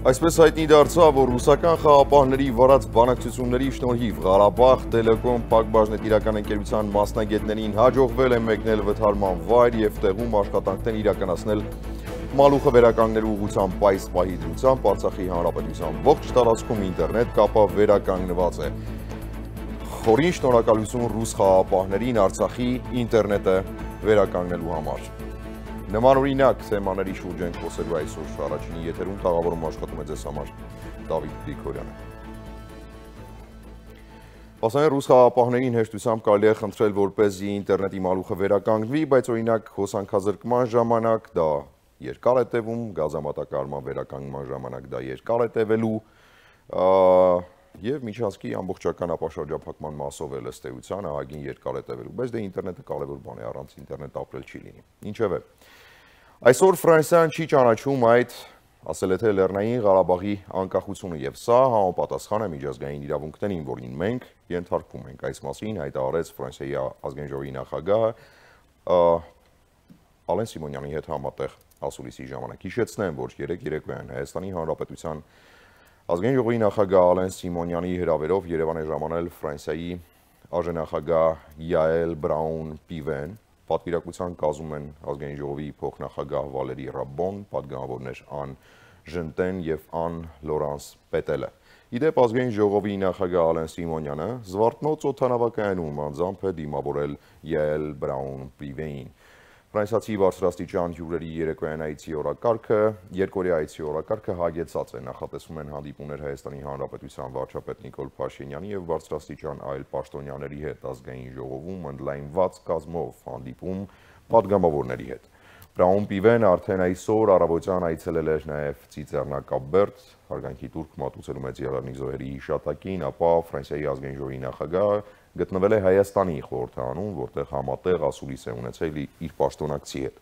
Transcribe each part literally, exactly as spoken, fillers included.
Այսպես հայտնի դարձավ, որ ռուսական խաղապահների վարած բանակցությունների շնորհիվ Ղարաբաղ Տելեկոմ Փակbaşnet իրական ընկերության մասնագետներին հաջողվել է մեկնել վթարման վայր և տեղում աշխատանքներ իրականացնել Մալուխը վերականգնելու ուղղությամբ այս պահի դրությամբ Արցախի Հանրապետության ողջ տարածքում ինտերնետ կապը վերականգնված է։ Խորին շնորհակալություն ռուս խաղապահներին Արցախի ինտերնետը վերականգնելու համար։ Նմանօրինակ թեմաների շուրջ ենք խոսելու այսօր առաջինի եթերում տաղավարում աշխատում է ձեզ համար Դավիթ Գրիգորյանը։ Ասեն ռուս խաղապահներին հեշտությամբ կարելի է խնդրել, որպեսզի ինտերնետի մալուխը վերականգնվի, բայց օրինակ հոսանքազրկման ժամանակ դա երկար է տևում, գազամատակարարման վերականգնման ժամանակ դա երկար է տևելու, եւ միջանցքի ամբողջական ապաշրջափակման մասով էլ ըստ էության ահագին երկար է տևելու, բայց դե ինտերնետը կարևոր բան է, առանց ինտերնետ ապրել չի լինի։ Ինչևէ, այսօր Ֆրանսիան չի ճանաչում այդ, ասել է թե Լեռնային Ղարաբաղի անկախությունը եւ սա համապատասխան է միջազգային իրավունքներին, որին մենք ենթարկվում ենք։ Այս մասին հայտարարեց Ֆրանսիայի ազգային ժողովի նախագահը Ալեն Սիմոնյանի հետ համատեղ ասուլիսի ժամանակ։ Հիշեցնեմ, որ երեկ երեկոյան Հայաստանի Հանրապետության ազգային ժողովի նախագահ Ալեն Սիմոնյանի հրավերով Երևան է ժամանել Ֆրանսիայի արժանախագահ Յաել Բրաուն-Պիվեն, պատվիրակության կազմում են ազգային ժողովի փոխնախագահ Վալերի Ռաբոն, պատգամավորներ Ան Ժնտեն եւ Ան Լորանս Պետելը։ Իդեպ ազգային ժողովի նախագահ Ալեն Սիմոնյանը Զվարթնոց օդանավակայանում անձամբ է դիմավորել Յաել Բրաուն-Պիվեին։ Ֆրանսիացի բարձրաստիճան հյուրերի երեկոյան այցի օրակարգը, երկօրյա այցի օրակարգը հագեցած է, նախատեսվում են հանդիպումներ Հայաստանի Հանրապետության վարչապետ Նիկոլ Փաշինյանի եւ բարձրաստիճան այլ պաշտոնյաների հետ ազգային ժողովում ընդլայնված կազմով հանդիպում պատգամավորների հետ։ Բրաուն-Պիվեն արդեն այսօր առավոտյան այցելել էր նաեւ Ծիծեռնակաբերդ, հարգանքի տուրք մատուցելու մեծ եղեռնիկ զոհերի հիշատակին, ապա Ֆրանսիայի ազգային ժողովի նախագահը գտնվել է Հայաստանի խորհրդարանում, որտեղ համատեղ ասուլիս է ունեցել իր պաշտոնակցի հետ։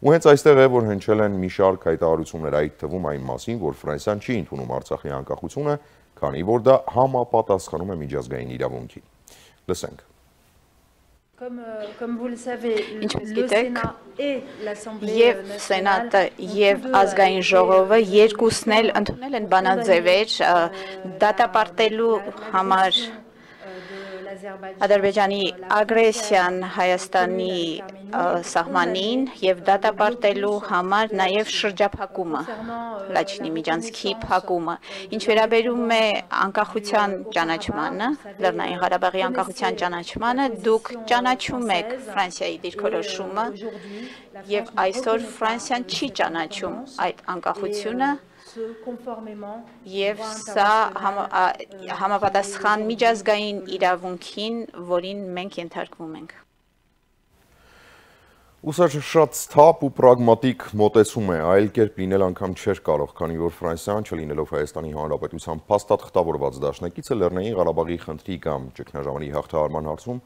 Ու հենց այստեղ է, որ հնչել են մի շարք հայտարարություններ, այդ թվում այն մասին, որ Ֆրանսիան չի ընդունում Արցախի անկախությունը, քանի որ դա համապատասխանում է միջազգային իրավունքին։ Լսենք։ Ինչպես գիտեք, եւ Սենատը եւ ազգային ժողովը երկուսն էլ ընդունել են բանաձևեր դատապարտելու համար Ադրբեջանի ագրեսիան Հայաստանի սահմանին եւ դատապարտելու համար նաեւ շրջափակումը, Լաչինի միջանցքի փակումը։ Ինչ վերաբերում է անկախության ճանաչմանը, Լեռնային Ղարաբաղի անկախության ճանաչմանը, դուք ճանաչում եք Ֆրանսիայի դիրքորոշումը եւ այսօր Ֆրանսիան չի ճանաչում այդ անկախությունը եւ սա համապատասխան միջազգային իրավունքին, որին մենք ենթարկվում ենք։ Ու սա շատ սթափ ու պրագմատիկ մոտեցում է, այլ կերպ լինել անգամ չէր կարող, քանի որ Ֆրանսիան չլինելով Հայաստանի Հանրապետության փաստաթղթավորված դաշնակիցը Լեռնային Ղարաբաղի խնդրի կամ ճգնաժամի հաղթահարման հարցում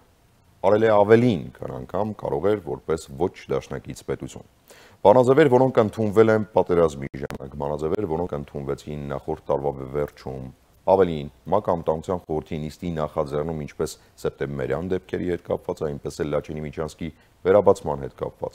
արել է ավելին, քան անգամ կարող էր որպես ոչ դաշնակից պետություն։ Բանաձևեր, որոնք ընդունվել են պատերազմի ժամանակ, բանաձևեր, որոնք ընդունվեցին նախորդ տարվա վերջում, ավելին, ՄԱԿ Անվտանգության խորհրդի նիստի նախաձեռնում ինչպես սեպտեմբերյան դեպքերի հետ կապված, այնպես էլ Լաչինի միջանցքի վերաբացման հետ կապված։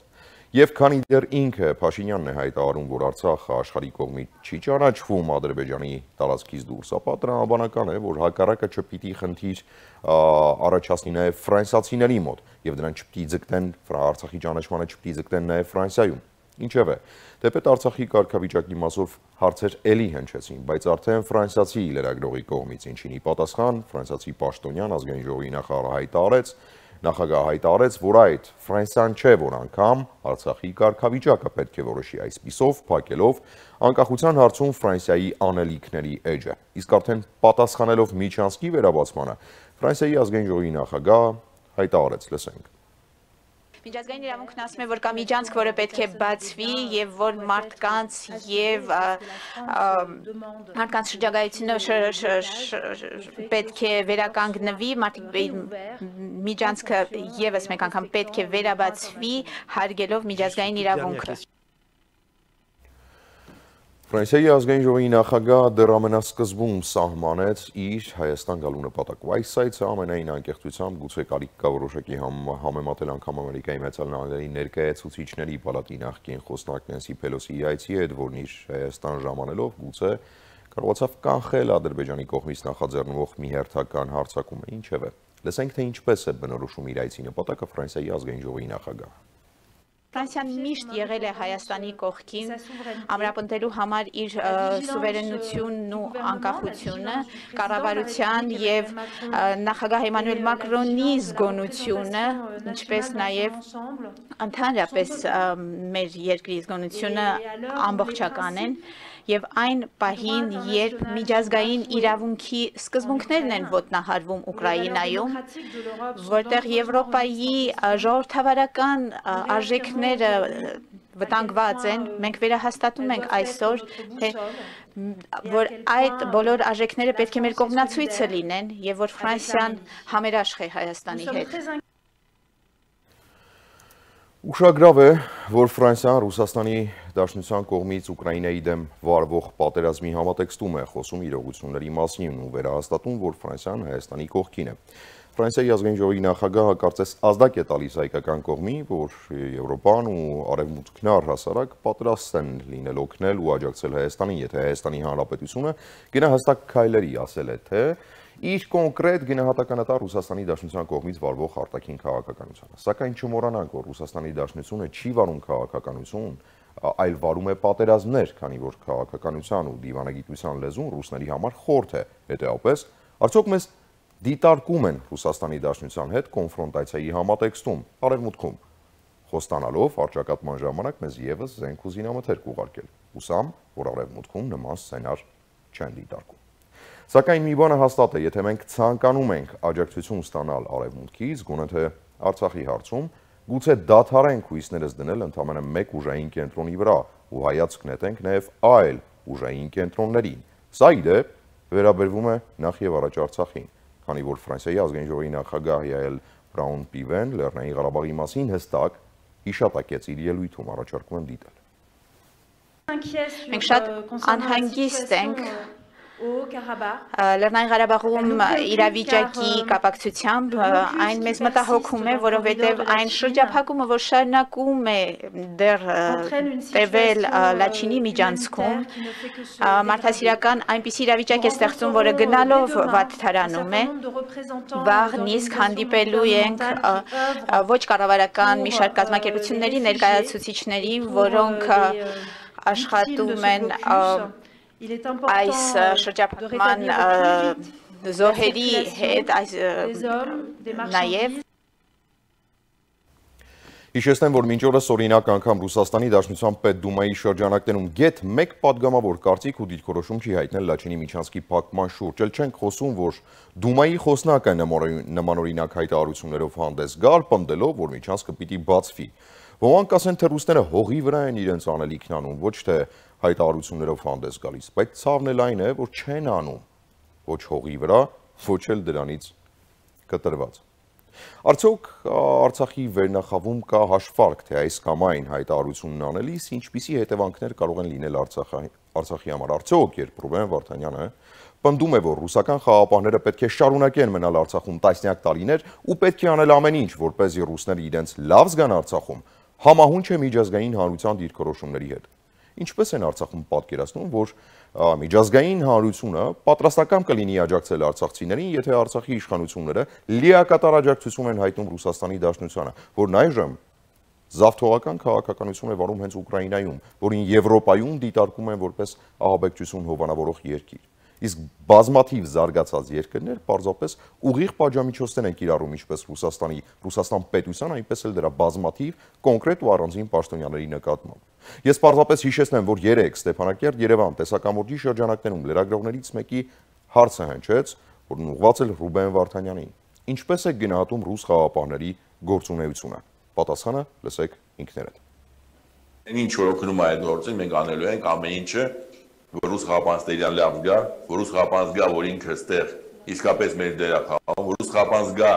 Եվ քանի դեռ ինքը Փաշինյանն է հայտարարում, որ Արցախը աշխարհի կողմից չի ճանաչվում Ադրբեջանի տարածքից դուրս, ապա տրամաբանական է, որ հակառակը չպիտի խնդիր առաջացնի նաև ֆրանսիացիների մոտ, եւ դրանք չպիտի ձգտեն Արցախի ճանաչմանը չպիտի ձգտեն նաև Ֆրանսիայում։ Ինչևէ, թեպետ Արցախի կարգավիճակի մասով հարցեր էլի հնչեցին, բայց արդեն ֆրանսիացի լրագրողի կողմից, ինչին ի պատասխան ֆրանսիացի պաշտոնյան ազգային ժողովի նախարարը հայտարարեց, նախագահը հայտարարեց, որ այդ Ֆրանսիան չէ, որ անգամ Արցախի կարգավիճակը պետք է որոշի, այսպիսով փակելով անկախության հարցում Ֆրանսիայի անելիքների էջը։ Իսկ արդեն պատասխանելով միջանցքի վերաբացմանը, Ֆրանսիայի ազգային ժողովի նախագահը հայտարարեց, լսենք։ Միջազգային իրավունքն ասում է, որ կա միջանցք, որը պետք է բացվի եւ որ մարդկանց եւ մարդկանց շրջագայությունը պետք է վերականգնվի, միջանցքը եւս մեկ անգամ պետք է վերաբացվի, հարգելով միջազգային իրավունքը։ Ֆրանսիայի ազգային ժողովի նախագահ դեռ ամենասկզբում սահմանեց իր Հայաստան գալու նպատակը։ Այս այցը ամենայն անկեղծությամբ գուցե կարիք կա որոշակի համեմատել անգամ Ամերիկայի Մեծալ Նահանգների ներկայացուցիչների պալատի նախկին խոսնակ Նենսի Փելոսիի այցի հետ, որն իր Հայաստան ժամանելով գուցե կարողացավ կանխել Ադրբեջանի կողմից նախաձեռնվող մի հերթական հարձակումը, ինչևէ։ Լսենք, թե ինչպես է բնորոշում իր այցի նպատակը Ֆրանսիայի ազգային ժողովի նախագահը։ Ֆրանսիան միշտ եղել է Հայաստանի կողքին, ամրապնդելու համար իր սուվերենությունն ու անկախությունը, կառավարության եւ նախագահ Էմանուել Մակրոնի զգոնությունը, ինչպես նաեւ ընդհանրապես մեր երկրի զգոնությունը ամբողջական են եւ այն պահին, երբ միջազգային իրավունքի սկզբունքներն են ոտնահարվում Ուկրաինայում, որտեղ Եվրոպայի ժողովրդավարական արժեքները վտանգված են, մենք վերահաստատում ենք այսօր, թե որ այդ բոլոր արժեքները պետք է մեր կողմնացույցը լինեն եւ որ Ֆրանսիան համերաշխ է Հայաստանի հետ։ Ուշագրավ է, որ Ֆրանսիան Ռուսաստանի Դաշնության կողմից Ուկրաինայի դեմ վարվող պատերազմի համատեքստում է խոսում իրողությունների մասին ու վերահաստատում, որ Ֆրանսիան Հայաստանի կողքին է։ Ֆրանսիայի ազգային ժողովի նախագահը կարծես ազդակ է տալիս հայկական կողմի, որ Եվրոպան ու Արևմուտքն առհասարակ պատրաստ են լինել օգնել ու աջակցել Հայաստանին, եթե Հայաստանի Հանրապետությունը գնահատակ քայլերի ասել է, թե իր կոնկրետ գնահատականատար Ռուսաստանի Դաշնության կողմից վարվող արտաքին քաղաքականությանը։ Սակայն չմոռանանք, որ Ռուսաստանի Դաշնությունը չի վարում քաղաքականություն, այլ վարում է պատերազմներ, քանի որ քաղաքականության ու դիվանագիտության լեզուն ռուսների համար խորթ է։ Հետևաբար, արդյոք մեզ դիտարկում են Ռուսաստանի Դաշնության հետ կոնֆրոնտացիայի համատեքստում, արևմուտքում, խոստանալով առճակատման ժամանակ մեզ եւս զենք ու զինամթերք ուղարկել։ Հուսամ, որ արևմուտքում նման սցենար չեն դիտարկում։ Սակայն մի բանը հաստատ է, եթե մենք ցանկանում ենք աջակցություն ստանալ արևմուտքից, գոնե թե Արցախի հարցում, գուցե դադարենք հույսներս դնել ընդամենը մեկ ուժային կենտրոնի վրա ու հայացք նետենք նաև այլ ուժային կենտրոններին։ Սա ի դեպ վերաբերվում է նախ եւ առաջ Արցախին, քանի որ Ֆրանսիայի ազգային ժողովի նախագահ Յայել Բրաուն-Պիվեն Լեռնային Ղարաբաղի մասին հստակ հիշատակեց իր ելույթում, առաջարկում եմ դիտել։ Մենք շատ անհանգիստ ենք Լեռնային Ղարաբաղում իրավիճակի կապակցությամբ այն մեզ մտահոգում է, որովհետև այն շրջափակումը, որ շարունակում է դեռ տևել Լաչինի միջանցքում, մարդասիրական այնպիսի իրավիճակ է ստեղծում, որը գնալով վատթարանում է, վաղ նիսկ հանդիպելու ենք ոչ կառավարական մի շարք կազմակերպությունների ներկայացուցիչների, որոնք աշխատում են այս շրջափակման զոհերի հետ նաև Հիշեցնեմ, որ մինչ օրս օրինակ անգամ Ռուսաստանի Դաշնության Պետդումայի շրջանակներում գեթ մեկ պատգամավոր կարծիք ու դիրքորոշում չի հայտնել Լաչինի միջանցքի փակման շուրջ։ Էլ չենք խոսում, որ Դումայի խոսնակը նմանօրինակ հայտարարություններով հանդես գալ, պնդելով, որ միջանցքը պիտի բացվի։ Ոմանք ասեն, թե ռուսները հողի վրա են իրենց անելիքն անում, ոչ թե հայտարարություններով հանդես գալիս, բայց ցավն էլ այն է, որ չեն անում ոչ հողի վրա, ոչ էլ դրանից կտրված։ Արդյոք Արցախի վերնախավում կա հաշվարկ, թե այս կամ այն հայտարարությունն անելիս ինչպիսի հետևանքներ կարող են լինել Արցախի համար։ Արդյոք, երբ Ռուբեն Վարդանյանը պնդում է, որ ռուսական խաղաղապահները պետք է շարունակեն մնալ Արցախում տասնյակ տարիներ ու պետք է անել ամեն ինչ, որպեսզի ռուսները իրենց լավ զգան Արցախում, համահունչ է միջազգային հանրության դիրքորոշումների հետ։ Ինչպես են Արցախում պատկերացնում, որ միջազգային հանրությունը պատրաստական կլինի աջակցել արցախցիներին, եթե Արցախի իշխանությունները լիակատար աջակցություն են հայտնում Ռուսաստանի Դաշնությանը, որն այժմ զավթողական քաղաքականություն է վարում հենց Ուկրաինայում, որին Եվրոպայում դիտարկում են որպես ահաբեկչություն հովանավորող երկիր։ Իսկ բազմաթիվ զարգացած երկրներ պարզապես ուղիղ պատժամիջոցներ են կիրառում ինչպես Ռուսաստանի, Ռուսաստան պետության, այնպես էլ դրա բազմաթիվ կոնկրետ ու առանձին պաշտոնյաների նկատմամբ։ Ես պարզապես հիշեցնեմ, որ երեկ Ստեփանակերտ Երևան տեսակամուրջի շրջանակներում լրագրողներից մեկի հարցը հնչեց, որն ուղղված էր Ռուբեն Վարդանյանին։ Ինչպես է գնահատում ռուս խաղաղապահների գործունեությունը։ Պատասխանը լսեք ինքներդ։ Ինչ որ օգնում է այդ գործին, մենք անելու ենք ամեն ինչը, որ ռուս խաղապանցների լավ գա, որ ռուս խաղապանց գա, որ ինքը ստեղ իսկապես մեր դերը խաղում, որ ռուս խաղապանց գա,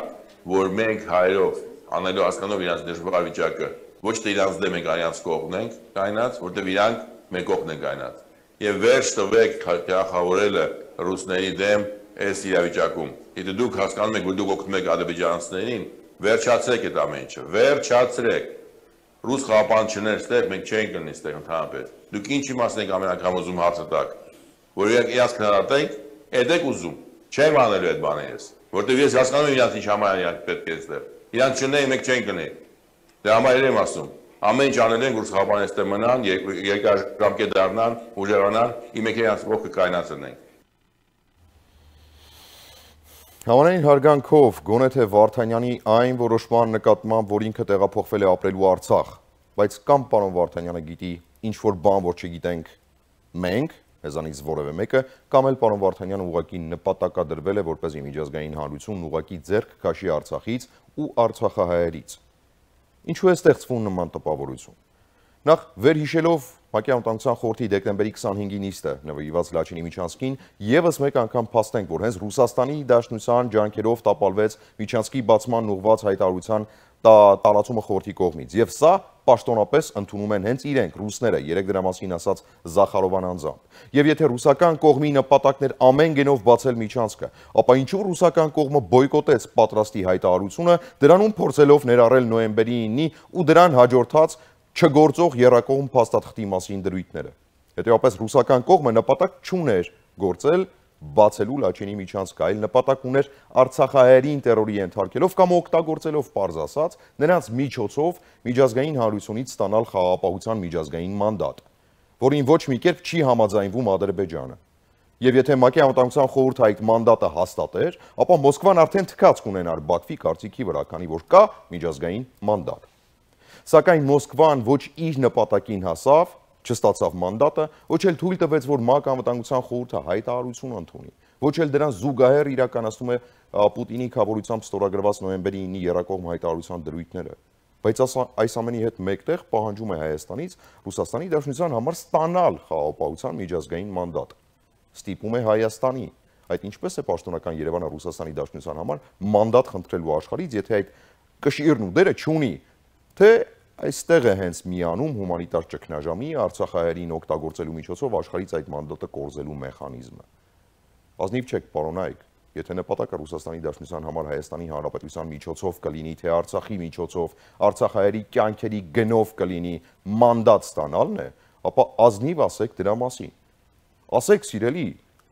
որ մենք հայերով անելու հասկանով իրանց դժվար վիճակը, ոչ թե իրանց դեմ ենք, իրանց կողմն ենք կայնած, որտեղ իրանք մեր կողմն են կայնած։ եւ վերջ տվեք թիրախավորելը ռուսների դեմ այս իրավիճակում։ Եթե դուք հասկանում եք, որ դուք օգնում եք ադրբեջանցիներին, վերջացրեք այդ ամեն ինչը, վերջացրեք։ Ռուս խաղապանություններ ստեղ մենք չենք գտնի ստեղ ընդհանրապես։ Դուք ինչ իմաստ եք ամեն անգամ ուզում հարցը տակ, որ իրաց քննադատենք, այդ եք ուզում։ Չեմ անելու այդ բաներս, որտեղ ես հասկանում եմ իրանց ինչ համար իրանք պետք է ստեղ։ Իրանք չունեն, մենք չենք գտնի։ Դե համար եմ ասում։ Ամեն ինչ անել են, որ խաղապանները ստեղ մնան, երկարաժամկետ դառնան, ուժեղանան, իմեք իրանց ողքը կայնացնենք։ Համանային հարգանքով գոնե թե Վարդանյանի այն որոշման նկատմամբ, որ ինքը տեղափոխվել է ապրելու Արցախ, բայց կամ պարոն Վարդանյանը գիտի ինչ-որ բան, որ չգիտենք մենք, մեզանից որևէ մեկը, կամ էլ պարոն Վարդանյանը ուղղակի նպատակադրվել է որպեսզի միջազգային հանրությունն ուղղակի ձեռք քաշի Արցախից ու արցախահայերից։ Ինչու է ստեղծվում նման տպավորություն։ Նախ վերհիշելով ՄԱԿ-ի Անվտանգության խորհրդի դեկտեմբերի քսանհինգի նիստը նվիրված Լաչինի Միչանսկին, եւս մեկ անգամ փաստենք, որ հենց Ռուսաստանի Դաշնության ջանքերով տապալվեց Միչանսկի բացման ուղղված հայտարարության տարածումը խորհրդի կողմից, եւ սա պաշտոնապես ընդունում են հենց իրենք ռուսները, երեք դրա մասին ասաց Զախարովան անձամբ։ Եւ եթե ռուսական կողմի նպատակներ ամեն գնով բացել Միչանսկը, ապա ինչու ռուսական կողմը բոյկոտեց պատրաստի հայտարարությունը, դրանում փորձելով ներառել նոյեմբերի ինը ու դրան հաջորդած չգործող եռակողմ փաստաթղթի մասին դրույթները։ Հետևաբար ռուսական կողմը նպատակ չուներ գործել բացելու Լաչինի Միչանսկը, այլ նպատակ ուներ արցախահայերին տերորի ենթարկելով կամ օգտագործելով պարզ ասած նրանց միջոցով միջազգային հանրությունից ստանալ խաղաղապահության միջազգային մանդատ, որին ոչ մի կերպ չի համաձայնվում Ադրբեջանը։ Եվ եթե ՄԱԿ-ի Անվտանգության խորհուրդը այդ մանդատը հաստատեր, ապա Մոսկվան արդեն թքած կունենար Բաքվի կարծիքի վրա, քանի որ կա միջազգային մանդատ։ Սակայն Մոսկվան ոչ իր նպատակին հասավ, չստացավ մանդատը, ոչ էլ թույլ տվեց, որ ՄԱԿ-ի Անվտանգության խորհուրդը հայտարարություն ընդունի, ոչ էլ դրան զուգահեռ իրականացնում է Պուտինի քավորությամբ ստորագրված նոյեմբերի ինը եռակողմ հայտարարության դրույթները։ Բայց այս ամենի հետ մեկտեղ պահանջում է Հայաստանից Ռուսաստանի Դաշնության համար ստանալ խաղաղապահության միջազգային մանդատ։ Ստիպում է Հայաստանի, այդ ինչպես է պաշտոնական Երևանը Ռուսաստանի Դաշնության համար մանդատ խնդրելու աշխարհից, եթե այդ կշիռն ու դերը չունի, թե այստեղ է հենց միանում հումանիտար ճգնաժամի արցախահայերին օգտագործելու միջոցով աշխարհից այդ մանդատը կորզելու մեխանիզմը։ Ազնիվ չեք, պարոնայք, եթե նպատակը Ռուսաստանի Դաշնության համար Հայաստանի Հանրապետության միջոցով կլինի, թե Արցախի միջոցով, արցախահայերի կյանքերի գնով կլինի մանդատ ստանալն է, ապա ազնիվ ասեք դրա մասին։ Ասեք, սիրելի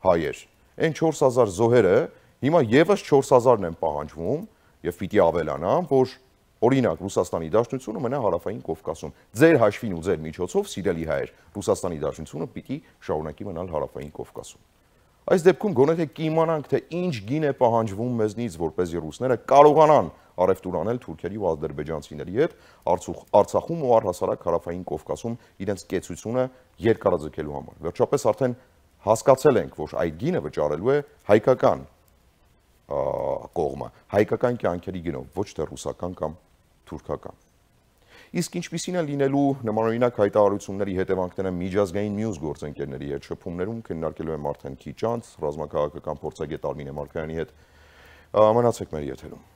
հայեր, այն չորս հազար զոհերը հիմա եւս չորս հազարն են պահանջվում եւ պիտի ավելանան, որ օրինակ Ռուսաստանի Դաշնությունը մնա Հարավային Կովկասում։ Ձեր հաշվին ու ձեր միջոցով, սիրելի հայեր, Ռուսաստանի Դաշնությունը պիտի շարունակի մնալ Հարավային Կովկասում։ Այս դեպքում գոնե թե կիմանանք, թե ինչ գին է պահանջվում մեզնից, որպեսզի ռուսները կարողանան առևտուր անել թուրքերի ու ադրբեջանցիների հետ Արցախում ու առհասարակ Հարավային Կովկասում իրենց կեցությունը երկարաձգելու համար։ Վերջապես արդեն հասկացել ենք, որ այդ գինը վճարելու է հայկական կողմը, հայկական կյանքերի գնով, ոչ թե ռուսական կամ թուրքական։ Իսկ ինչպիսին է լինելու նմանօրինակ հայտարարությունների հետևանքները միջազգային մյուս գործընկերների հետ շփումներում, քննարկելու եմ արդեն քիչ անց ռազմաքաղաքական փորձագետ Արմինե Մարգարյանի հետ։ Մնացեք մեր եթերում։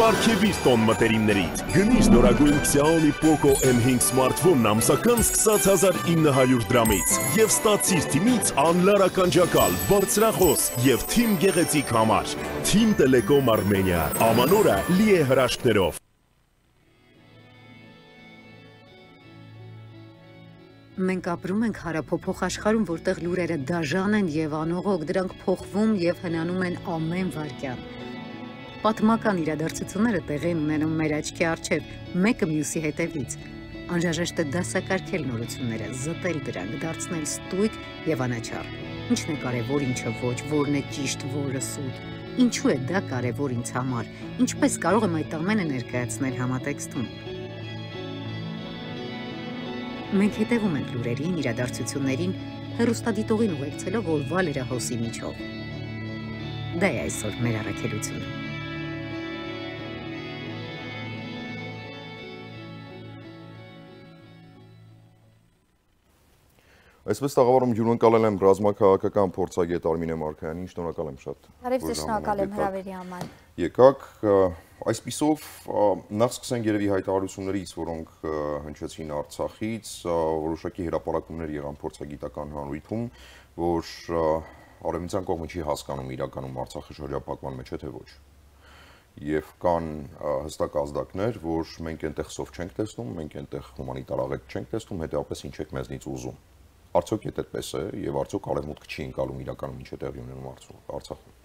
Պարքևիր տոն մտերիմներից, գնիշ նորագույն Xiaomi Poco M հինգ սմարթֆոնն ամսական սկսած հազար ինը հարյուր դրամից և ստացիր թիմից անլար ականջակալ, բարձրախոս և թիմ գեղեցիկ համար։ Թիմ Տելեկոմ Արմենիա, ամանորը լի է հրաշքներով։ Մենք ապրում ենք հարափոփոխ աշխարհում, որտեղ լուրերը դաժան են և անողոք, դրանք փոխվում և հնանում են ամեն վայրկյան։ Պատմական իրադարձությունները տեղի են ունենում մեր աչքի առջև, մեկը մյուսի հետևից։ Անհրաժեշտ է դասակարգել նորությունները, զտել դրանք, դարձնել ստույգ եւ անաչառ։ Ինչն է կարևոր, ինչը ոչ, որն է ճիշտ, որը սուտ։ Ինչու է դա կարևոր ինձ համար։ Ինչպես կարող եմ այդ ամենը ներկայացնել համատեքստում։ Մենք հետևում ենք լուրերին, իրադարձություններին հեռուստադիտողին ուղեկցելով որ Վալերը հոսի միջով։ Դա է այսօր մեր առաքելությունը։ Այսպես տաղավարում հյուրընկալել եմ ռազմաքաղաքական փորձագետ Արմինե Մարգարյանին, շնորհակալ եմ շատ։ Արև ձեզ շնորհակալ եմ հրավերի համար։ Եկաք, այսպիսով նախ սկսենք երևի հայտարարություններից, որոնք հնչեցին Արցախից, որոշակի հրապարակումներ եղան փորձագիտական հանրույթում, որ արևմտյան կողմը չի հասկանում իրականում Արցախի շրջափակման մեջ է թե ոչ։ Եվ կան հստակ ազդակներ, որ մենք այնտեղ սով չենք տեսնում, մենք այնտեղ հումանիտար աղետ չենք տեսնում, հետեւապես ինչ եք մեզնից ուզում։ Արդյոք եթե այդպես է եւ արդյոք արևմուտքը չի ընկալում իրականում ինչ է տեղի ունենում Արցախում։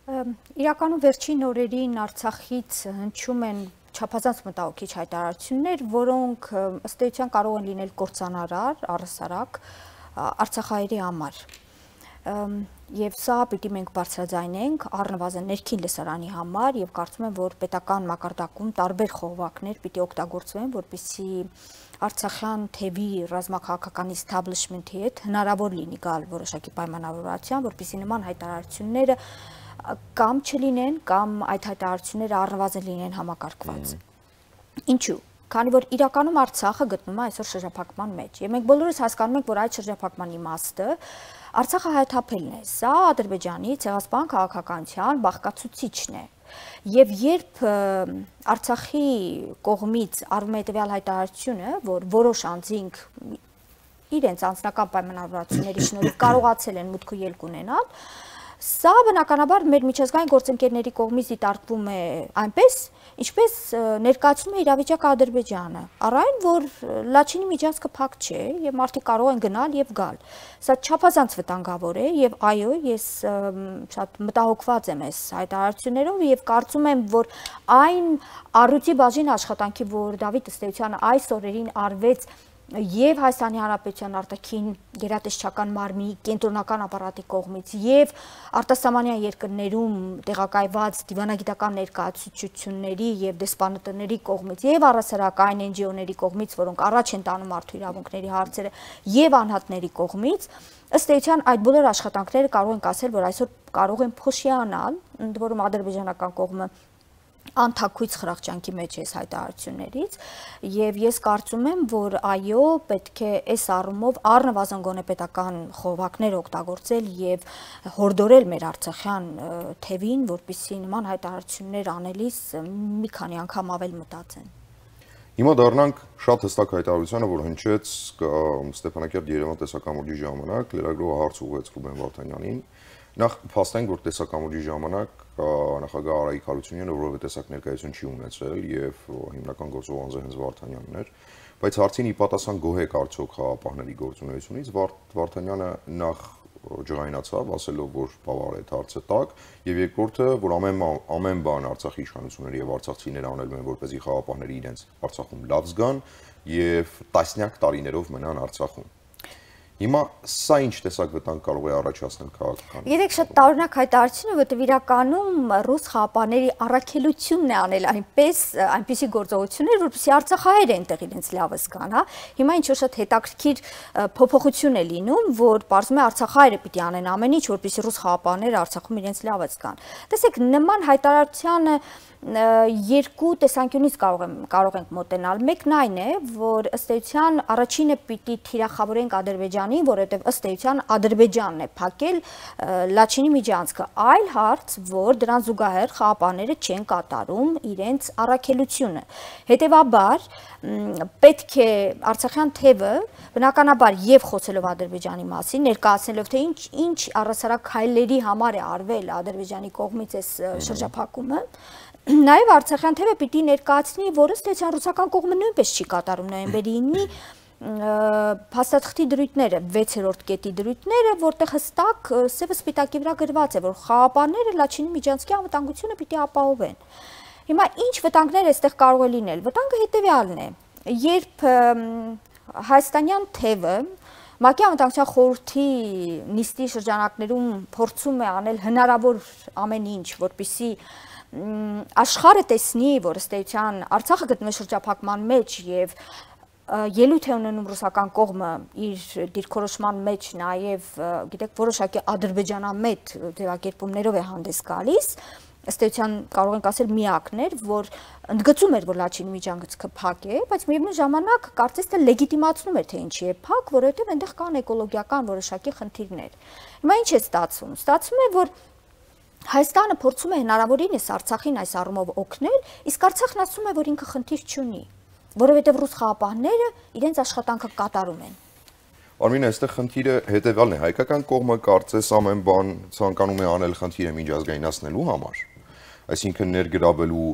Իրականում վերջին օրերին Արցախից հնչում են չափազանց մտահոգիչ հայտարարություններ, որոնք ըստ էության կարող են լինել կործանարար, առհասարակ արցախահայերի համար։ Եվ սա պիտի մենք բարձրաձայնենք առնվազն ներքին լսարանի համար եւ կարծում եմ, որ պետական մակարդակում տարբեր խողովակներ պիտի օգտագործվեն, որպեսզի Արցախյան թևի ռազմաքաղաքական establishment-ի հետ հնարավոր լինի գալ որոշակի պայմանավորվածության, որպեսզի նման հայտարարությունները կամ չլինեն, կամ այդ հայտարարությունները առնվազն լինեն համակարգված։ Ինչու՞։ Քանի որ իրականում Արցախը գտնվում է այսօր շրջափակման մեջ, եւ մենք բոլորս հասկանում ենք, որ այդ շրջափակման իմաստը Արցախը հայթափելն է, սա Ադրբեջանի ցեղասպան քաղաքականության բաղկացուցիչն է։ Եվ երբ Արցախի կողմից արվում է հետևյալ հայտարարությունը, որ որոշ անձինք իրենց անձնական պայմանավորվածությունների շնորհիվ կարողացել են մուտք ու ելք ունենալ, սա բնականաբար մեր միջազգային գործընկերների կողմից դիտարկվում է այնպես, ինչպես ներկայացնում է իրավիճակը Ադրբեջանը, առայն որ Լաչինի միջանցքը փակ չէ եւ մարդիկ կարող են գնալ եւ գալ։ Սա չափազանց վտանգավոր է եւ այո, ես շատ մտահոգված եմ այս հայտարարություններով եւ կարծում եմ, որ այն առույցի բաժին աշխատանքի, որ Դավիթ ըստ էության այս օրերին արվեց եւ Հայաստանի Հանրապետության արտաքին գերատեսչական մարմնի կենտրոնական ապարատի կողմից եւ արտասահմանյան երկրներում տեղակայված դիվանագիտական ներկայացուցիչների եւ դեսպանատների կողմից եւ առասարակ այն Էն Ջի Օ-ների կողմից, որոնք առաջ են տանում մարդու իրավունքների հարցերը եւ անհատների կողմից, ըստ էության այդ բոլոր աշխատանքները կարող ենք ասել, որ այսօր կարող են փոշիանալ, ընդ որում ադրբեջանական կողմը անթաքույց խրախճանքի մեջ է այս հայտարարություններից եւ ես կարծում եմ, որ այո, պետք է այս առումով առնվազն գոնե պետական խողովակներ օգտագործել եւ հորդորել մեր արցախյան թևին, որպեսզի նման հայտարարություններ անելիս մի քանի անգամ ավել մտածեն։ Հիմա դառնանք շատ հստակ հայտարարությանը, որ հնչեց Ստեփանակերտ Երևան տեսակամուրջի ժամանակ, լրագրողը հարց ուղղեց Ռուբեն Վարդանյանին։ Նախ փաստենք, որ տեսակամուրջի ժամանակ նախագահ Արայիկ Հարությունյանը որևէ տեսակ ներկայություն չի ունեցել եւ հիմնական գործող անձը հենց Վարդանյանն էր, բայց հարցին ի պատասխան գոհ արդյոք խաղապահների գործունեությունից Վարդանյանը նախ ջղայնացավ, ասելով, որ բավարար է հարցը տակ, եւ երկրորդը, որ ամեն ամեն բան Արցախի իշխանությունները եւ արցախցիները անելու են, որպեսզի խաղապահները իրենց Արցախում լավ զգան եւ տասնյակ տարիներով մնան Արցախում։ Հիմա սա ինչ տեսակ վտանգ կարող է առաջացնել քաղաքական։ Երեք շատ տարօրինակ հայտարարություն է, որտեղ իրականում ռուս խաղապահների առաքելությունն է անել այնպես, այնպիսի գործողություններ, որպեսզի արցախահայերը այնտեղ իրենց լավը զգան, հա։ Հիմա ինչ որ շատ հետաքրքիր փոփոխություն է լինում, որ պարզվում է արցախահայերը պիտի անեն ամեն ինչ, որպեսզի ռուս խաղապահները Արցախում իրենց լավը զգան։ Տեսեք, նման հայտարարությանը երկու տեսանկյունից կարող եմ կարող ենք մոտենալ։ Մեկն այն է, որ ըստ էության առաջինը պիտի թիրախավորենք Ադրբեջանին, որովհետև ըստ էության Ադրբեջանն է փակել Լաչինի միջանցքը։ Այլ հարց, որ դրան զուգահեռ խաղապահները չեն կատարում իրենց առաքելությունը։ Հետևաբար պետք է Արցախյան թևը բնականաբար եւ խոսելով Ադրբեջանի մասին, ներկայացնելով թե ինչ ինչ առասարակ քայլերի համար է արվել Ադրբեջանի կողմից այս շրջափակումը, նաեւ Արցախյան թևը պիտի ներկայացնի, որ ըստ էության ռուսական կողմը նույնպես չի կատարում նոյեմբերի ինը փաստաթղթի դրույթները, վեցերորդ կետի դրույթները, որտեղ հստակ սևը սպիտակի վրա գրված է, որ խաղապահները Լաչինի միջանցքի անվտանգությունը պիտի ապահովեն։ Հիմա ինչ վտանգներ այստեղ կարող է լինել։ Վտանգը հետեւյալն է. երբ հայաստանյան թևը ՄԱԿ-ի անվտանգության խորհրդի նիստի շրջանակներում փորձում է անել հնարավոր ամեն ինչ, որպեսզի աշխարհը տեսնի, որ ըստ էության Արցախը գտնվում է շրջափակման մեջ եւ ելույթ է ունենում ռուսական կողմը իր դիրքորոշման մեջ նաև, գիտեք, որոշակի ադրբեջանամետ ձևակերպումներով է հանդես գալիս, ըստ էության կարող ենք ասել միակն էր, որ ընդգծում էր, որ Լաչինի միջանցքը փակ է, բայց միևնույն ժամանակ կարծես թե լեգիտիմացնում էր, թե ինչի է փակ, որովհետև այնտեղ կան էկոլոգիական որոշակի խնդիրներ։ Հիմա ինչ է ստացվում։ Ստացվում է, որ Հայաստանը փորձում է հնարավորինս Արցախին այս առումով օգնել, իսկ Արցախն ասում է, որ ինքը խնդիր չունի, որովհետև ռուս խաղապահները իրենց աշխատանքը կատարում են։ Արմին, այստեղ խնդիրը հետևյալն է, հայկական կողմը կարծես ամեն բան ցանկանում է անել խնդիրը միջազգայնացնելու համար, այսինքն ներգրավելու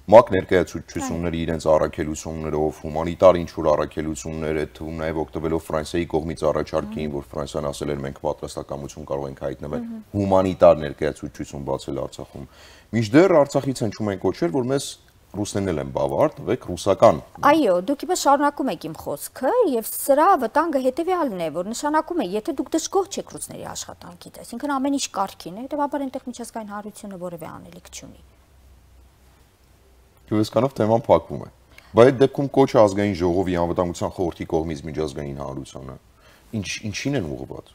ՄԱԿ ներկայացուցչությունների իրենց առաքելություններով, հումանիտար ինչ-որ առաքելություններ, այդ թվում նաև օգտվելով Ֆրանսիայի կողմից առաջարկին, որ Ֆրանսիան ասել էր մենք պատրաստակամություն կարող ենք հայտնվել հումանիտար ներկայացուցչություն բացել Արցախում։ Մինչդեռ Արցախից հնչում են կոչեր, որ մեզ ռուսներն են բավարար, տվեք ռուսական։ Այո, դուք իբր շարունակում եք իմ խոսքը, եւ սրա վտանգը հետեւյալն է, որ նշանակում է, եթե դուք դժգոհ չեք ռուսների աշխատանքից, այսինքն ամեն ինչ կարգին է, հետեւաբար այնտեղ միջազգային հանրությունը որևէ անելիք չունի։ Հյուրեսկանով թեման փակվում է։ Բայց այդ դեպքում կոչը ազգային ժողովի անվտանգության խորհրդի կողմից միջազգային հանրությանը ինչ ինչին են ուղղված։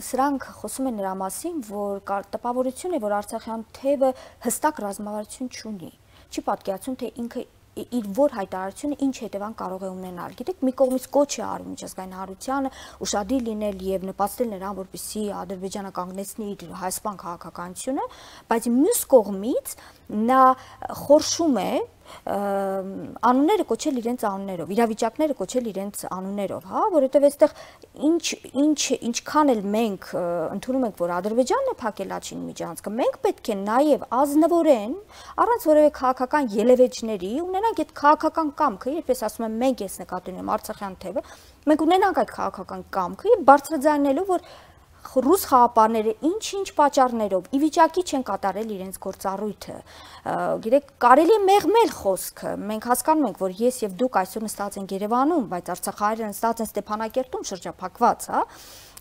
Սրանք խոսում են նրա մասին, որ տպավորություն է, որ Արցախյան թևը հստակ ռազմավարություն չունի։ Չի պատկերացնում, թե ինքը իր որ հայտարարությունը ինչ հետևանք կարող է ունենալ։ Գիտեք, մի կողմից կոչ է արվում միջազգային հանրությանը ուշադիր լինել եւ նպաստել նրան, որպեսզի Ադրբեջանը կանգնեցնի իր հայաստան քաղաքականությունը, բայց մյուս կողմից նա խորշում է անունները կոչել իրենց անուններով, իրավիճակները կոչել իրենց անուններով, հա, որովհետև այստեղ ինչ ինչ ինչքան էլ մենք ընդունում ենք, որ Ադրբեջանն է փակել Լաչինի միջանցքը, մենք պետք է նաև ազնվորեն, առանց որևէ քաղաքական ելևէջների ունենանք այդ քաղաքական կամքը, երբ ես ասում եմ մենք ես նկատի ունեմ Արցախյան թևը, մենք ունենանք այդ քաղաքական կամքը եւ բարձրաձայնելու, որ ռուս խաղապարները ինչ-ինչ պատճառներով ի վիճակի չեն կատարել իրենց գործառույթը։ Գիտեք, կարելի է մեղմել խոսքը։ Մենք հասկանում ենք, որ ես եւ դուք այսօր նստած ենք Երևանում, բայց արցախահայերը նստած են Ստեփանակերտում շրջափակված, հա։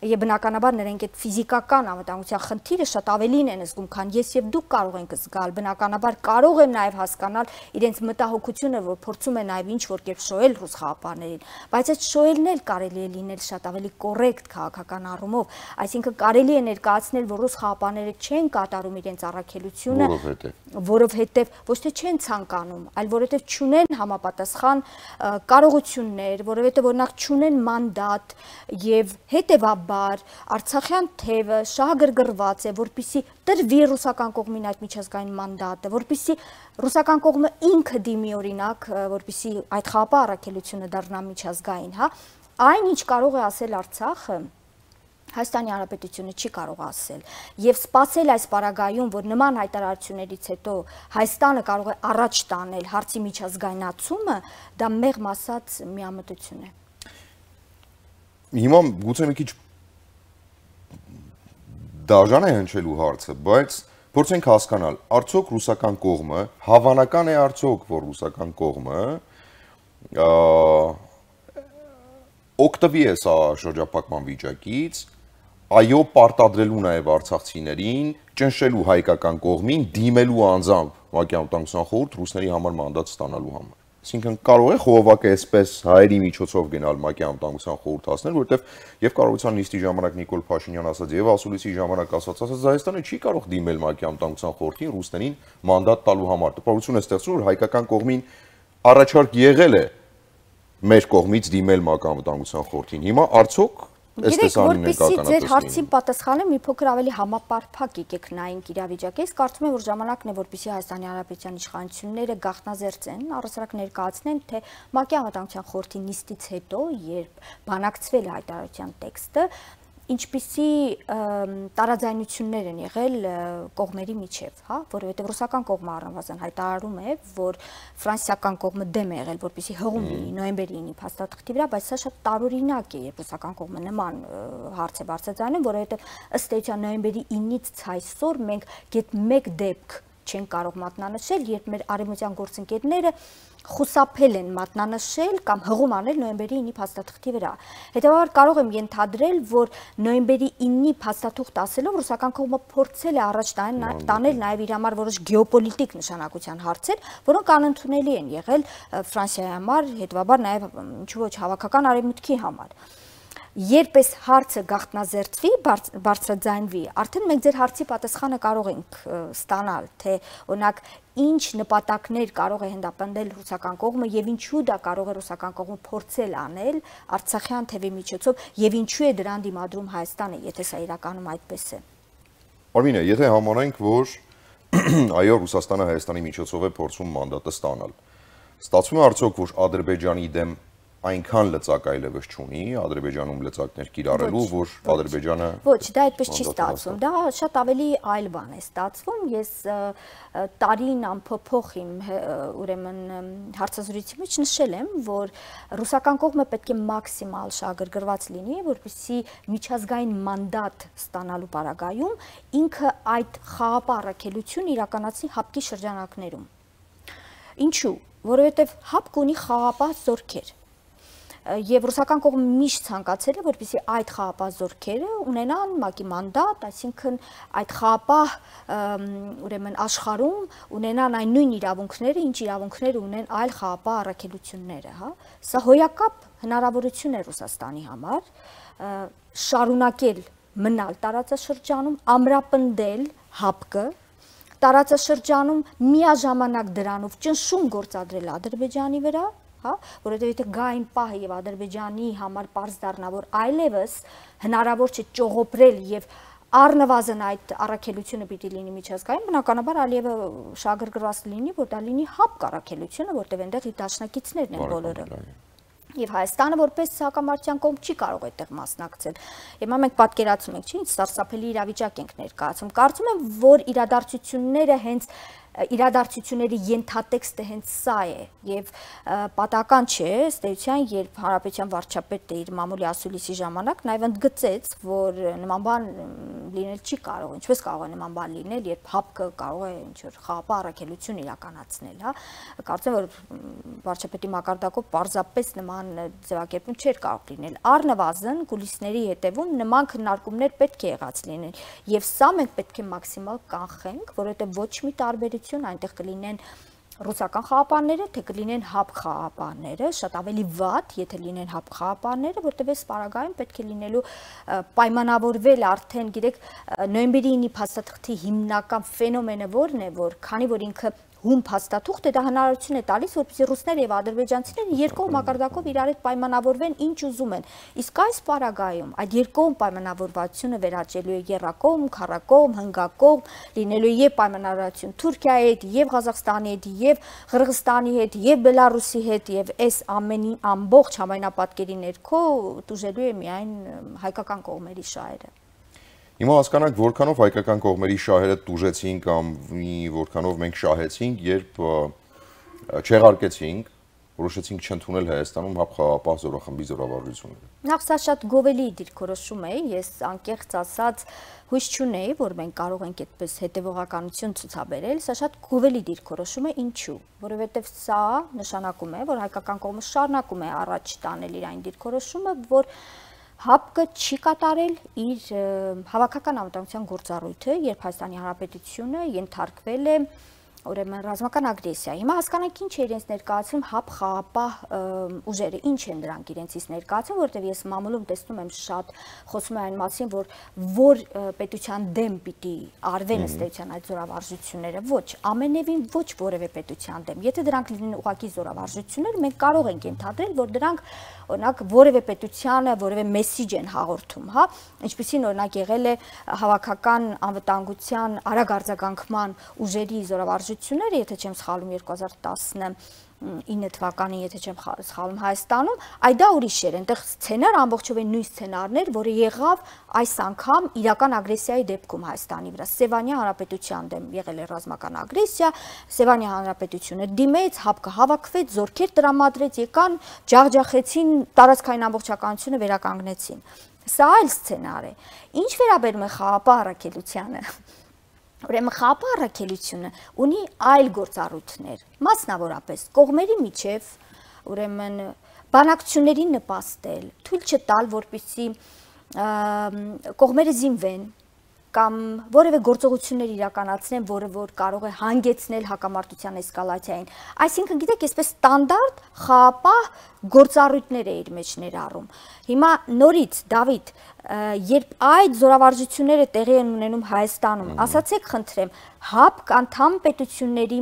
Եվ բնականաբար նրանք այդ ֆիզիկական անվտանգության խնդիրը շատ ավելին են զգում, քան ես եւ դուք կարող ենք զգալ։ Բնականաբար կարող եմ նաեւ հասկանալ իրենց մտահոգությունը, որ փորձում են նաեւ ինչ որ կերպ շոյել ռուս խաղապարներին, բայց այդ շոյելն էլ կարելի է լինել շատ ավելի կոռեկտ քաղաքական առումով, այսինքն կարելի է ներկայացնել, որ ռուս խաղապարները չեն կատարում իրենց առաքելությունը, որովհետեւ ոչ թե չեն ցանկանում, այլ որովհետեւ չունեն համապատասխան կարողություններ, որովհետեւ օրինակ չունեն մանդատ եւ հետեւաբար Արցախյան թևը շահագրգռված է, որպիսի տրվի ռուսական կողմին այդ միջազգային մանդատը, որպիսի ռուսական կողմը ինքը դիմի օրինակ, որպիսի այդ խաղապահ առաքելությունը դառնա միջազգային, հա, այն ինչ կարող է ասել Արցախը Հայաստանի Հանրապետությունը չի կարող ասել եւ սпасել այս պարագայում, որ նման հայտարարություններից հետո Հայաստանը կարող է առաջ տանել հարցի միջազգայնացումը, դա մեղմ ասած միամտություն է։ Հիմա գուցե մի քիչ դաժան է հնչելու հարցը, բայց փորձենք հասկանալ, արդյոք ռուսական կողմը հավանական է արդյոք, որ ռուսական կողմը օգտվի է սա շրջափակման վիճակից, այո պարտադրելու նաև արցախցիներին, ճնշելու հայկական կողմին, դիմելու անձամբ ՄԱԿ-ի անվտանգության խորհուրդ ռուսների համար մանդատ ստանալու համար։ Այսինքն կարող է խողովակը այսպես հայերի միջոցով գնալ ՄԱԿ-ի անվտանգության խորհուրդ հասնել, որովհետև եւ կառավարության նիստի ժամանակ Նիկոլ Փաշինյան ասաց եւ ասուլիսի ժամանակ ասաց, ասաց Հայաստանը չի կարող դիմել ՄԱԿ-ի անվտանգության խորհրդին ռուսներին մանդատ տալու համար։ Տպավորություն է ստեղծում, որ հայկական կողմին առաջարկ եղել է մեր կողմից դիմել ՄԱԿ-ի անվտանգության խորհրդին։ Հիմա արդյոք Գիտեք, որպեսզի ձեր հարցին պատասխանեմ, մի փոքր ավելի համապարփակ եկեք նայենք իրավիճակը։ Ես կարծում եմ, որ ժամանակն է, որպեսզի Հայաստանի Հանրապետության իշխանությունները գաղտնազերծեն, առհասարակ ներկայացնեն, թե ՄԱԿ-ի անվտանգության խորհրդի նիստից հետո, երբ բանակցվել է հայտարարության տեքստը, ինչպիսի տարաձայնություններ են եղել կողմերի միջև, հա, որովհետև ռուսական կողմը առնվազն հայտարարում է, որ ֆրանսիական կողմը դեմ է եղել, որպեսզի հղում լինի նոյեմբերի ինը փաստաթղթի վրա, բայց սա շատ տարօրինակ է, երբ ռուսական կողմը նման հարց է բարձրացնում, որովհետև ըստ էության նոյեմբերի ինից այսօր մենք գետ մեկ դեպք չեն կարող մատնանշել, երբ մեր արևմտյան գործընկերները խուսափել են մատնանշել կամ հղում անել նոյեմբերի ինի փաստաթղթի վրա։ Հետևաբար կարող եմ ենթադրել, որ նոյեմբերի ինի փաստաթուղթ ասելով ռուսական կողմը փորձել է առաջ տանել նաև իր համար որոշ գեոպոլիտիկ նշանակության հարցեր, որոնք անընդունելի են եղել Ֆրանսիայի համար, հետևաբար նաև ինչու ոչ հավաքական արևմուտքի համար։ Երբ այս հարցը գաղտնազերծվի, բարձրաձայնվի, արդեն մենք ձեր հարցի պատասխանը կարող ենք ստանալ, թե օրինակ ինչ նպատակներ կարող է հանդապնդել ռուսական կողմը եւ ինչու դա կարող է ռուսական կողմը փորձել անել Արցախյան թևի միջոցով եւ ինչու է դրան դիմադրում Հայաստանը, եթե սա իրականում այդպես է։ Արմինե, եթե համարենք, որ այո, Ռուսաստանը Հայաստանի միջոցով է փորձում մանդատը ստանալ, ստացվում է արդյոք, որ Ադրբեջանի դեմ այնքան լծակ այլևս չունի, Ադրբեջանում լծակներ կիրառելու, որ Ադրբեջանը Ոչ, դա այդպես չի ստացվում, դա շատ ավելի այլ բան է ստացվում, ես տարին ամփոփող իմ ուրեմն հարցազրույցի մեջ նշել եմ, որ ռուսական կողմը պետք է մաքսիմալ շահագրգռված լինի, որպեսզի միջազգային մանդատ ստանալու պարագայում ինքը այդ խաղապահ առաքելություն իրականացնի հապկի շրջանակներում։ Ինչու՞, որովհետև հապկը ունի խաղապահ զորքեր։ Եվ ռուսական կողմը միշտ ցանկացել է, որպեսզի այդ խաղապահ զորքերը ունենան ՄԱԿ-ի մանդատ, այսինքն այդ խաղապահ ուրեմն աշխարհում ունենան այն նույն իրավունքները, ինչ իրավունքներ ունեն այլ խաղապահ առաքելությունները, հա։ Սա հոյակապ հնարավորություն է Ռուսաստանի համար շարունակել մնալ տարածաշրջանում, ամրապնդել հապկը, տարածաշրջանում միաժամանակ դրանով ճնշում գործադրել Ադրբեջանի վրա, հա, որովհետև եթե գա այն պահը եւ Ադրբեջանի համար պարզ դառնա, որ այլևս հնարավոր չէ ճողոպրել եւ առնվազն այդ առաքելությունը պիտի լինի միջազգային, բնականաբար Ալիևը շահագրգռված լինի, որ դա լինի հապկ առաքելությունը, որտեղ այնտեղ իր դաշնակիցներն են բոլորը։ Եվ Հայաստանը որպես հակամարտության կողմ չի կարող այդտեղ մասնակցել։ Հիմա մենք պատկերացնում ենք, չի, ինչ սարսափելի իրավիճակ ենք ներկայացում։ Կարծում եմ, որ իրադարձությունները հենց իրադարձությունների ենթատեքստը հենց սա է եւ պատահական չէ ըստ էության, երբ Հանրապետության վարչապետը իր մամուլի ասուլիսի ժամանակ նաեւ ընդգծեց, որ նման բան լինել չի կարող, ինչպես կարող է նման բան լինել, երբ հապկը կարող է ինչ որ խաղապահ առաքելություն իրականացնել, հա։ Կարծեմ, որ վարչապետի մակարդակով պարզապես նման ձևակերպում չէր կարող լինել։ Առնվազն կուլիսների հետևում նման քննարկումներ պետք է եղած լինեն եւ սա մենք պետք է մաքսիմալ կանխենք, որովհետեւ ոչ մի տարբերություն այնտեղ կլինեն ռուսական խաղապահները, թե կլինեն հապկ խաղապահները, շատ ավելի վատ, եթե լինեն հապկ խաղապահները, որտեղ այս պարագայում պետք է լինելու պայմանավորվել արդեն, գիտեք, նոյեմբերի ինի փաստաթղթի հիմնական ֆենոմենը որն է, որ քանի որ ինքը հում փաստաթուղթ է, դա հնարավորություն է տալիս, որպեսզի ռուսները եւ ադրբեջանցիները երկկողմ մակարդակով իրար հետ պայմանավորվեն ինչ ուզում են։ Իսկ այս պարագայում այդ երկկողմ պայմանավորվածությունը վերաճելու է եռակողմ, քառակողմ, հնգակողմ, լինելու է եւ պայմանավորվածություն Թուրքիայի հետ, եւ Ղազախստանի հետ, եւ Ղրղստանի հետ, եւ Բելարուսի հետ, եւ այս ամենի ամբողջ համայնապատկերի ներքո տուժելու է միայն հայկական կողմերի շահերը։ Հիմա հասկանանք, որքանով հայկական կողմերի շահերը տուժեցին կամ որքանով մենք շահեցինք, երբ չեղարկեցինք, որոշեցինք չընդունել Հայաստանում հապկ խաղապահ զորախմբի զորավարժությունները։ Նախ սա շատ գովելի դիրքորոշում է, ես անկեղծ ասած հույս չունեի, որ մենք կարող ենք այդպես հետևողականություն ցուցաբերել, սա շատ գովելի դիրքորոշում է, ինչու, որովհետև սա նշանակում է, որ հայկական կողմը շարունակում է առաջ տանել իր այն դիրքորոշումը, որ հապկը չի կատարել իր հավաքական անվտանգության գործառույթը, երբ Հայաստանի Հանրապետությունը ենթարկվել է ուրեմն ռազմական ագրեսիա։ Հիմա հասկանանք ինչ է իրենց ներկայացում հապ խաղապահ ուժերը, ինչ են դրանք իրենցից ներկայացում, որտեղ ես մամուլում տեսնում եմ շատ խոսում է այն մասին, որ որ պետության դեմ պիտի արվեն ըստ էության այդ զորավարժությունները, ոչ, ամենևին ոչ որևէ պետության դեմ։ Եթե դրանք լինեն ուղղակի զորավարժություններ, մենք կարող ենք ենթադրել, որ դրանք օրինակ որևէ պետությանը որևէ մեսիջ են հաղորդում, հա, ինչպեսին օրինակ եղել է հավաքական անվտանգության արագ արձագանքման ուժերի զորավարժությունները, եթե չեմ սխալում երկու հազար տասնինը թվականին, եթե չեմ սխալում Հայաստանում, այ դա ուրիշ էր, այնտեղ սցենար ամբողջովին նույն սցենարներ, որը եղավ այս անգամ իրական ագրեսիայի դեպքում Հայաստանի վրա, Սևանյան Հանրապետության դեմ եղել է ռազմական ագրեսիա, Սևանյան Հանրապետությունը դիմեց, հապկը հավաքվեց, զորքեր տրամադրեց, եկան, ջախջախեցին, տարածքային ամբողջականությունը վերականգնեցին։ Սա այլ սցենար է։ Ինչ վերաբերում է խաղապահ առաքելությանը, Ուրեմն խաղապահ առաքելությունը ունի այլ գործառույթներ, մասնավորապես կողմերի միջև, ուրեմն բանակցություններին նպաստել, թույլ չտալ, որպեսզի կողմերը զինվեն կամ որևէ գործողություններ իրականացնեն, որը որ կարող է հանգեցնել հակամարտության էսկալացիային։ Այսինքն, գիտեք, այսպես ստանդարտ խաղապահ գործառույթներ է իր մեջ ներառում։ Հիմա նորից, Դավիթ, երբ այդ զորավարժությունները տեղի են ունենում Հայաստանում, ասացեք խնդրեմ, ՀԱՊԿ անդամ պետությունների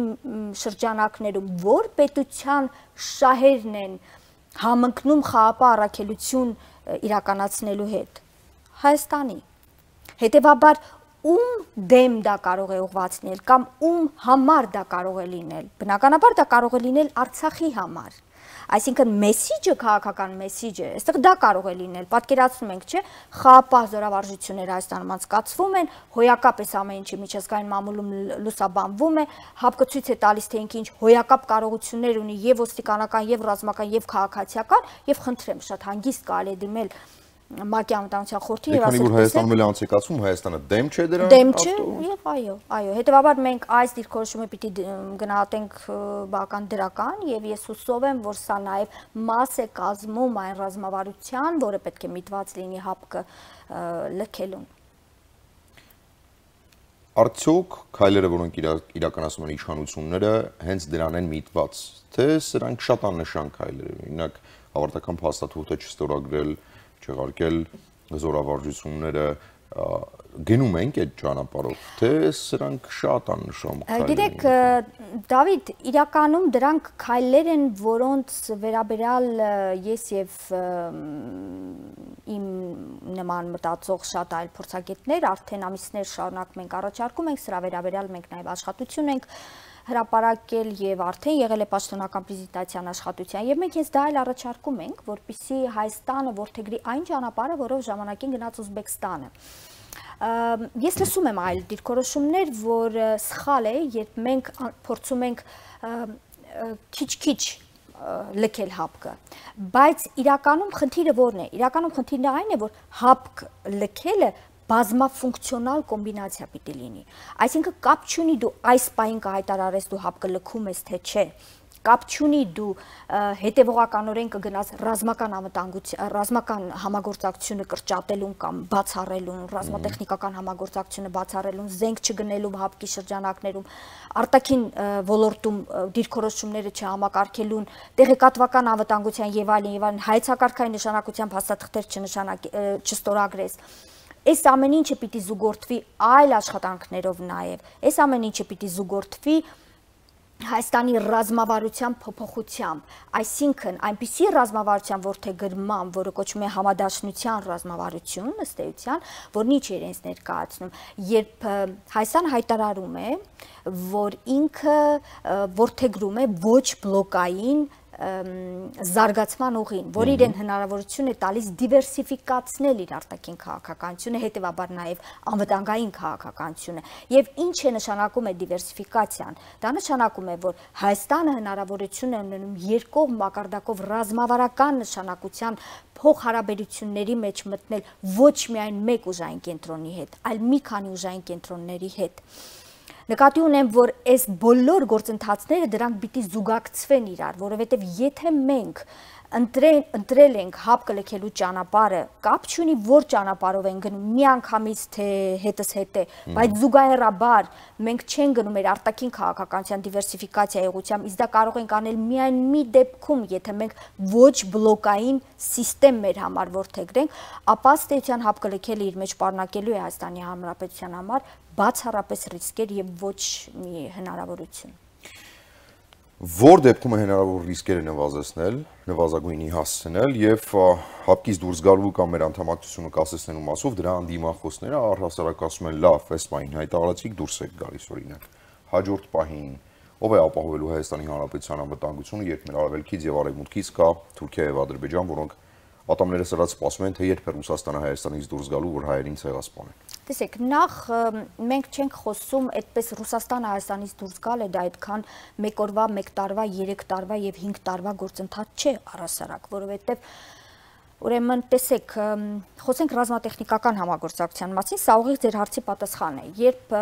շրջանակներում որ պետության շահերն են համընկնում խաղապահ առաքելություն իրականացնելու հետ։ Հայաստանի։ Հետևաբար ում դեմ դա կարող է ուղղված լինել կամ ում համար դա կարող է լինել։ Բնականաբար դա կարող է լինել Արցախի համար։ Այսինքն մեսիջը, քաղաքական մեսիջը, այստեղ դա կարող է լինել։ Պատկերացնում ենք, չէ՞, խաղապահ զորավարժությունները Հայաստանում անցկացվում են, հոյակապ էս ամեն ինչը միջազգային մամուլում լուսաբանվում է, ՀԱՊԿ ցույց է տալիս, թե ինքը ինչ հոյակապ կարողություններ ունի եւ ոստիկանական, եւ ռազմական, եւ քաղաքացիական, եւ խնդրեմ, շատ հանգիստ կարելի է դիմել ՄԱԿ-ի անվտանգության խորհրդի եւ ասել, որ Հայաստանում էլ անցեկացում, Հայաստանը դեմ չէ դրան։ Դեմ չէ, եւ այո, այո, հետեւաբար մենք այս դիրքորոշումը պիտի գնահատենք բական դրական եւ ես հուսով եմ, որ սա նաեւ մաս է կազմում այն ռազմավարության, որը պետք է միտված լինի ՀԱՊԿ լքելուն։ Արդյոք քայլերը, որոնք իրականացնում են իշխանությունները, հենց դրան են միտված, թե սրանք շատ աննշան քայլեր են, օրինակ ավարտական փաստաթուղթը չստորագրել, չեղարկել զորավարժությունները, գնում ենք այդ ճանապարհով, թե սրանք շատ աննշան քայլեր են։ Գիտեք, Դավիթ, իրականում դրանք քայլեր են, որոնց վերաբերյալ ես եւ իմ նման մտածող շատ այլ փորձագետներ արդեն ամիսներ շարունակ մենք առաջարկում ենք, սրա վերաբերյալ մենք նաեւ աշխատություն ենք հրապարակել եւ արդեն եղել է պաշտոնական պրեզենտացիան աշխատության եւ մենք հենց դա էլ առաջարկում ենք, որպեսզի Հայաստանը որդեգրի այն ճանապարհը, որով ժամանակին գնաց Ուզբեկստանը։ Ես լսում եմ այլ դիրքորոշումներ, որ սխալ է, երբ մենք փորձում ենք քիչ-քիչ լքել ՀԱՊԿ, բայց իրականում խնդիրը որն է։ Իրականում խնդիրն այն է, որ ՀԱՊԿ լքելը բազմաֆունկցիոնալ կոմբինացիա պիտի լինի։ Այսինքն կապ չունի դու այս պահին կհայտարարես դու ՀԱՊԿ լքում ես թե չէ։ Կապ չունի դու հետևողականորեն կգնաս ռազմական անվտանգության, ռազմական համագործակցությունը կրճատելուն կամ բացառելուն, ռազմատեխնիկական համագործակցությունը բացառելուն, զենք չգնելու ՀԱՊԿ-ի շրջանակներում, արտաքին ոլորտում դիրքորոշումները չհամակարգելուն, տեղեկատվական անվտանգության եւ այլն եւ այլն հայեցակարգային նշանակության փաստաթղթեր չստորագրես։ Այս ամեն ինչը պիտի զուգորդվի այլ աշխատանքներով նաև, այս ամեն ինչը պիտի զուգորդվի Հայաստանի ռազմավարության փոփոխությամբ, այսինքն այնպիսի ռազմավարության որդեգրման, որը կոչվում է համադաշնության ռազմավարություն, ըստ էության, որն ինչ է իրենց ներկայացնում, երբ Հայաստանը հայտարարում է, որ ինքը որդեգրում է ոչ բլոկային զարգացման ուղին, որ իրեն հնարավորություն է տալիս դիվերսիֆիկացնել իր արտաքին քաղաքականությունը, հետևաբար նաև անվտանգային քաղաքականությունը։ Եվ ինչ է նշանակում է դիվերսիֆիկացիան։ Դա նշանակում է, որ Հայաստանը հնարավորություն է ունենում երկկողմ մակարդակով ռազմավարական նշանակության փոխհարաբերությունների մեջ մտնել ոչ միայն մեկ ուժային կենտրոնի հետ, այլ մի քանի ուժային կենտրոնների հետ։ Նկատի ունեմ, որ այս բոլոր գործընթացները դրանք պիտի զուգակցվեն իրար, որովհետև եթե մենք ընտրել ենք ՀԱՊԿ լքելու ճանապարհը, կապ չունի որ ճանապարհով են գնում, միանգամից թե հետս հետ է, բայց զուգահեռաբար մենք չենք գնում մեր արտաքին քաղաքականության դիվերսիֆիկացիայի ուղղությամբ, իսկ դա կարող ենք անել միայն մի դեպքում, եթե մենք ոչ բլոկային համակարգ մեր համար որդեգրենք, ապա ըստ էության ՀԱՊԿ լքելը իր մեջ պարունակելու է Հայաստանի Հանրապետության համար բացառապես ռիսկեր եւ ոչ մի հնարավորություն։ Որ դեպքում է հնարավոր ռիսկերը նվազեցնել, նվազագույնի հասցնել եւ ՀԱՊԿ-ից դուրս գալու կամ մեր անդամակցությունը կասեցնելու մասով դրա անդիմախոսները առհասարակ ասում են լավ, այս պահին հայտարարեցիք դուրս եք գալիս օրինակ։ Հաջորդ պահին ով է ապահովելու Հայաստանի Հանրապետության անվտանգությունը, երբ մեր արևելքից եւ արևմուտքից կա Թուրքիա եւ Ադրբեջան, որոնք ատամները սրած սպասում են, թե երբ է Ռուսաստանը Հայաստանից դուրս գալու, որ հայերին ցեղասպանեն։ Տեսեք, նախ մենք չենք խոսում այդպես Ռուսաստանը Հայաստանից դուրս գալ է, դա այդքան մեկ օրվա, մեկ տարվա, երեք տարվա եւ հինգ տարվա գործընթաց չէ առհասարակ, որովհետեւ Ուրեմն տեսեք, խոսենք ռազմատեխնիկական համագործակցության մասին, սա ուղիղ ձեր հարցի պատասխանն է։ Երբ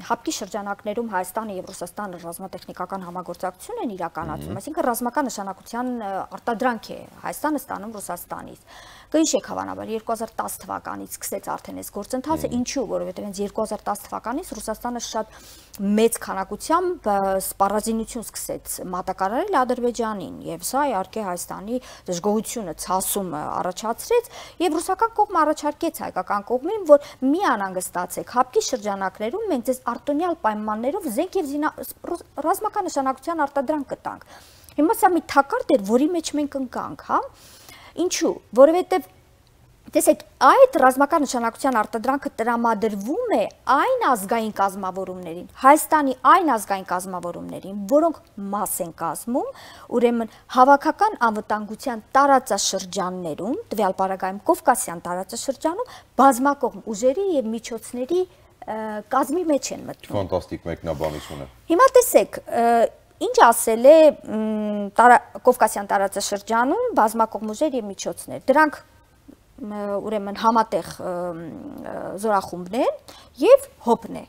հապկի շրջանակներում Հայաստանը եւ Ռուսաստանը ռազմատեխնիկական համագործակցություն են իրականացում, այսինքն ռազմական նշանակության արտադրանք է Հայաստանը ստանում Ռուսաստանից։ Կհիշեք հավանաբար երկու հազար տասը թվականից սկսեց արդեն այս գործընթացը, ինչու, որովհետև հենց երկու հազար տասը թվականից Ռուսաստանը շատ մեծ քանակությամբ սպառազինություն սկսեց մատակարարել Ադրբեջանին, եւ սա իհարկե Հայաստանի դժգոհությունը, ցասումը առաջացրեց, եւ ռուսական կողմը առաջարկեց հայկական կողմին, որ մի անհանգստացեք, հապկի շրջանակներում մենք ձեզ արտոնյալ պայմաններով զենք եւ ռազմական նշանակության արտադրանք կտանք։ Հիմա սա մի թակարդ էր, որի մեջ մենք ընկանք, հա։ Ինչու, որովհետև տեսեք, այդ ռազմական նշանակության արտադրանքը տրամադրվում է այն ազգային կազմավորումներին, Հայաստանի այն ազգային կազմավորումներին, որոնք մաս են կազմում, ուրեմն հավաքական անվտանգության տարածաշրջաններում, տվյալ պարագայում Կովկասյան տարածաշրջանում, բազմակողմ ուժերի եւ միջոցների կազմի մեջ են մտնում։ Ֆանտաստիկ մեկնաբանություն է։ Հիմա տեսեք, ինչ ասել է Կովկասյան տարածաշրջանում բազմակողմ ուժեր եւ միջոցներ։ Դրանք ուրեմն համատեղ զորախումբներ եւ հոպն է։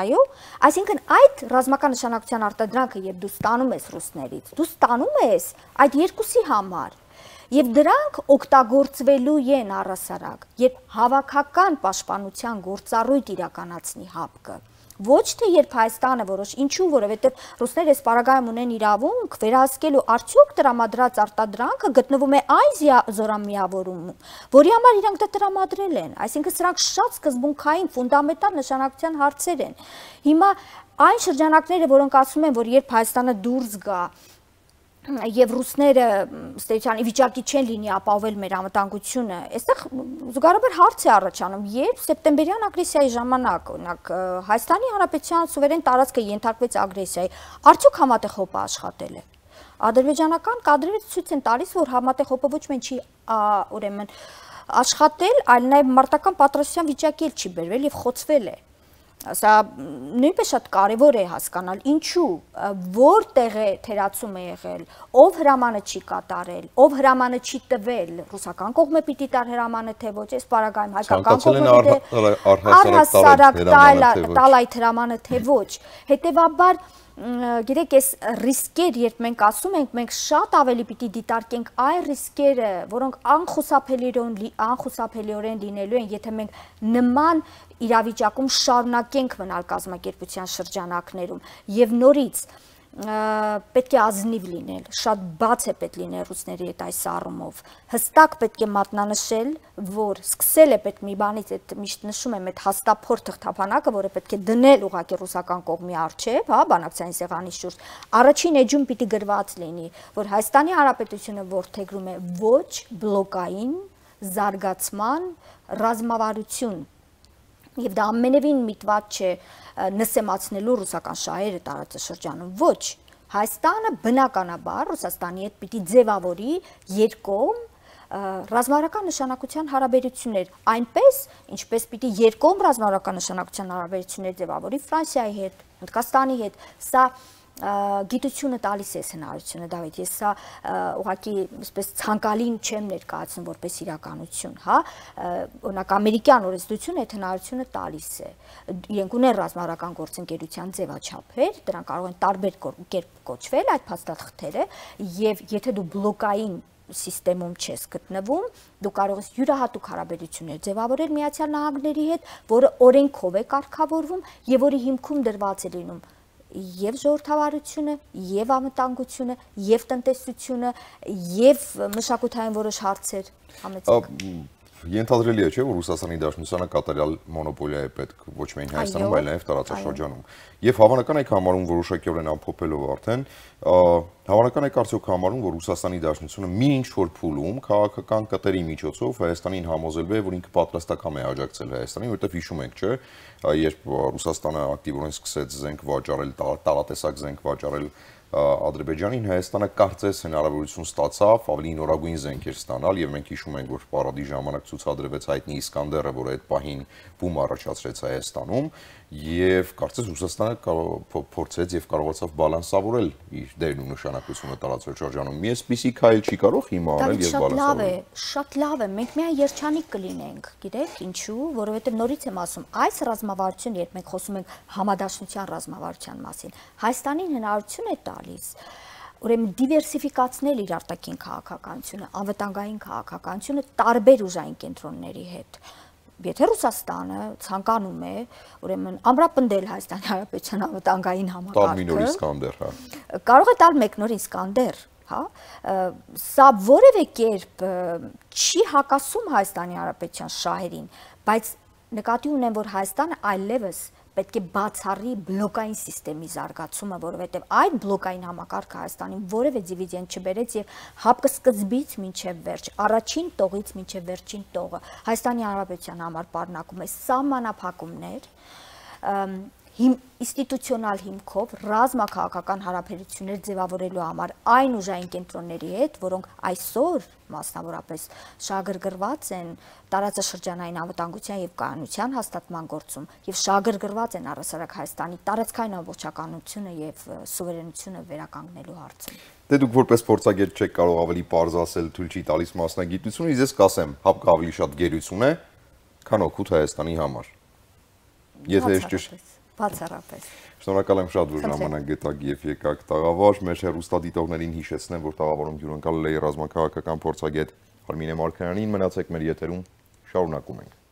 Այո, այսինքն այդ ռազմական նշանակության արտադրանքը երբ դու ստանում ես ռուսներից, դու ստանում ես այդ երկուսի համար։ Եվ դրանք օգտագործվելու են առհասարակ, երբ հավաքական պաշտպանության գործառույթ իրականացնի հապկը։ Ոչ թե երբ Հայաստանը որոշ, ինչու, որովհետև ռուսները այս պարագայում ունեն իրավունք վերահսկելու արդյոք տրամադրած արտադրանքը գտնվում է այն զորամիավորումում, որի համար իրանք դա տրամադրել են, այսինքն սրանք շատ սկզբունքային ֆունդամենտալ նշանակության հարցեր են։ Հիմա այն շրջանակները, որոնք ասում են, որ երբ Հայաստանը դուրս գա եւ ռուսները ստեյցիան վիճակի չեն լինի ապահովել մեր անվտանգությունը, այստեղ զուգահեռաբար հարց է առաջանում, երբ սեպտեմբերյան ագրեսիայի ժամանակ, օրինակ Հայաստանի Հանրապետության սուվերեն տարածքը ենթարկվեց ագրեսիայի, արդյոք համատեղ հոպը աշխատել է։ Ադրբեջանական կադրերը ցույց են տալիս, որ համատեղ հոպը ոչ միայն չի ուրեմն աշխատել, այլ նաեւ մարտական պատրաստության վիճակի էլ չի բերվել եւ խոցվել է։ Սա նույնպես շատ կարևոր է հասկանալ, ինչու, որտեղ է թերացում է եղել, ով հրամանը չի կատարել, ով հրամանը չի տվել, ռուսական կողմը պիտի տար հրամանը թե ոչ, այս պարագայում հայկական կողմը առհասարակ տալ այդ հրամանը թե ոչ, հետևաբար գիտեք, այս ռիսկեր, երբ մենք ասում ենք, մենք շատ ավելի պիտի դիտարկենք այն ռիսկերը, որոնք անխուսափելիորեն լինելու են, եթե մենք նման իրավիճակում շարունակենք մնալ կազմակերպության շրջանակներում եւ նորից պետք է ազնիվ լինել, շատ բաց է պետք լինել ռուսների հետ այս առումով, հստակ պետք է մատնանշել, որ սկսել է պետք մի բանից, այդ միշտ նշում եմ, այդ հաստափորդ թղթափանակը, որը պետք է դնել ուղղակի ռուսական կողմի առջև, հա, բանակցային սեղանի շուրջ, առաջին էջում պիտի գրված լինի, որ Հայաստանի Հանրապետությունը որդեգրում է ոչ բլոկային զարգացման ռազմավարություն։ Եվ դա ամենևին միտված չէ նսեմացնելու ռուսական շահերը տարածաշրջանում, ոչ, Հայաստանը բնականաբար Ռուսաստանի հետ պիտի ձևավորի երկկողմ ռազմավարական նշանակության հարաբերություններ, այնպես, ինչպես պիտի երկկողմ ռազմավարական նշանակության հարաբերություններ ձևավորի Ֆրանսիայի հետ, Հնդկաստանի հետ, սա գիտությունը տալիս է հնարավորությունը, Դավիթ, ես սա ուղղակի այսպես ցանկալին չեմ ներկայացնում որպես իրականություն, հա, օրինակ ամերիկյան օրենսդրությունը այդ հնարավորությունը տալիս է։ Իրենք ունեն ռազմավարական գործընկերության ձևաչափեր, դրանք կարող են տարբեր կերպ կոչվել այդ փաստաթղթերը, եւ եթե դու բլոկային սիստեմում չես գտնվում, դու կարող ես յուրահատուկ հարաբերություններ ձևավորել Միացյալ Նահանգների հետ, որը օրենքով է կարգավորվում եւ որի հիմքում դրված է լինում եւ ժողովրդավարությունը, եւ անվտանգությունը, եւ տնտեսությունը, եւ մշակութային որոշ հարցեր համեցեք։ Ենթադրելի է, չէ՞, որ Ռուսաստանի Դաշնությանը կատարյալ մոնոպոլիա է պետք ոչ միայն Հայաստանում, այլ նաև տարածաշրջանում։ Եվ հավանական եք համարում որոշակիորեն ամփոփելով արդեն, հավանական եք արդյոք համարում, որ Ռուսաստանի Դաշնությունը մի ինչ-որ փուլում քաղաքական կտերի միջոցով Հայաստանին համոզելու է, որ ինքը պատրաստական է աջակցել Հայաստանին, որովհետև հիշում ենք, չէ՞, երբ Ռուսաստանը ակտիվորեն սկսեց զենք վաճառել, տարատեսակ զենք վաճառել Ադրբեջանին, Հայաստանը կարծես հնարավորություն ստացավ ավելի նորագույն զենքեր ստանալ եւ մենք հիշում ենք, որ պարադի ժամանակ ցուցադրվեց հայտնի Իսկանդերը, որը այդ պահին բում առաջացրեց Հայաստանում եւ կարծես Ռուսաստանը փորձեց եւ կարողացավ բալանսավորել իր դերն ու նշանակությունը տարածված շրջանում։ Մի էսպիսի քայլ չի կարող հիմա անել եւ բալանսավորել։ Շատ լավ է, մենք միայն երջանիկ կլինենք, գիտեք ինչու, որովհետեւ նորից եմ ասում, այս ռազմավարությունը, երբ մենք խոսում ենք համադաշնության ռազմավարության մասին, Հայաստանին հնարավորություն է տալիս ուրեմն դիվերսիֆիկացնել իր արտաքին քաղաքականությունը, անվտանգային քաղաքականությունը տարբեր ուժային կենտրոնների հետ։ Եթե Ռուսաստանը ցանկանում է, ուրեմն ամրապնդել Հայաստանի Հանրապետության անվտանգային համակարգը, կարող է տալ մեկ նոր Իսկանդեր, հա, սա որևէ կերպ չի հակասում Հայաստանի Հանրապետության շահերին, բայց նկատի ունեմ, որ Հայաստանը այլևս պետք է բացառի բլոկային սիստեմի զարգացումը, որովհետև այդ բլոկային համակարգը Հայաստանին որևէ դիվիդենդ չբերեց եւ հապկսկզբից մինչեւ վերջ, առաջին տողից մինչեւ վերջին տողը Հայաստանի Հանրապետության համար պարունակում է սահմանափակումներ, ինստիտուցիոնալ հիմքով ռազմաքաղաքական հարաբերություններ ձևավորելու համար այն ուժային կենտրոնների հետ, որոնք այսօր մասնավորապես շահագրգռված են տարածաշրջանային անվտանգության եւ կայունության հաստատման գործում եւ շահագրգռված են առհասարակ Հայաստանի տարածքային ամբողջականությունը եւ սուվերենությունը վերականգնելու հարցում։ Դե դուք որպես փորձագետ չեք կարող ավելի պարզ ասել, թույլ չի տալիս մասնագիտությունը, ես կասեմ, հապկը ավելի շատ գերություն է, քան օգուտ Հայաստանի համար։ Եթե ես ճիշտ Բացառապես։ Շնորհակալ եմ շատ, որ ժամանակ գտաք եւ եկաք տաղավար։ Մեր հեռուստադիտողներին հիշեցնեմ, որ տաղավարում հյուրընկալել է ռազմաքաղաքական փորձագետ Արմինե Մարգարյանին։ Մնացեք մեր եթերում, շարունակում ենք։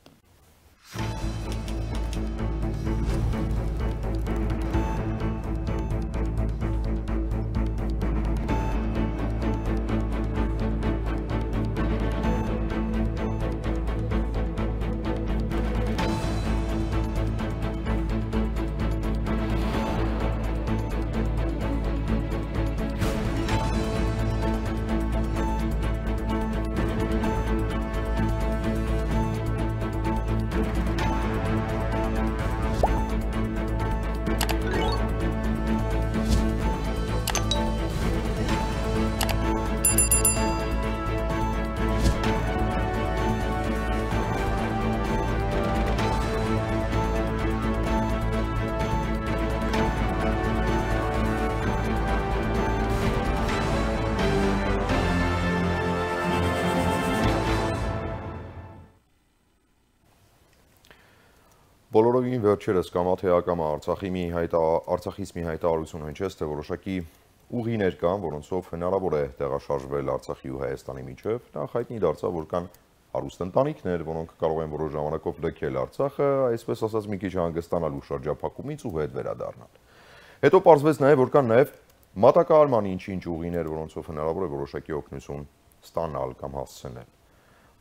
Բոլորովին վերջերս կամա թե ակամա Արցախի մի հայտա Արցախից մի հայտարարություն հնչեց, թե որոշակի ուղիներ կան, որոնցով հնարավոր է տեղաշարժվել Արցախի ու Հայաստանի միջև։ Նախ հայտնի դարձավ, որ կան հարուստ ընտանիքներ, որոնք կարող են որոշ ժամանակով լքել Արցախը, այսպես ասած մի քիչ հանգստանալու շրջափակումից ու հետ վերադառնալ։ Հետո պարզվեց նաև, որ կան նաև մատակարարման ինչ-ինչ ուղիներ, որոնցով հնարավոր է որոշակի օգնություն ստանալ կամ հասցնել։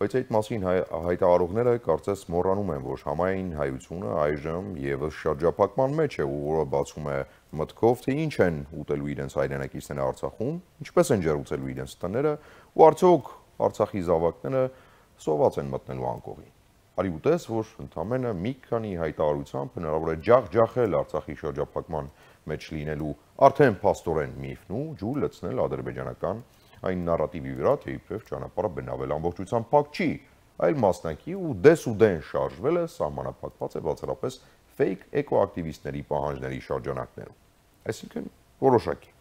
Բայց այդ մասին հայտարարողները կարծես մոռանում են, որ համայն հայությունը այժմ եւս շրջափակման մեջ է, որը բացում է մտքով, թե ինչ են ուտելու իրենց հայրենակիցները Արցախում, ինչպես են ջերուցելու իրենց տները, ու արդյոք Արցախի զավակները սոված են մտնելու անկողին։ Արի ուտես, որ ընդամենը մի քանի հայտարարությամբ հնարավոր է ջախ-ջախել Արցախի շրջափակման մեջ լինելու արդեն փաստորեն միֆն ու ջուր լցնել ադրբեջանական այն նարատիվի վրա, թե իբրև ճանապարհը բնավել ամբողջությամբ փակ չի, այլ մասնակի ու դես ու դեն շարժվել է սահմանափակված է բացառապես ֆեյք էկոակտիվիստների պահանջների շրջանակներում։ Այսինքն որոշակի։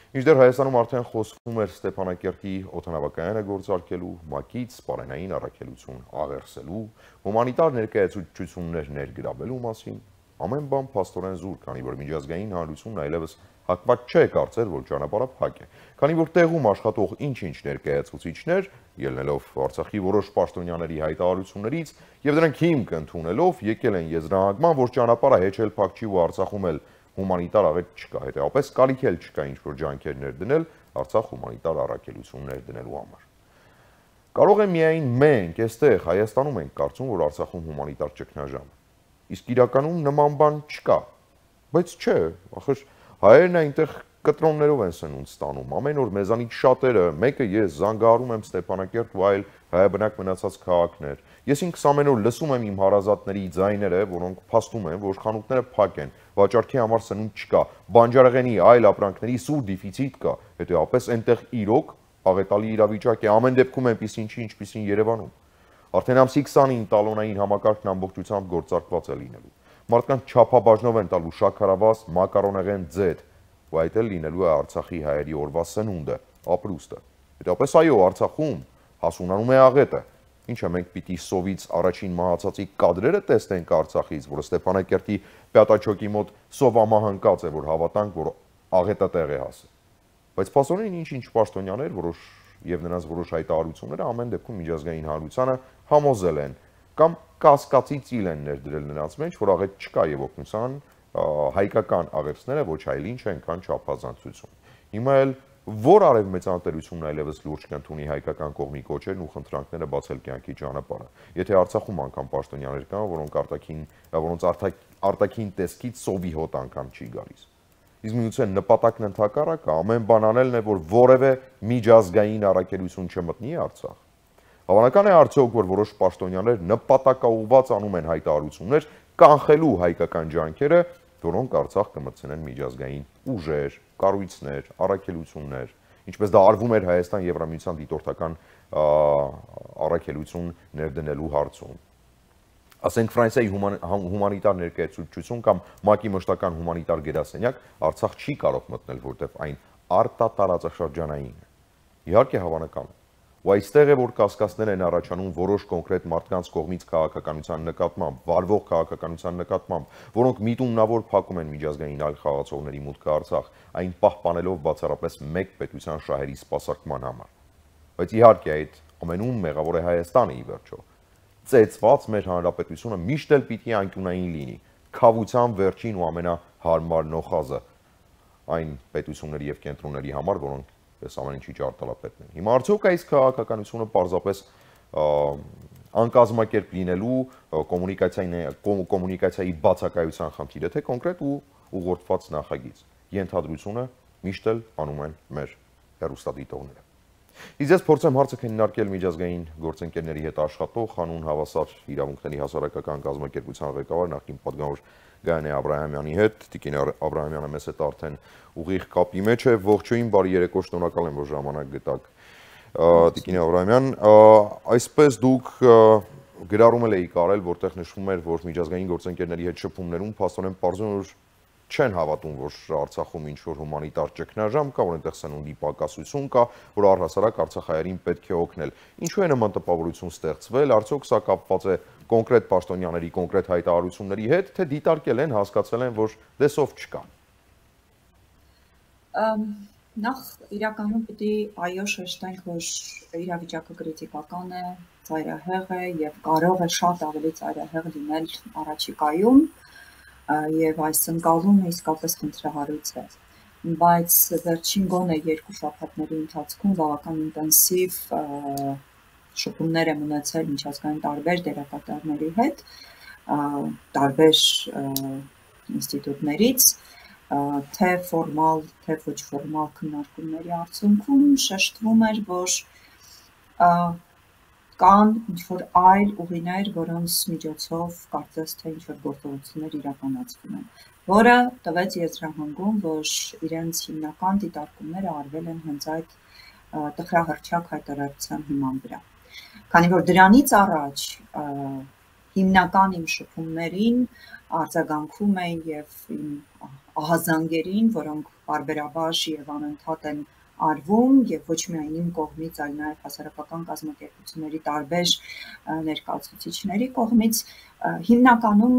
Մինչդեռ Հայաստանում արդեն խոսվում էր Ստեփանակերտի օդանավակայանը գործարկելու, ՄԱԿ-ից սպառենային առաքելություն աղերսելու, հումանիտար ներկայացություններ ներգրավելու մասին, ամեն բան փաստորեն զուր, քանի որ միջազգային հանրությունն այլևս հակված չէ կարծել, որ ճանապարհը փակ է, քանի որ տեղում աշխատող ինչ-ինչ ներկայացուցիչներ, ելնելով Արցախի որոշ պաշտոնյաների հայտարարություններից եւ դրանք հիմք ընդունելով եկել են եզրահանգման, որ ճանապարհը հեչ էլ փակ չի ու Արցախում էլ հումանիտար աղետ չկա, հետեւաբար կարիք էլ չկա ինչ-որ ջանքեր ներդնել Արցախ հումանիտար առաքելություններ դնելու համար։ Կարող է միայն մենք այստեղ Հայաստանում ենք կարծում, որ Արցախում հումանիտար ճգնաժամ է։ Իսկ իրականում նման բան չկա։ Բայց չէ, ախր հայերն այնտեղ կտրոններով են սնունդ ստանում, ամեն օր մեզանից շատերը, մեկը ես զանգահարում եմ Ստեփանակերտ ու այլ հայաբնակ մնացած քաղաքներ։ Ես ինքս ամեն օր լսում եմ իմ հարազատների ձայները, որոնք փաստում են, որ խանութները փակ են, վաճառքի համար սնունդ չկա, բանջարեղենի այլ ապրանքների սուր դեֆիցիտ կա, հետեւաբար այնտեղ իրոք աղետալի իրավիճակ է, ամեն դեպքում այնպեսին չի, ինչպեսին Երևանում։ Արդեն ամսի քսանին տալոնային համակարգն ամբողջությամբ գործարկված է լինելու։ մարդկանց չափաբաժնով են տալու շաքարավազ, մակարոնեղեն, ձեթ, ու այդ էլ լինելու է Արցախի հայերի օրվա սնունդը, ապրուստը։ Հետապես այո, Արցախում հասունանում է աղետը։ Ինչը մենք պիտի սովից առաջին մահացածի կադրերը տեսնենք Արցախից, որը Ստեփանակերտի Պյատաչոկի մոտ սովամահանկած է, որ հավատանք, որ աղետը տեղ է հասել։ Բայց փաստորեն ինչ-ինչ պաշտոնյաներ, որոշ եւ նրանց որոշ հայտարարությունները ամեն դեպքում միջազգային հանրությանը համոզել են կամ կասկածի ծիլ են ներդրել նրանց մեջ, որ աղետ չկա եւ օգնության հայկական աղերսները ոչ այլ ինչ են, քան չափազանցություն։ Հիմա էլ որ արևմեծանատերությունն այլևս լուրջ կընդունի հայկական կողմի կոչերն ու խնդրանքները բացել կյանքի ճանապարհը։ Եթե Արցախում անգամ պաշտոնյաներ կան, որոնք արտաքին, որոնց արտաքին տեսքից սովի հոտ անգամ չի գալիս։ Իսկ միգուցե նպատակն ընդհակառակը ամեն բան անելն է, որ որևէ միջազգային առաքելություն չմտնի Արցախ։ Հավանական է արդյոք, որ որոշ պաշտոնյաներ նպատակաուղղված անում են հայտարարություններ կանխելու հայկական ջանքերը, որոնք Արցախ կմտցնեն միջազգային ուժեր, կառույցներ, առաքելություններ, ինչպես դա արվում էր Հայաստան-Եվրամիության դիտորդական առաքելություն ներդնելու հարցում։ Ասենք Ֆրանսիայի հումանիտար ներկայացուցչություն կամ ՄԱԿ-ի մշտական հումանիտար գերասենյակ Արցախ չի կարող մտնել, որտեղ այն արտատարածաշրջանային է։ Իհարկե հավանական է։ Ու այստեղ է, որ կասկածներ են առաջանում որոշ կոնկրետ մարդկանց կողմից քաղաքականության նկատմամբ, վարվող քաղաքականության նկատմամբ, որոնք միտումնավոր փակում են միջազգային այլ խաղացողների մուտքը Արցախ, այն պահպանելով բացառապես մեկ պետության շահերի սպասարկման համար։ Բայց իհարկե այդ ամենում մեղավոր է Հայաստանը ի վերջո։ Ծեծված մեր հանրապետությունը միշտ էլ պիտի անկյունային լինի, քավության վերջին ու ամենահարմար նոխազը այն պետությունների եւ կենտրոնների համար, որոնք այս ամեն ինչի ճարտարապետն են։ Հիմա արդյոք այս քաղաքականությունը պարզապես անկազմակերպ լինելու կոմունիկացիայի կոմունիկացիայի բացակայության խնդիր է, թե կոնկրետ ու ուղղորդված նախագիծ։ Ենթադրությունը միշտ էլ անում են մեր հեռուստադիտողները։ Իսկ ես փորձեմ հարցը քննարկել միջազգային գործընկերների հետ աշխատող հանուն հավասար իրավունքների հասարակական կազմակերպության ղեկավար նախկին պատգամավոր Գայանե Աբրահամյանի հետ։ Տիկին Աբրահամյանը մեզ հետ արդեն ուղիղ կապի մեջ է։ Ողջույն, բարի երեկո, շնորհակալ եմ, որ ժամանակ գտաք։ Տիկին Աբրահամյան, այսպես դուք գրառում եք արել, որտեղ նշվում էր, որ միջազգային գործընկերների հետ շփումներում փաստորեն պարզում որ չեն հավատում, որ Արցախում ինչ-որ հումանիտար ճգնաժամ կա, որ այնտեղ սնունդի պակասություն կա, որ առհասարակ արցախայերին պետք է օգնել։ Ինչու է նման տպավորություն ստեղծվել, արդյոք սա կապված է կոնկրետ պաշտոնյաների կոնկրետ հայտարարությունների հետ, թե դիտարկել են, հասկացել են, որ դեսով չկա։ Նախ իրականում պիտի այո շեշտենք, որ իրավիճակը կրիտիկական է, ծայրահեղ է եւ կարող է շատ ավելի ծայրահեղ լինել առաջիկայում եւ այս ընկալումը իսկապես խնդրահարույց է, բայց վերջին գոնե երկու շաբաթների ընթացքում բավական ինտենսիվ շփումներ եմ ունեցել միջազգային տարբեր դերակատարների հետ, տարբեր ինստիտուտներից, թե ֆորմալ, թե ոչ ֆորմալ քննարկումների արդյունքում շեշտվում էր, որ կան ինչ-որ այլ ուղիներ, որոնց միջոցով կարծես թե ինչ-որ գործողություններ իրականացվում են, որը տվեց եզրահանգում, որ իրենց հիմնական դիտարկումները արվել են հենց այդ տխրահռչակ հայտարարության հիման վրա։ Քանի որ դրանից առաջ հիմնական իմ շփումներին արձագանքում էին եւ իմ ահազանգերին, որոնք բարբերաբար եւ անընդհատ են արվում եւ ոչ միայն իմ կողմից, այլ նաեւ հասարակական կազմակերպությունների տարբեր ներկայացուցիչների կողմից հիմնականում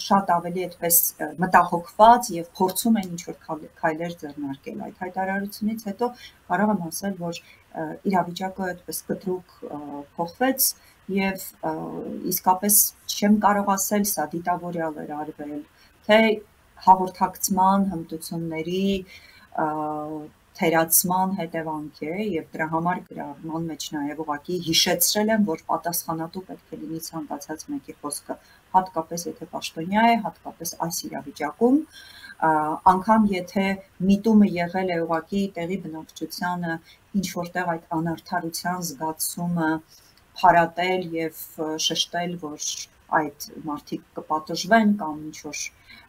շատ ավելի այդպես մտահոգված եւ փորձում են ինչ-որ քայլեր ձեռնարկել այդ հայտարարությունից հետո կարող եմ ասել, որ իրավիճակը այդպես կտրուկ փոխվեց եւ իսկապես չեմ կարող ասել սա դիտավորյալ էր արվել, թե հաղորդակցման հմտությունների թերացման հետևանք է եւ դրա համար գրառման մեջ նաեւ ուղղակի հիշեցրել եմ, որ պատասխանատու պետք է լինի ցանկացած մեկի խոսքը, հատկապես եթե պաշտոնյա է, հատկապես այս իրավիճակում, անգամ եթե միտումը եղել է ուղղակի տեղի բնակչությանը ինչ որտեղ այդ անարդարության զգացումը փարատել եւ շեշտել, որ այդ մարդիկ կպատժվեն կամ ինչ որ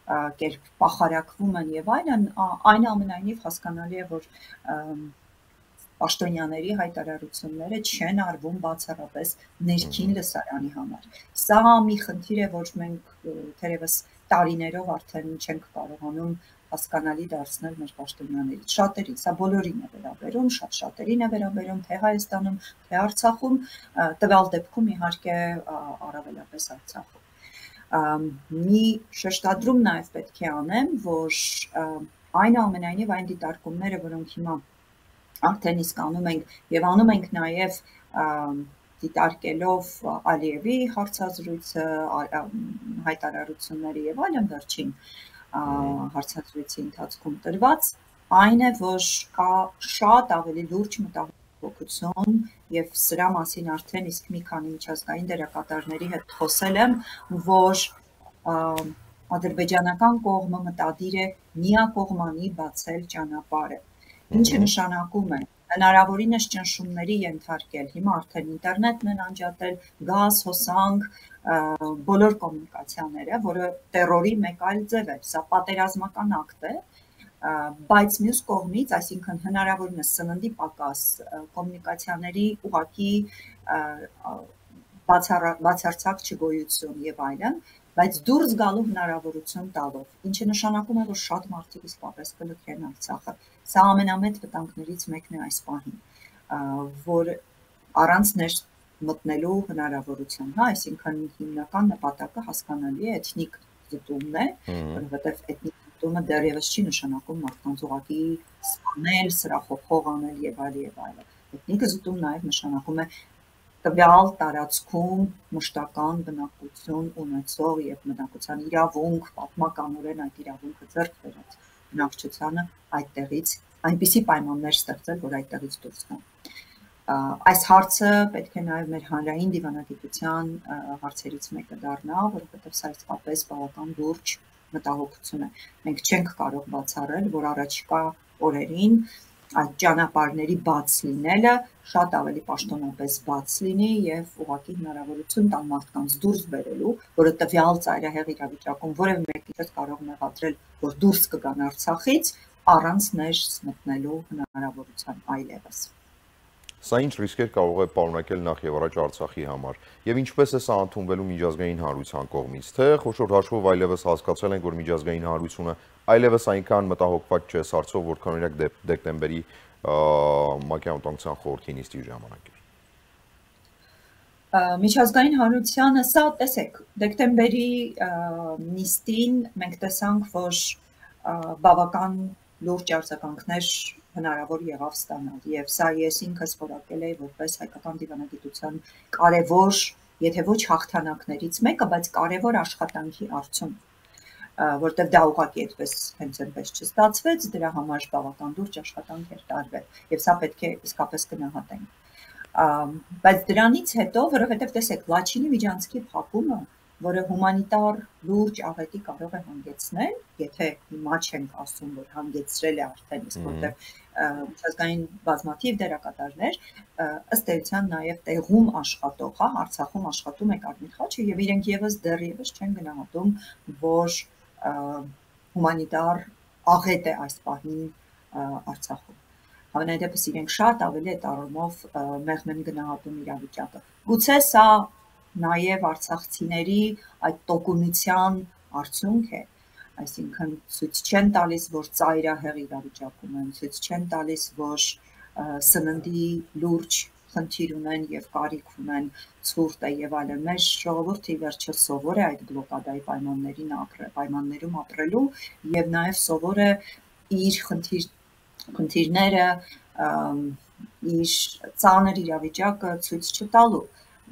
կերպ պախարակվում են եւ այլն, այնուամենայնիվ հասկանալի է, որ պաշտոնյաների հայտարարությունները չեն արվում բացառապես ներքին լսարանի համար։ Սա մի խնդիր է, որ մենք թերևս տարիներով արդեն չենք կարողանում հասկանալի դարձնել մեր պաշտոնյաներից շատերին, սա բոլորին է վերաբերում, շատ շատերին է վերաբերում, թե Հայաստանում, թե Արցախում, տվյալ դեպքում իհարկե առավելապես Արցախում։ Մի շեշտադրում նաև պետք է անեմ, որ այնուամենայնիվ այն դիտարկումները, որոնք հիմա արդեն իսկ անում ենք եւ անում ենք նաև դիտարկելով Ալիևի հարցազրույցը, հայտարարությունները եւ այլն վերջին հարցազրույցի ընթացքում տրված, այն է, որ կա շատ ավելի լուրջ մտահոգություն եւ սրա մասին արդեն իսկ մի քանի միջազգային դերակատարների հետ խոսել եմ, որ ադրբեջանական կողմը մտադիր է միակողմանի բացել ճանապարհը, ինչը նշանակում է հնարավորինս ճնշումների ենթարկել, հիմա արդեն ինտերնետն են անջատել, գազ, հոսանք, բոլոր կոմունիկացիաները, որը տերորի մեկ այլ ձև է, սա պատերազմական ակտ է, բայց մյուս կողմից, այսինքն հնարավորինս սննդի պակաս, կոմունիկացիաների ուղղակի բացարձակ չգոյություն եւ այլն, բայց դուրս գալու հնարավորություն տալով, ինչը նշանակում է, որ շատ մարդիկ իսկապես կլքեն Արցախը։ Սա ամենամեծ վտանգներից մեկն է այս պահին, որ առանց ներս մտնելու հնարավորություն, հա, այսինքն հիմնական նպատակը հասկանալի է էթնիկ զտումն է, որովհետև էթնիկ զտումը դեռևս չի նշանակում մարդկանց ուղղակի սպանել, սրախոփող անել եւ այլ եւ այլ։ Էթնիկ զտում նաեւ նշանակում է տվյալ տարածքում մշտական բնակություն ունեցող եւ բնակության իրավունք, պատմականորեն այդ իրավունքը ձեռք բերած բնակչությանը այդտեղից այնպիսի պայմաններ ստեղծել, որ այդտեղից դուրս գան։ Այս հարցը պետք է նաև մեր հանրային դիվանագիտության հարցերից մեկը դառնա, որովհետև սա իսկապես բավական լուրջ մտահոգություն է։ Մենք չենք կարող բացառել, որ առաջիկա օրերին այդ ճանապարհների բաց լինելը շատ ավելի պաշտոնապես բաց լինի եւ ուղղակի հնարավորություն տան մարդկանց դուրս բերելու, որը տվյալ ծայրահեղ իրավիճակում որևէ մեկի չէ կարող մեղադրել, որ դուրս կգան Արցախից առանց ներս մտնելու հնարավորության այլևս։ Սա ինչ ռիսկեր կարող է պարունակել նախ եւ առաջ Արցախի համար եւ ինչպես է սա ընդունվելու միջազգային հանրության կողմից, թե խոշոր հաշվով այլևս հասկացել ենք, որ միջազգային հանրությունը այլևս այնքան մտահոգված չէ սարսով, որքան օրինակ դեկտեմբերի ՄԱԿ-ի անվտանգության խորհրդի նիստի ժամանակ էր։ Միջազգային հանրությանը սա տեսեք, դեկտեմբերի նիստին մենք տեսանք, որ բավական լուրջ արձագանքներ հնարավոր եղավ ստանալ եւ սա ես ինքս որակել էի որպես հայկական դիվանագիտության կարևոր, եթե ոչ հաղթանակներից մեկը, բայց կարևոր աշխատանքի արդյունք, որտեղ դա ուղղակի այդպես հենց այնպես չստացվեց, դրա համար բավական լուրջ աշխատանք էր տարվել եւ սա պետք է իսկապես գնահատենք։ Բայց դրանից հետո, որովհետեւ տեսեք, Լաչինի միջանցքի փակումը, որը հումանիտար լուրջ աղետի կարող է հանգեցնել, եթե հիմա չենք ասում, որ հանգեցրել է արդեն, իսկ որտեղ միջազգային բազմաթիվ դերակատարներ, ըստ էության նաև տեղում աշխատող, հա, Արցախում աշխատում է Կարմիր խաչը եւ իրենք եւս դեռևս չեն գնահատում, որ հումանիտար աղետ է այս պահին Արցախում։ Հավանաբար դեպս իրենք շատ ավելի է տարումով մեղմ են գնահատում իրավիճակը։ Գուցե սա նաև արցախցիների այդ տոկունության արդյունք է, այսինքն ցույց չեն տալիս, որ ծայրահեղ իրավիճակում են, ցույց չեն տալիս, որ սննդի լուրջ խնդիր ունեն եւ կարիք ունեն, ցուրտ է եւ այլն։ Մեր ժողովուրդը ի վերջո սովոր է այդ բլոկադայի պայմաններին ապրել, պայմաններում ապրելու եւ նաեւ սովոր է իր խնդիր խնդիրները, իր ծանր իրավիճակը ցույց չտալու։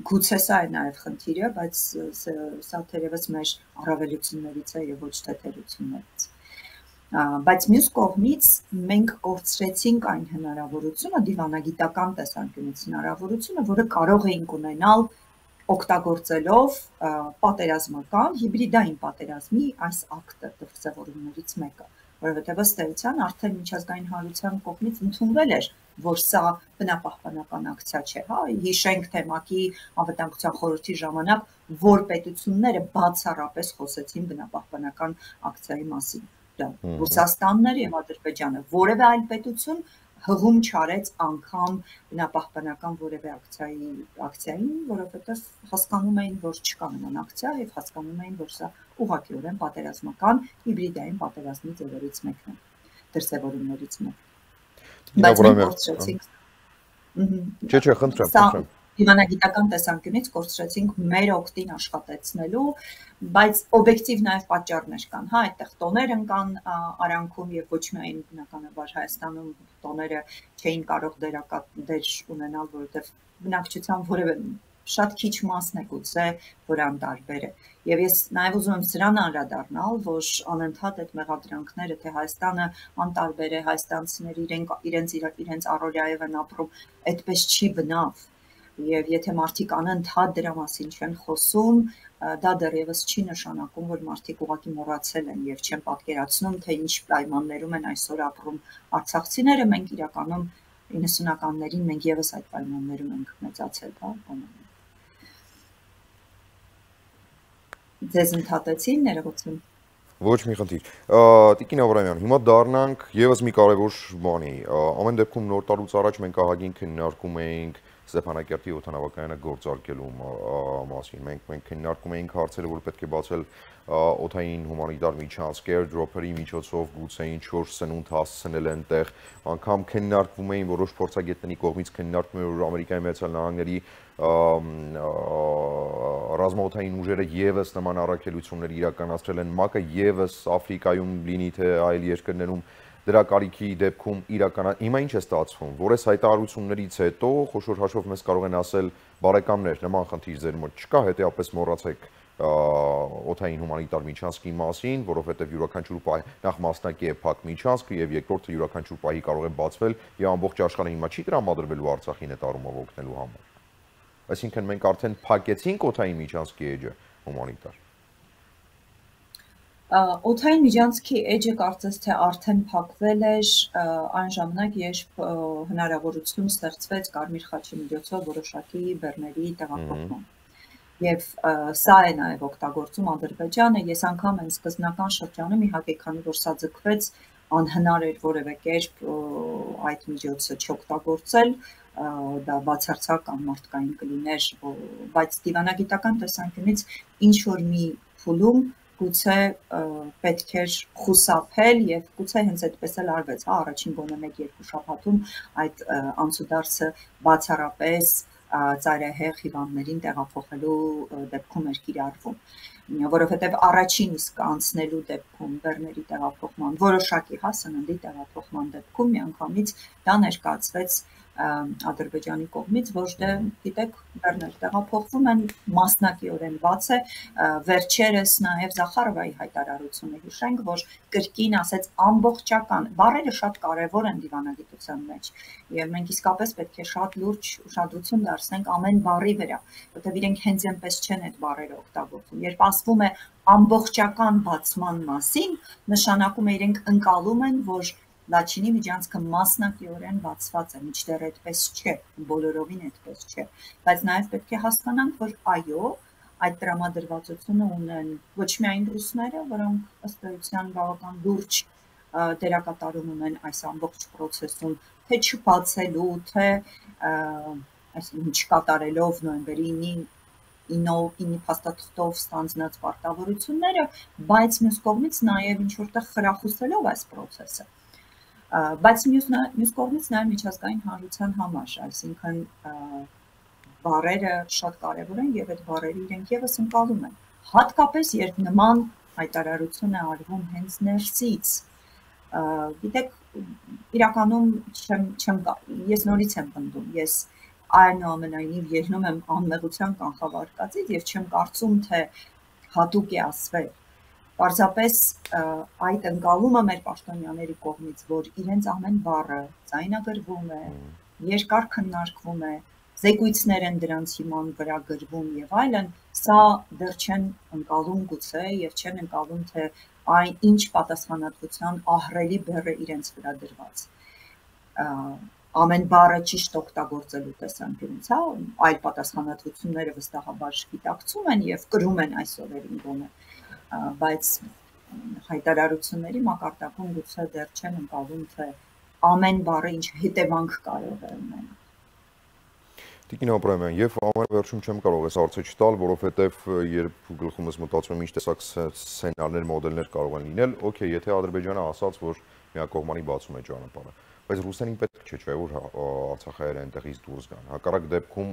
Գուցե սա է նաև խնդիրը, բայց սա թերևս մեր առավելություններից է եւ ոչ թե թերություններից։ Բայց մյուս կողմից մենք կորցրեցինք այն հնարավորությունը, դիվանագիտական տեսանկյունից հնարավորությունը, որը կարող էինք ունենալ օգտագործելով պատերազմական հիբրիդային պատերազմի այս ակտը դրսևորումներից մեկը, որովհետև ըստ էության արդեն միջազգային հանրության կողմից ընդունվել էր, որ սա բնապահպանական ակցիա չէ, հա, հիշենք թե ՄԱԿ-ի անվտանգության խորհրդի ժամանակ, որ պետությունները բացառապես խոսեցին բնապահպանական ակցիայի մասին, դա Ռուսաստանն էր եւ Ադրբեջանը, որևէ այլ պետություն հղում չարեց անգամ բնապահպանական որևէ ակցիայի ակցիային, որովհետև հասկանում էին, որ չկա նման ակցիա եւ հասկանում էին, որ սա ուղղակիորեն պատերազմական հիբրիդային պատերազմի ձևերից մեկն է, դրսևորումներից մեկն է։ Բայց մենք կորցրեցինք։ Չէ, չէ, խնդրեմ, խնդրեմ։ Դիվանագիտական տեսանկյունից կորցրեցինք մեր օգտին աշխատեցնելու, բայց օբյեկտիվ նաև պատճառներ կան, հա, այդտեղ տոներ կան արանքում եւ ոչ միայն բնականաբար Հայաստանում տոները չէին կարող դեր ունենալ, որովհետեւ բնակչության որևէ շատ քիչ մասն է գուցե, որ անտարբեր է։ Եվ ես նաև ուզում եմ սրան անդրադառնալ, որ անընդհատ այդ մեղադրանքները, թե Հայաստանը անտարբեր է, հայաստանցիները իրենց իրենց առօրյայով են ապրում, այդպես չի բնավ։ Եվ եթե մարդիկ անընդհատ դրա մասին չեն խոսում, դա դեռևս չի նշանակում, որ մարդիկ ուղղակի մոռացել են եւ չեն պատկերացնում, թե ինչ պայմաններում են այսօր ապրում արցախցիները, մենք իրականում իննսունականներին մենք եւս այդ պայմաններում ենք մեծացել, հա, բանալի։ Ձեզ ընդհատեցին, ներողություն։ Ոչ մի խնդիր։ Տիկին Աբրահամյան, հիմա դառնանք եւս մի կարևոր բանի։ Ամեն դեպքում նոր տարուց առաջ մենք ահագին քննարկում էինք Ստեփանակերտի օդանավակայանը գործարկելու մասին։ Մենք մենք քննարկում էինք հարցերը, որ պետք է բացել օդային հումանիտար միջանցքեր, դրոփերի միջոցով գուցե ինչ-որ սնունդ հասցնել այնտեղ, անգամ քննարկվում էին որոշ փորձագետների կողմից քննարկվում էր, որ Ամերիկայի Միացյալ Նահանգների ռազմաօդային ուժերը եւս նման առաքելություններ իրականացրել են, ՄԱԿ-ը եւս Աֆրիկայում լինի թե այլ երկրներում դրա կարիքի դեպքում իրականա հիմա ինչ է ստացվում, որ այս հայտարարություններից հետո խոշոր հաշվով մեզ կարող են ասել բարեկամներ, նման խնդիր ձեր մոտ չկա, հետեւաբար մոռացեք օդային հումանիտար միջանցքի մասին, որովհետև յուրաքանչյուր պահ նախ մասնակի է փակ միջանցքը եւ երկրորդը յուրաքանչյուր պահի կարող է բացվել եւ ամբողջ աշխարհը հիմա չի տրամադրվելու Արցախին այդ առումով օգնելու համար։ Այսինքն մենք արդեն փակեցինք օդային միջանցքի էջը հումանիտար։ Օդային միջանցքի էջը կարծես թե արդեն փակվել էր այն ժամանակ, երբ հնարավորություն ստեղծվեց Կարմիր խաչի միջոցով որոշակի բեռների տեղափոխման։ Եվ սա է նաև օգտագործում Ադրբեջանը, ես անգամ այն սկզբնական շրջանում իհարկե քանի որ սա ձգվեց, անհնար էր որևէ կերպ այդ միջոցը չօգտագործել, դա բացարձակ անմարդկային կլիներ, բայց դիվանագիտական տեսանկյունից ինչ որ մի փուլում գուցե պետք էր խուսափել եւ գուցե հենց այդպես էլ արվեց, հա, առաջին գոնե մեկ-երկու շաբաթում այդ անցուդարձը բացառապես ծայրահեղ հիվանդներին տեղափոխելու դեպքում էր կիրառվում, որովհետև առաջին իսկ անցնելու դեպքում բեռների տեղափոխման որոշակի հա սննդի տեղափոխման դեպքում միանգամից դա ներկայացվեց Ադրբեջանի կողմից, ոչ թե գիտեք բեռներ տեղափոխվում են մասնակիորեն բաց է, վերջերս նաև Զախարովայի հայտարարությունը հիշենք, որ կրկին ասեց ամբողջական, բառերը շատ կարևոր են դիվանագիտության մեջ, եւ մենք իսկապես պետք է շատ լուրջ ուշադրություն դարձնենք ամեն բառի վրա, որտեղ իրենք հենց այնպես չեն այդ բառերը օգտագործում։ Երբ ասվում է ամբողջական բացման մասին, նշանակում է իրենք ընկալում են, որ Լաչինի միջանցքը մասնակիորեն բացված է, մինչդեռ այդպես չէ, բոլորովին այդպես չէ, բայց նաև պետք է հասկանանք, որ այո, այդ տրամադրվածությունը ունեն ոչ միայն ռուսները, որոնք ըստ էության բավական լուրջ դերակատարում ունեն այս ամբողջ process-ում, թե չբացելու, թե այսինքն չկատարելով նոյեմբերի ինը փաստաթղթով ստանձնած պարտավորությունները, բայց մյուս կողմից նաև ինչ որտեղ խրախուսելով այս process-ը Բայց մյուս կողմից նաև միջազգային հանրության համար, այսինքն բառերը շատ կարևոր են եւ այդ բառերը իրենք եւս ընկալում են։ Հատկապես երբ նման հայտարարություն է արվում հենց ներսից։ Գիտեք, իրականում չեմ չեմ ես նորից եմ պնդում, ես այնուամենայնիվ ելնում եմ անմեղության կանխավարկածից եւ չեմ կարծում, թե հատուկ է ասվել Պարզապես այդ ընկալումը մեր պաշտոնյաների կողմից, որ իրենց ամեն բառը ձայնագրվում է, երկար քննարկվում է, զեկույցներ են դրանց հիման վրա գրվում եւ այլն, սա դեռ չեն ընկալում գուցե եւ չեն ընկալում, թե այն ինչ պատասխանատվության ահռելի բեռը իրենց վրա դրված։ Ամեն բառը ճիշտ օգտագործելու տեսանկյունից, հա, այլ պատասխանատվությունները վստահաբար գիտակցում են եւ կրում են այս օրերին գոնե բայց հայտարարությունների մակարդակում գուցե դեռ չեն ընկալում, թե ամեն բառը ինչ հետևանք կարող է ունենալ։ Տիկին Աբրահամյան, եւ ամենավերջում չեմ կարող այս հարցը չտալ, որովհետեւ երբ գլխումս մտածում եմ ինչ տեսակ սցենարներ, մոդելներ կարող են լինել, օքեյ, եթե Ադրբեջանը ասաց, որ միակողմանի բացում է ճանապարհը, բայց Ռուսաստանին պետք չէ, չէ՞ որ արցախայերը այնտեղից դուրս գան։ Հակառակ դեպքում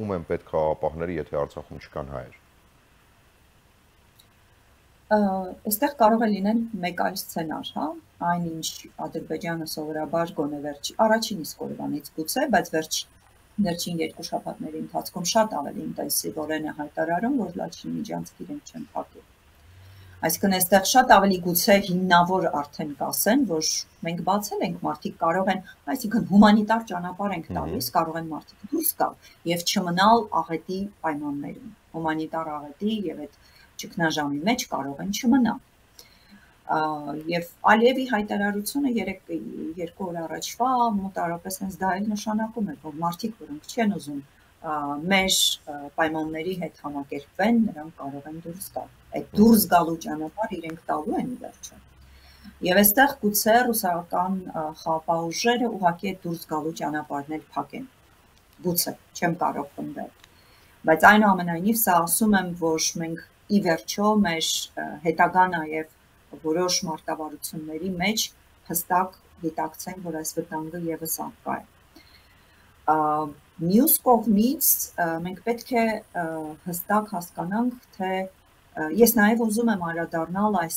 ում են պետք խաղապահները, եթե Արցախում չկան հայեր։ Այստեղ կարող է լինել մեկ այլ սցենար, հա, այնինչ Ադրբեջանը սովորաբար գոնե վերջ առաջին իսկ օրվանից գուցե, բայց վերջ Վերջին երկու շաբաթների ընթացքում շատ ավելի ինտենսիվորեն է հայտարարում, որ Լաչինի միջանցք իրենք չեն փակել։ Այսինքն այստեղ շատ ավելի գուցե հիմնավոր արդեն կասեն, որ մենք բացել ենք, մարդիկ կարող են, այսինքն հումանիտար ճանապարհ ենք տալիս, կարող են մարդիկ դուրս գալ եւ չմնալ աղետի պայմաններում։ Հումանիտար աղետի եւ այդ ճգնաժամի մեջ կարող են չմնալ։ Եվ Ալիևի հայտարարությունը երեք երկու օր առաջվա մոտարապես հենց դա էլ նշանակում է, որ մարդիկ, որոնք չեն ուզում մեր պայմանների հետ համակերպվեն, նրանք կարող են դուրս գալ։ Այդ դուրս գալու ճանապարհը իրենք տալու են ի վերջո։ Եվ այստեղ գուցե ռուսական խաղաղ ուժերը ուղղակի այդ դուրս գալու ճանապարհն էլ փակեն։ Գուցե, չեմ կարող պնդել։ Բայց այնուամենայնիվ սա ասում եմ, որ մենք ի վերջո մեր հետագա նաև որոշ մարտավարությունների մեջ հստակ դիտակցենք, որ այս վտանգը եւս արկա է։ Մյուս կողմից մենք պետք է հստակ հասկանանք, թե ես նաև ուզում եմ անդրադառնալ այս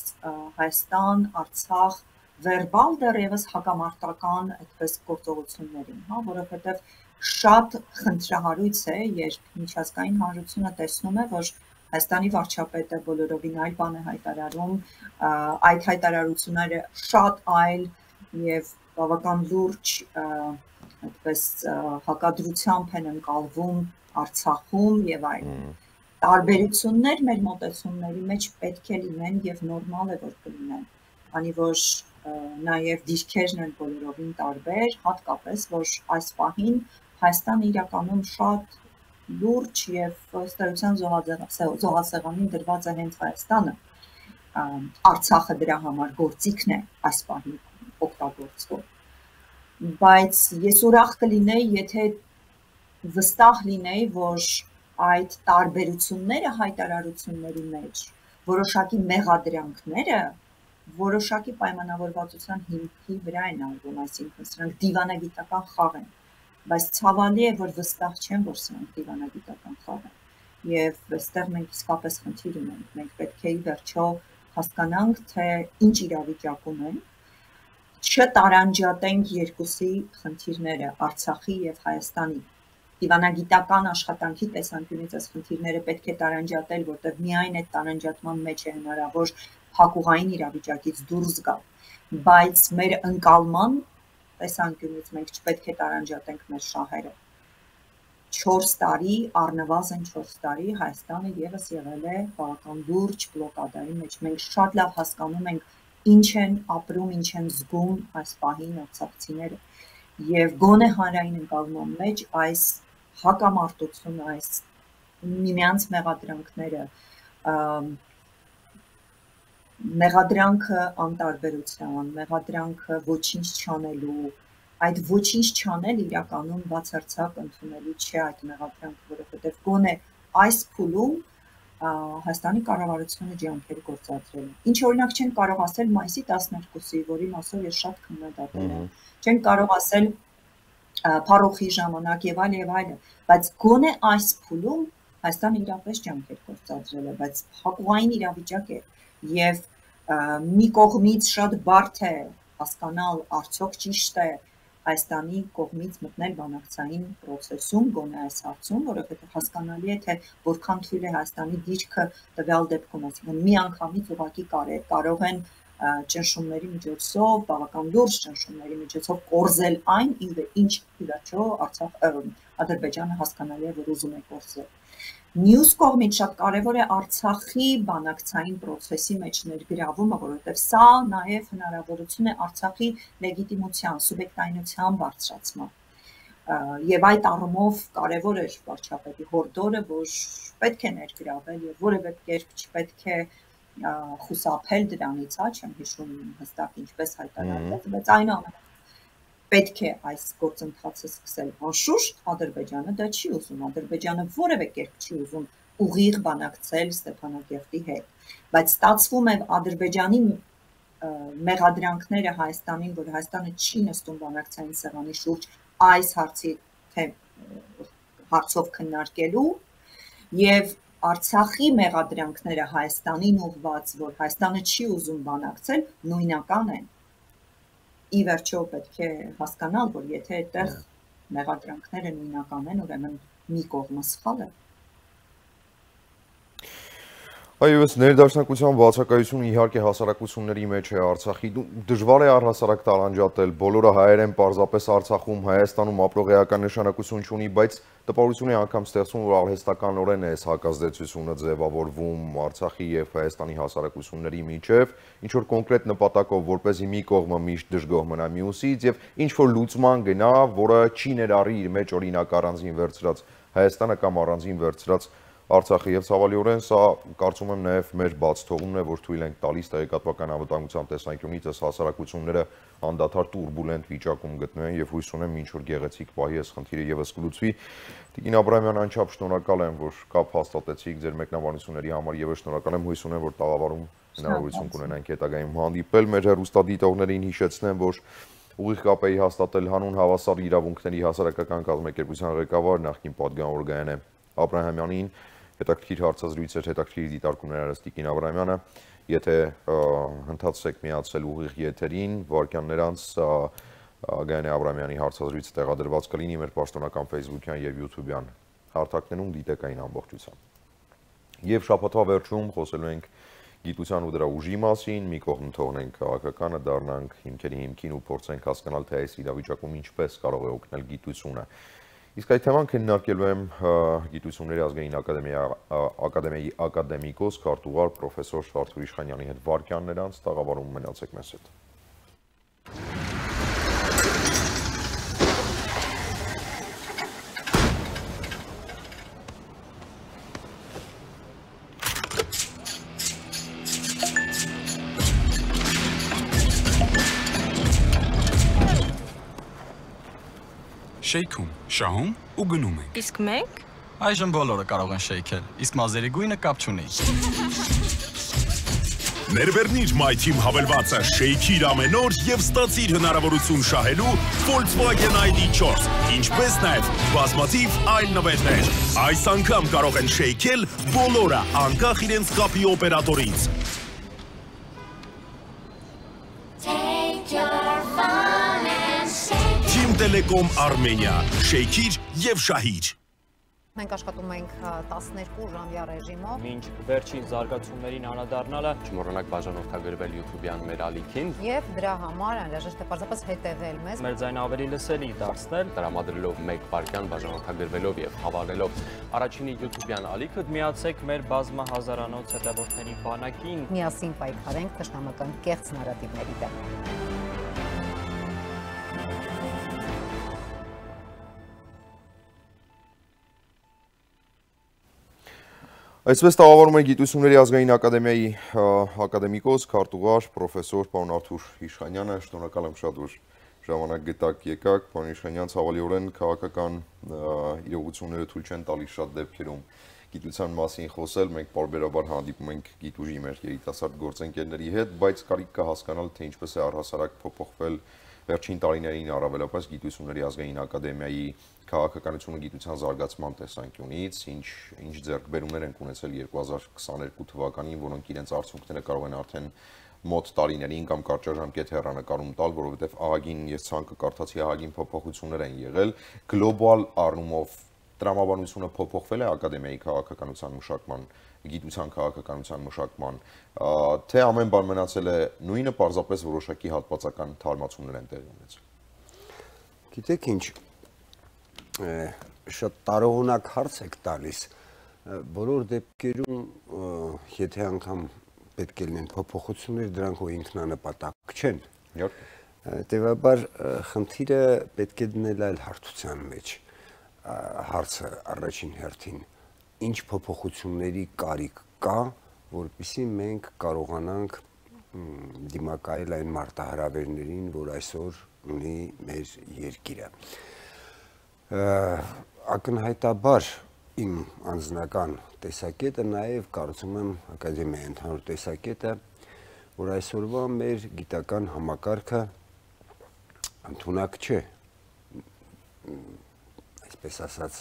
Հայաստան, Արցախ վերբալ դեռևս հակամարտական այդպես գործողություններին, հա, որովհետեւ շատ խնդրահարույց է, երբ միջազգային հանրությունը տեսնում է, որ Հայաստանի վարչապետը բոլորովին այլ բան է հայտարարում, այդ հայտարարությունները շատ այլ եւ բավական լուրջ այդպես հակադրությամբ են ընկալվում Արցախում եւ այլն։ Տարբերություններ մեր մոտեցումների մեջ պետք է լինեն եւ նորմալ է որ կլինեն, քանի որ նաեւ դիրքերն են բոլորովին տարբեր, հատկապես որ այս պահին Հայաստանը իրականում շատ լուրջ եւ ըստ էության զոհասեղանին դրված է հենց Հայաստանը, Արցախը դրա համար գործիքն է այս պահին օգտագործվում, բայց ես ուրախ կլինեի, եթե վստահ լինեի, որ այդ տարբերությունները հայտարարությունների մեջ, որոշակի մեղադրանքները, որոշակի պայմանավորվածության հիմքի վրա են արվում, այսինքն սրանք դիվանագիտական խաղ են, բայց ցավալի է, որ վստահ չեմ, որ սրանք դիվանագիտական խաղ են, եւ այստեղ մենք իսկապես խնդիր ունենք, մենք պետք է ի վերջո հասկանանք, թե ինչ իրավիճակում են, չտարանջատենք երկուսի խնդիրները, Արցախի եւ Հայաստանի։ Դիվանագիտական աշխատանքի տեսանկյունից այս խնդիրները պետք է տարանջատել, որտեղ միայն այդ տարանջատման մեջ է հնարավոր փակուղային իրավիճակից դուրս գալ, բայց մեր ընկալման տեսանկյունից մենք չպետք է տարանջատենք մեր շահերը։ չորս տարի, առնվազն չորս տարի Հայաստանը եւս եղել է բավական լուրջ բլոկադայի մեջ։ Մենք շատ լավ հասկանում ենք ինչ են ապրում, ինչ են զգում այս պահին արցախցիները եւ գոնե հանրային ընկալման մեջ այս հակամարտությունը, այս միմյանց մեղադրանքները, մեղադրանքը անտարբերության, մեղադրանքը ոչինչ չանելու, այդ ոչինչ չանել իրականում բացարձակ ընդունելի չէ այդ մեղադրանքը, որովհետեւ գոնե այս փուլում Հայաստանի կառավարությունը ջանքեր գործադրել է։ Ինչ օրինակ չեն կարող ասել մայիսի տասներկուսի, որի մասով ես շատ քննադատել եմ։ Չեն կարող ասել Փարոխի ժամանակ եւ այլ եւ այլն, բայց գոնե այս փուլում Հայաստանը իրապես ջանքեր գործադրել է, բայց փակուղային իրավիճակ է եւ մի կողմից շատ բարդ է հասկանալ արդյոք ճիշտ է Հայաստանի կողմից մտնել բանակցային process-ում, գոնե այս հարցում, որովհետեւ հասկանալի է, թե որքան թույլ է Հայաստանի դիրքը տվյալ դեպքում, այսինքն միանգամից ուղղակի կարող են ճնշումների միջոցով, բավական լուրջ ճնշումների միջոցով կորզել այն, ինչ ի վերջո Ադրբեջանը հասկանալի է, որ ուզում է կորզել։ Մյուս կողմից շատ կարևոր է Արցախի բանակցային process-ի մեջ ներգրավումը, որովհետև սա նաև հնարավորություն է Արցախի լեգիտիմության, սուբյեկտայնության բարձրացման։ Եվ այդ առումով կարևոր էր վարչապետի հորդորը, որ պետք է ներգրավել եւ որևէ կերպ չպետք է խուսափել դրանից, հա, չեմ հիշում հստակ ինչպես հայտարարվեց, բայց այնուամենայնիվ պետք է այս գործընթացը սկսել անշուշտ, Ադրբեջանը դա չի ուզում, Ադրբեջանը որևէ կերպ չի ուզում ուղիղ բանակցել Ստեփանակերտի հետ, բայց ստացվում է Ադրբեջանի մեղադրանքները Հայաստանին, որ Հայաստանը չի նստում բանակցային սեղանի շուրջ այս հարցի հարցով քննարկելու եւ Արցախի մեղադրանքները Հայաստանին ուղղված, որ Հայաստանը չի ուզում բանակցել, նույնական են։ Ի վերջո պետք է հասկանալ, որ եթե այդտեղ մեղադրանքները նույնական են, ուրեմն մի կողմը սխալ է։ Այո, ներդաշնակության բացակայությունը իհարկե հասարակությունների մեջ է Արցախի, դժվար է առհասարակ տարանջատել, բոլորը հայեր են պարզապես Արցախում, Հայաստանում ապրող էական նշանակություն չունի, բայց տպավորություն է անգամ ստեղծում, որ արհեստականորեն է այս հակազդեցությունը ձևավորվում Արցախի եւ Հայաստանի հասարակությունների միջև, ինչ որ կոնկրետ նպատակով, որպեսզի մի կողմը միշտ դժգոհ մնա մյուսից եւ ինչ որ լուծման գնա, որը չի ներառի իր մեջ օրինակ առանձին վերցրած Հայաստանը կամ առանձին վերցրած Արցախի եւ ցավալիորեն սա կարծում եմ նաեւ մեր բաց թողումն է, որ թույլ ենք տալիս տեղեկատվական անվտանգության տեսանկյունից այս հասարակությունները անդադար տուրբուլենտ վիճակում գտնվեն եւ հույս ունեմ ինչ որ գեղեցիկ պահի այս խնդիրը եւս կլուծվի։ Տիկին Աբրահամյան, անչափ շնորհակալ եմ, որ կապ հաստատեցիք ձեր մեկնաբանությունների համար, եւս շնորհակալ եմ, հույս ունեմ, որ տաղավարում հնարավորություն կունենանք հետագայում հանդիպել։ Մեր հեռուստադիտողներին հիշեցնեմ, որ ուղիղ կապ էի հաստատել հանուն հավասար իրավունքների հասարակական կազմակերպության ղեկավար նախկին պատգամավոր Գայանե Աբրահամյանին, հետաքրքիր հարցազրույց էր, հետաքրքիր դիտարկումներ արեց Տիկին Աբրահամյանը, եթե հնդացեք միացել ուղիղ եթերին, վարքյաններ անց Գայանե Աբրահամյանի հարցազրույցը տեղադրված կլինի մեր պաշտոնական Facebook-յան եւ YouTube-յան հարթակներում, դիտեք այն ամբողջությամբ։ Եվ շաբաթվա վերջում խոսելու ենք գիտության ու դրա ուժի մասին, մի կողմ թողնենք քաղաքականը, դառնանք հիմքերի հիմքին ու փորձենք հասկանալ, թե այս իրավիճակում ինչպես կարող է օգնել գիտությունը։ Իսկ այդ թեման քննարկելու եմ Գիտությունների ազգային ակադեմիայի ակադեմիկոս, քարտուղար պրոֆեսոր Արթուր Իշխանյանի հետ վարքյաններ անց տաղավարում մնացեք մեզ հետ։ Շեյքում, շահում ու գնում ենք։ Իսկ մենք? Այժմ բոլորը կարող են շեյքել, իսկ մազերի գույնը կապ չունի։ Ներբեռնիր My Team հավելվածը, շեյքիր ամեն օր եւ ստացիր հնարավորություն շահելու Volkswagen I D four, ինչպես նաեւ բազմաթիվ այլ նվերներ։ Այս անգամ կարող են շեյքել բոլորը, անկախ իրենց կապի օպերատորից։ Telecom Armenia, շեյքիր եւ շահիր։ Մենք աշխատում ենք տասներկու ժամյա ռեժիմով։ Մինչ վերջին զարգացումներին անդրադառնալը, չմոռանաք բաժանորդագրվել YouTube-յան մեր ալիքին եւ դրա համար անհրաժեշտ է պարզապես հետեւել մեզ։ Մեր ձայնը ավելի լսելի դարձնել, տրամադրելով մեկ վայրկյան բաժանորդագրվելով եւ հավանելով առաջինի YouTube-յան ալիքը, միացեք մեր բազմահազարանոց հետևորդների բանակին։ Միասին պայքարենք թշնամական կեղծ նարատիվների դեմ։ Այսպես տաղավարում է Գիտությունների ազգային ակադեմիայի ակադեմիկոս, քարտուղար, պրոֆեսոր պարոն Արթուր Իշխանյանը, շնորհակալ եմ շատ, որ ժամանակ գտաք եկաք, պարոն Իշխանյան, ցավալիորեն քաղաքական իրողությունները թույլ չեն տալիս շատ դեպքերում գիտության մասին խոսել, մենք պարբերաբար հանդիպում ենք գիտուժի մեր երիտասարդ գործընկերների հետ, բայց կարիք կա հասկանալ, թե ինչպես է առհասարակ փոփոխվել վերջին տարիներին առավելապես Գիտությունների ազգային ակադեմիայի քաղաքականությունը գիտության զարգացման տեսանկյունից, ինչ ինչ ձեռքբերումներ են ունեցել երկու հազար քսաներկու թվականին, որոնք իրենց արդյունքները կարող են արդեն մոտ տարիներին կամ կարճաժամկետ հեռանկարում տալ, որովհետև ահագին ես ցանկը կարդացի ահագին փոփոխություններ են եղել, գլոբալ առումով տրամաբանությունը փոփոխվել է ակադեմիայի քաղաքականության մշակման, գիտության քաղաքականության մշակման, թե ամեն բան մնացել է նույնը, պարզապես որոշակի հատվածական թարմացումներ են տեղի ունեցել։ Գիտեք ինչ, շատ տարողունակ հարց եք տալիս, բոլոր դեպքերում, եթե անգամ պետք է լինեն փոփոխություններ, դրանք ու ինքնանպատակ չեն։ Հետևաբար խնդիրը պետք է դնել այլ հարթության մեջ, հարցը առաջին հերթին, ինչ փոփոխությունների կարիք կա, որպեսզի մենք կարողանանք դիմակայել այն մարտահրավերներին, որ այսօր ունի մեր երկիրը։ Ակնհայտաբար իմ անձնական տեսակետը նաև կարծում եմ ակադեմիայի ընդհանուր տեսակետը, որ այսօրվա մեր գիտական համակարգը ընդունակ չէ, այսպես ասած,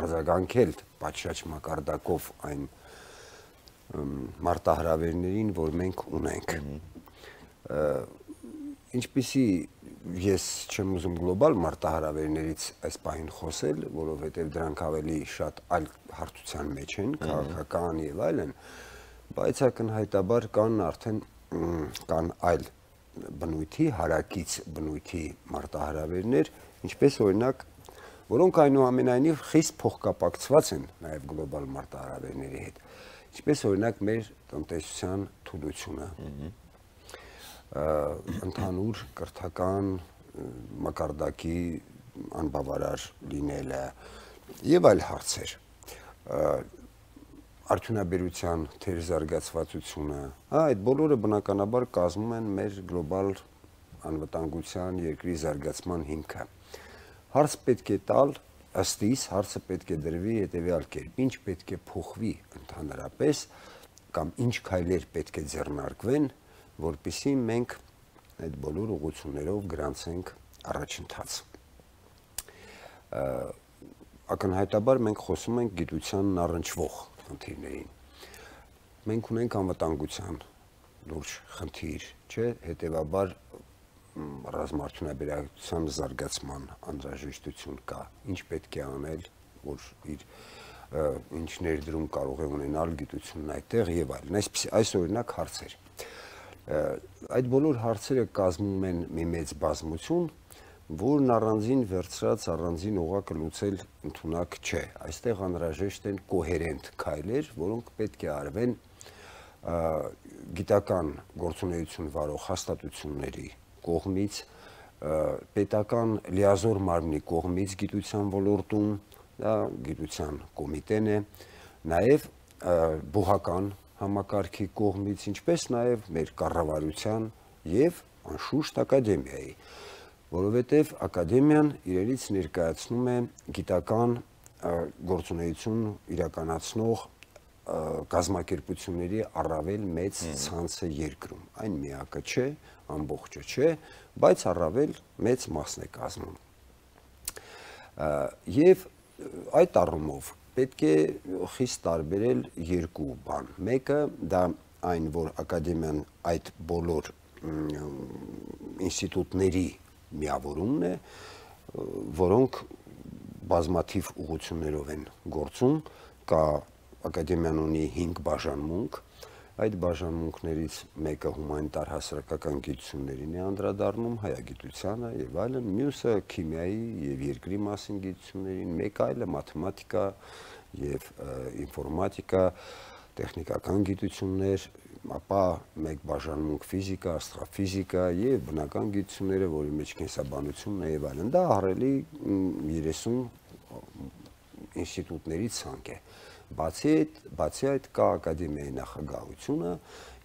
արձագանքել պատշաճ մակարդակով այն մարտահրավերներին, որ մենք ունենք։ Ինչպիսի ես չեմ ուզում գլոբալ մարտահրավերներից այս պահին խոսել, որովհետև դրանք ավելի շատ այլ հարթության մեջ են, քաղաքական եւ այլն, բայց ակնհայտաբար կան արդեն կան այլ բնույթի, հարակից բնույթի մարտահրավերներ, ինչպես օրինակ, որոնք այնուամենայնիվ խիստ փոխկապակցված են նաև գլոբալ մարտահրավերների հետ, ինչպես օրինակ մեր տնտեսության թուլությունը, ընդհանուր կրթական մակարդակի անբավարար լինելը եւ այլ հարցեր, արդյունաբերության թերզարգացվածությունը, այդ բոլորը բնականաբար կազմում են մեր գլոբալ անվտանգության երկրի զարգացման հիմքը։ Հարց պետք է տալ, ըստ իս հարցը պետք է դրվի հետեւյալ կերպ, ինչ պետք է փոխվի ընդհանրապես կամ ինչ քայլեր պետք է ձեռնարկվեն, որպեսզի մենք այդ բոլոր ուղղություններով գրանցենք առաջընթաց։ Ակնհայտաբար մենք խոսում ենք գիտությանն առնչվող խնդիրներին։ Մենք ունենք անվտանգության լուրջ խնդիր, չէ, հետևաբար ռազմաարդյունաբերության զարգացման անհրաժեշտություն կա, ինչ պետք է անել, որ իր ինչ ներդրում կարող է ունենալ գիտությունն այդտեղ եւ այլն։ Այսպես այս օրինակ հարցեր։ Այդ բոլոր հարցերը կազմում են մի մեծ բազմություն, որն առանձին վերցրած առանձին օղակը լուծել ընդունակ չէ։ Այստեղ անհրաժեշտ են կոհերենտ քայլեր, որոնք պետք է արվեն գիտական գործունեություն վարող հաստատությունների կողմից, պետական լիազոր մարմնի կողմից գիտության ոլորտում, դա գիտության կոմիտեն է, նաև բուհական համակարգի կողմից, ինչպես նաև մեր կառավարության եւ անշուշտ ակադեմիայի, որովհետև ակադեմիան իրենից ներկայացնում է գիտական գործունեություն իրականացնող կազմակերպությունների առավել մեծ ցանցը երկրում։ Այն միակը չէ, ամբողջը չէ, բայց առավել մեծ մասն է կազմում։ Եվ այդ առումով պետք է խիստ տարբերել երկու բան։ Մեկը դա այն, որ ակադեմիան այդ բոլոր ինստիտուտների միավորումն է, որոնք բազմաթիվ ուղղություններով են գործում, կա ակադեմիան ունի հինգ բաժանմունք, այդ բաժանմունքներից մեկը հումանիտար հասարակական գիտություններին է անդրադառնում, հայագիտությանը եւ այլն, մյուսը քիմիայի եւ երկրի մասին գիտություններին, մեկ այլը մաթեմատիկա եւ ինֆորմատիկա, տեխնիկական գիտություններ, ապա մեկ բաժանմունք ֆիզիկա, աստրոֆիզիկա եւ բնական գիտությունները, որի մեջ կենսաբանությունն է եւ այլն։ Դա ահռելի երեսուն ինստիտուտների ցանկ է։ Բացի այդ, բացի այդ կա ակադեմիայի նախագահությունը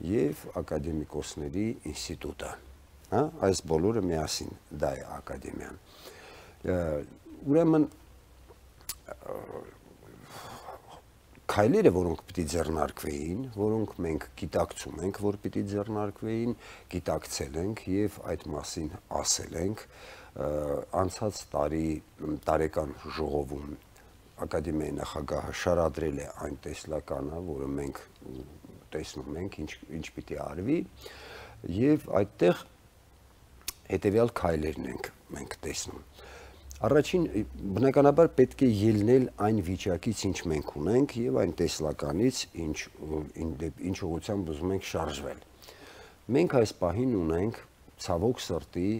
եւ ակադեմիկոսների ինստիտուտը, հա, այս բոլորը միասին դա է ակադեմիան։ Ուրեմն քայլերը, որոնք պիտի ձեռնարկվեին, որոնք մենք գիտակցում ենք, որ պիտի ձեռնարկվեին, գիտակցել ենք եւ այդ մասին ասել ենք, անցած տարի տարեկան ժողովում ակադեմիայի նախագահը շարադրել է այն տեսլականը, որը մենք տեսնում ենք, ինչ ինչ պիտի արվի, եւ այդտեղ հետեւյալ քայլերն ենք մենք տեսնում։ Առաջին բնականաբար պետք է ելնել այն վիճակից, ինչ մենք ունենք, եւ այն տեսլականից, ինչ ինչ ուղղությամբ ուզում ենք շարժվել։ Մենք այս պահին ունենք ցավոք սրտի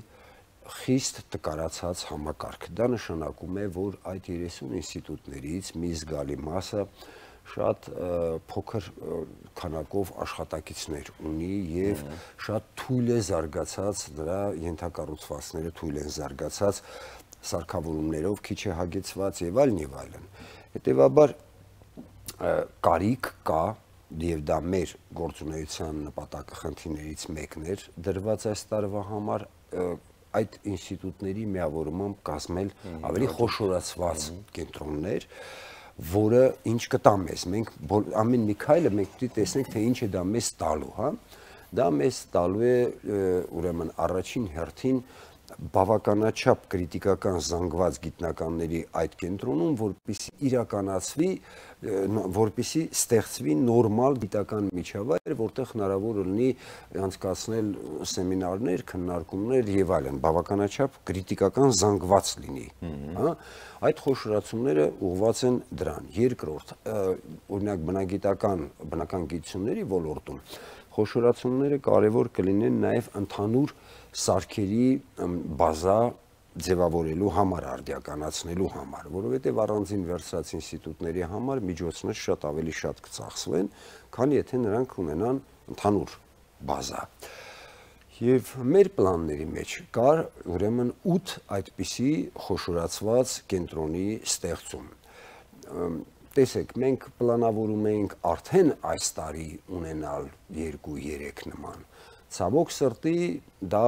խիստ տկարացած համակարգ։ Դա նշանակում է, որ այդ երեսուն ինստիտուտներից մի զգալի մասը շատ փոքր քանակով աշխատակիցներ ունի եւ շատ թույլ է զարգացած, դրա ենթակառուցվածքները թույլ են զարգացած, սարքավորումներով քիչ է հագեցված եւ այլն եւ այլն։ Հետեւաբար կարիք կա եւ դա մեր գործունեության նպատակը խնդիրներից մեկն էր դրված այս տարվա համար այդ ինստիտուտների միավորումամբ կազմել ավելի խոշորացված կենտրոններ, որը ինչ կտա մեզ, մենք ամեն մի քայլը մենք պետք է տեսնենք, թե ինչ է դա մեզ տալու, հա։ Դա մեզ տալու է ուրեմն առաջին հերթին բավականաչափ կրիտիկական զանգված գիտնականների այդ կենտրոնում, որպեսզի իրականացվի, որպեսզի ստեղծվի նորմալ գիտական միջավայր, որտեղ հնարավոր լինի անցկացնել սեմինարներ, քննարկումներ եւ այլն, բավականաչափ կրիտիկական զանգված լինի, հա։ Այդ խոշորացումները ուղղված են դրան։ Երկրորդ, օրինակ բնագիտական, բնական գիտությունների ոլորտում խոշորացումները կարևոր կլինեն նաեւ ընդհանուր սարքերի բազա ձևավորելու համար, արդիականացնելու համար, որովհետև առանձին վերցրած ինստիտուտների համար միջոցներ շատ ավելի շատ կծախսվեն, քան եթե նրանք ունենան ընդհանուր բազա։ Եվ մեր պլանների մեջ կար ուրեմն ութ այդպիսի խոշորացված կենտրոնի ստեղծում։ Տեսեք, մենք պլանավորում ենք արդեն այս տարի ունենալ երկու-երեք նման։ Ցավոք սրտի դա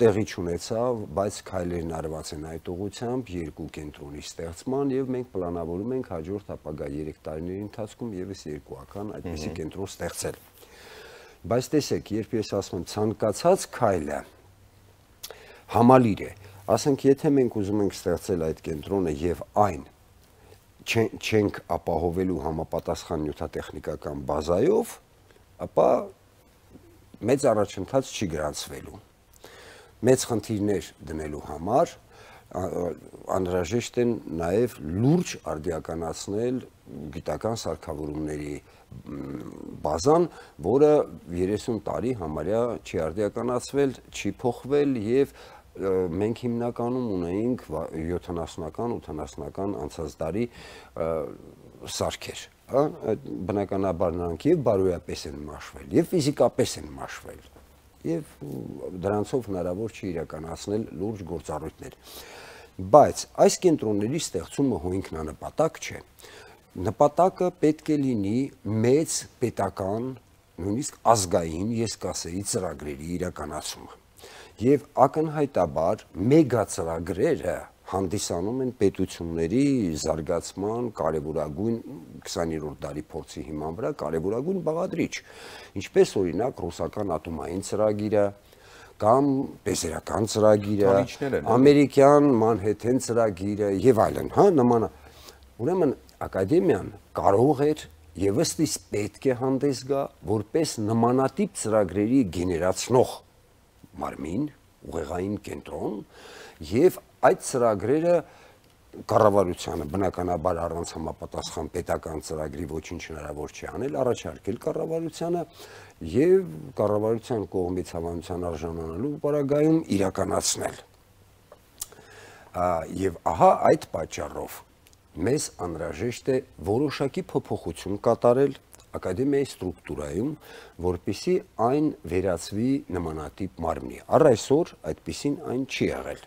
տեղի չունեցավ, բայց քայլերն արված են այդ ուղղությամբ երկու կենտրոնի ստեղծման եւ մենք պլանավորում ենք հաջորդ ապագա երեք տարիների ընթացքում եւս երկու ական այդպիսի կենտրոն ստեղծել։ Բայց տեսեք, երբ ես ասում եմ ցանկացած քայլը համալիր է, ասենք եթե մենք ուզում ենք ստեղծել այդ կենտրոնը եւ այն չենք ապահովելու համապատասխան նյութատեխնիկական բազայով, ապա մեծ առաջընթաց չի գրանցվելու։ Մեծ խնդիրներ դնելու համար անհրաժեշտ են նաև լուրջ արդիականացնել գիտական սարքավորումների բազան, որը երեսուն տարի համարյա չի արդիականացվել, չի փոխվել եւ մենք հիմնականում ունեինք յոթանասունական, ութանասունական անցած տարի սարքեր, հա, բնականաբար նրանք եւ բարոյապես են մաշվել, եւ ֆիզիկապես են մաշվել, եւ դրանցով հնարավոր չի իրականացնել լուրջ գործառույթներ։ Բայց այս կենտրոնների ստեղծումը հո ինքնանպատակ չէ։ Նպատակը պետք է լինի մեծ պետական, նույնիսկ ազգային, ես կասեի, ծրագրերի իրականացումը։ Եվ ակնհայտաբար մեգա ծրագրերը հանդիսանում են պետությունների զարգացման կարևորագույն քսաներորդ դարի փորձի հիման վրա կարևորագույն բաղադրիչ, ինչպես օրինակ ռուսական ատոմային ծրագիրը կամ բեսերական ծրագիրը, ամերիկյան Մանհեթեն ծրագիրը եւ այլն, հա, նման։ Ուրեմն ակադեմիան կարող էր եւ ըստիս պետք է հանդես գա որպես նմանատիպ ծրագրերի գեներացնող մարմին, ուղեղային կենտրոն եւ այդ ծրագրերը կառավարությանը բնականաբար առանց համապատասխան պետական ծրագրի ոչինչ հնարավոր չի անել, առաջարկել կառավարությանը եւ կառավարության կողմից հավանության արժանանալու պարագայում իրականացնել։ Եվ ահա այդ պատճառով մեզ անհրաժեշտ է որոշակի փոփոխություն կատարել ակադեմիայի ստրուկտուրայում, որպեսզի այն վերածվի նմանատիպ մարմնի։ Առ այսօր այդպիսին այն չի եղել։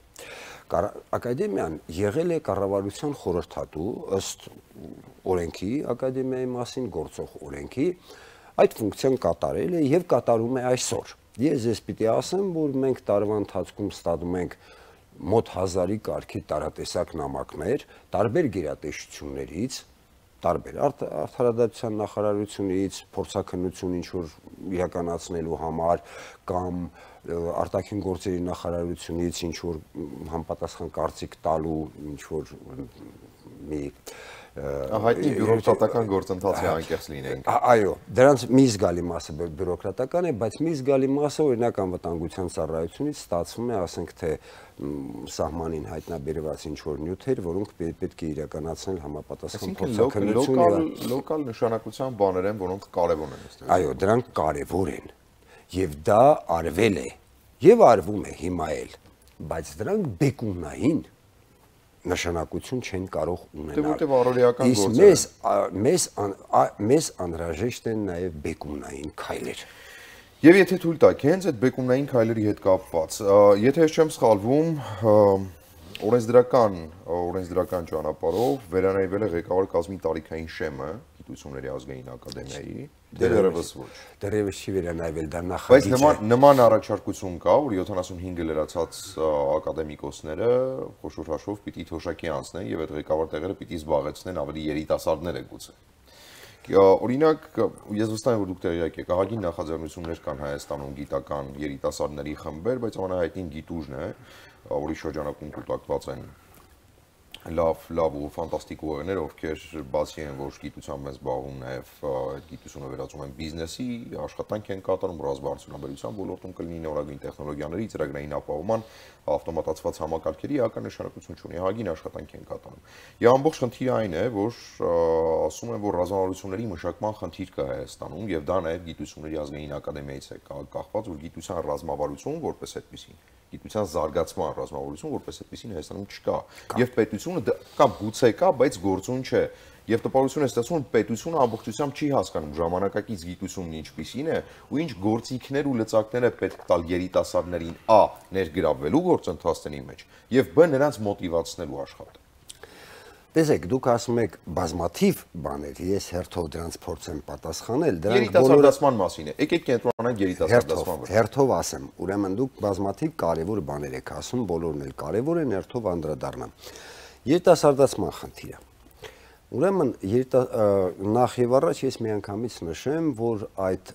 Ակադեմիան եղել է կառավարության խորհրդատու ըստ օրենքի ակադեմիայի մասին գործող օրենքի, այդ ֆունկցիան կատարել է եւ կատարում է այսօր։ Ես ես պիտի ասեմ, որ մենք տարվա ընթացքում ստանում ենք մոտ հազարի կարգի տարատեսակ նամակներ տարբեր գերատեսչություններից, տարբեր արդարադատության նախարարությունից, փորձաքննություն ինչ որ իրականացնելու համար կամ արտաքին գործերի նախարարությունից ինչ որ համապատասխան կարծիք տալու ինչ որ մի հայտնի բյուրոկրատական գործընթացի անկեղծ լինենք։ Այո, դրանց մի զգալի մասը բյուրոկրատական է, բայց մի զգալի մասը օրինակ անվտանգության ծառայությունից ստացվում է, ասենք թե սահմանին հայտնաբերված ինչ որ նյութեր, որոնք պետք է իրականացնել համապատասխան փորձաքննություն։ Լոկալ նշանակության բաներ են, որոնք կարևոր են այստեղ։ Այո, դրանք կարևոր են։ Եվ դա արվել է եւ արվում է հիմա էլ, բայց դրանք բեկումնային նշանակություն չեն կարող ունենալ։ Որտեղ առօրեական գործեր։ Իսկ մեզ մեզ անհրաժեշտ են նաև բեկումնային քայլեր։ Եվ եթե թույլ տաք, հենց այդ բեկումնային քայլերի հետ կապված, եթե ես չեմ սխալվում, օրենսդրական օրենսդրական ճանապարհով վերանայվել է ղեկավար կազմի տարիքային շեմը, գիտությունների ազգային ակադեմիայի, դեռևս ոչ։ Դեռևս չի վերանայվել դա նախագիծ է։ Բայց նման առաջարկություն կա, որ յոթանասունհինգը լրացած ակադեմիկոսները խոշոր հաշվով պիտի թոշակի անցնեն եւ այդ ղեկավար տեղերը պիտի զբաղեցնեն ավելի երիտասարդները գուցե։ Օրինակ, ես վստահ եմ, որ դուք տեղյակ եք, ահագին նախաձեռնություններ կան Հայաստանում գիտական երիտասարդների խմբեր, բայց ամենահայտնին Գիտուժն է, որի շրջանակում կուտակված են լավ, լավ ու ֆանտաստիկ ուղեղներ, ովքեր բացի են, որ գիտությամբ են զբաղվում, նաև այդ գիտությունը վերածում են բիզնեսի, աշխատանք են կատարում, ռազմավարության ոլորտում կլինի նորագույն տեխնոլոգիաների, ծրագրային ապահովման, ավտոմատացված համակարգերի էական նշանակություն ունի, ահագին աշխատանք են կատարում։ Եվ ամբողջ խնդիրը այն է, որ ասում են, որ ռազմավարությունների մշակման խնդիր կա Հայաստանում, եւ դա նաև գիտությունների ազգային ակադեմիայից է կախված, որ գիտության ռազմավարություն որպես այդպեսին, գիտության զարգացման ռազմավարություն որպես այդպեսին Հայաստանում չկա։ Եվ պետությունը կա գուցե կա, բայց գործուն չէ։ Եվ տպավորություն է ստացվում, որ պետությունը ամբողջությամբ չի հասկանում ժամանակակից գիտությունն ինչպիսին է ու ինչ գործիքներ ու լծակներ է պետք տալ երիտասարդներին ա ներգրավվելու գործընթացների մեջ եւ բ նրանց մոտիվացնելու աշխատել։ Տեսեք, դուք ասում եք բազմաթիվ բաներ, ես հերթով դրանց փորձեմ պատասխանել, դրանք երիտասարդացման մասին է։ Եկեք կենտրոնանանք երիտասարդացման վրա։ Հերթով ասեմ, ուրեմն դուք բազմաթիվ կարևոր բաներ եք ասում, բոլորն էլ կարևոր են, հերթով անդրադառնամ։ Երիտասարդացման խնդիրը։ Ուրեմն նախ եւ առաջ ես միանգամից նշեմ, որ այդ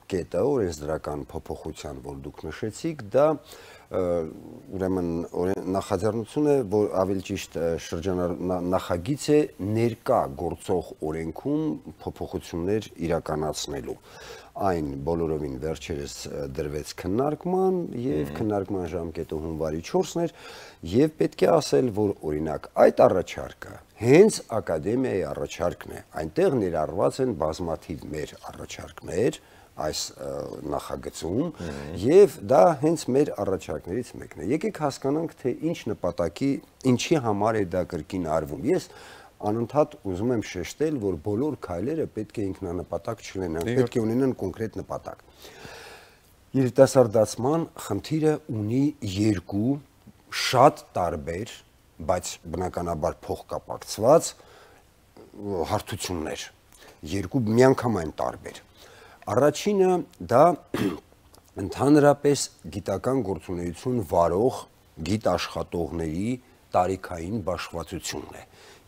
կետը օրենսդրական փոփոխության, որ դուք նշեցիք, դա ուրեմն նախաձեռնություն է, որ ավելի ճիշտ նախագիծ է ներկա գործող օրենքում փոփոխություններ իրականացնելու։ Այն բոլորովին վերջերս դրվեց քննարկման եւ քննարկման ժամկետը հունվարի չորսն էր եւ պետք է ասել, որ օրինակ այդ առաջարկը հենց ակադեմիայի առաջարկն է, այնտեղ ներառված են բազմաթիվ մեր առաջարկներ այս նախագծում եւ դա հենց մեր առաջարկներից մեկն է։ Եկեք հասկանանք, թե ինչ նպատակի, ինչի համար է դա կրկին արվում։ Ես անընդհատ ուզում եմ շեշտել, որ բոլոր քայլերը պետք է ինքնանպատակ չլինեն, պետք է ունենան կոնկրետ նպատակ։ Երիտասարդացման խնդիրը ունի երկու շատ տարբեր, բայց բնականաբար փոխկապակցված հարթություններ, երկու միանգամայն տարբեր։ Առաջինը դա ընդհանրապես գիտական գործունեություն վարող գիտաշխատողների տարիքային բաշխվածությունն է։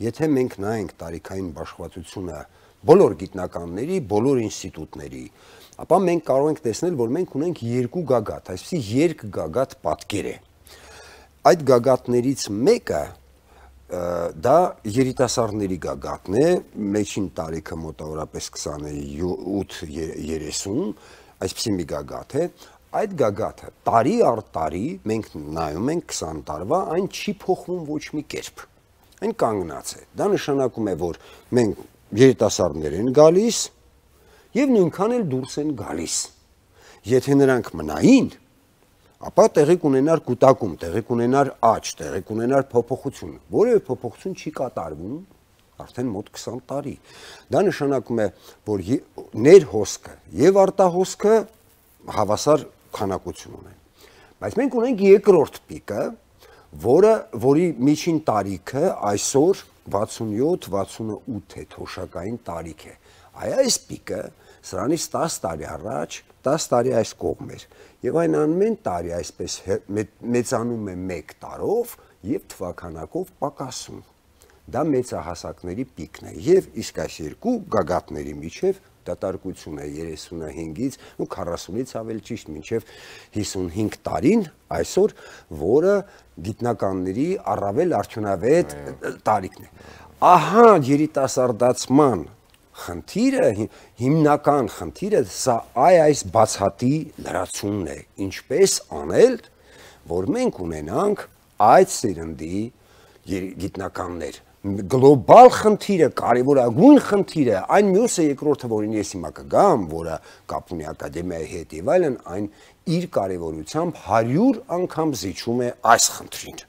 Եթե մենք նայենք տարիքային բաշխվածությունը բոլոր գիտնականների, բոլոր ինստիտուտների, ապա մենք կարող ենք տեսնել, որ մենք ունենք երկու գագաթ, այսպեսի երկգագաթ պատկեր է։ Այդ գագաթներից մեկը դա երիտասարդների գագաթն է, մեջին տարիքը մոտավորապես քսանութ երեսուն, այսպեսի մի գագաթ է, այդ գագաթը տարի առ տարի մենք նայում ենք քսան տարվա, այն չի փոխվում ոչ մի կերպ, այն կանգնած է, դա նշանակում է, որ մենք երիտասարդներ են գալիս և նույնքան էլ դուրս են գալիս, եթե նրանք մնային, ապա տեղի կունենար կուտակում, տեղի կունենար աճ, տեղի կունենար փոփոխություն, որևէ փոփոխություն չի կատարվում արդեն մոտ քսան տարի։ Դա նշանակում է, որ ներհոսքը եւ արտահոսքը հավասար քանակություն ունեն։ Բայց մենք ունենք երկրորդ պիկը, որը որի միջին տարիքը այսօր վաթսունյոթ վաթսունութ է, թոշակային տարիք է։ Այ այս պիկը սրանից տասը տարի առաջ, տասը տարի այս կողմ էր, եւ այն ամեն տարի այսպես մեծանում է մեկ տարով եւ թվականակով պակասում։ Դա մեծահասակների պիկն է եւ իսկ այս երկու գագաթների միջև դատարկություն է երեսունհինգից ու քառասունից ավելի ճիշտ մինչև հիսունհինգ տարին այսօր, որը գիտնականների առավել արդյունավետ տարիքն է։ Ահա երիտասարդացման խնդիրը, հիմնական խնդիրը սա այ այս բացատի լրացումն է, ինչպես անել, որ մենք ունենանք այդ սերնդի գիտնականներ։ Գլոբալ խնդիրը, կարևորագույն խնդիրը, այն մյուսը երկրորդը, որին ես հիմա կգամ, որը կապ ունի ակադեմիայի հետ եւ այլն, այն իր կարևորությամբ հարյուր անգամ զիջում է այս խնդրին։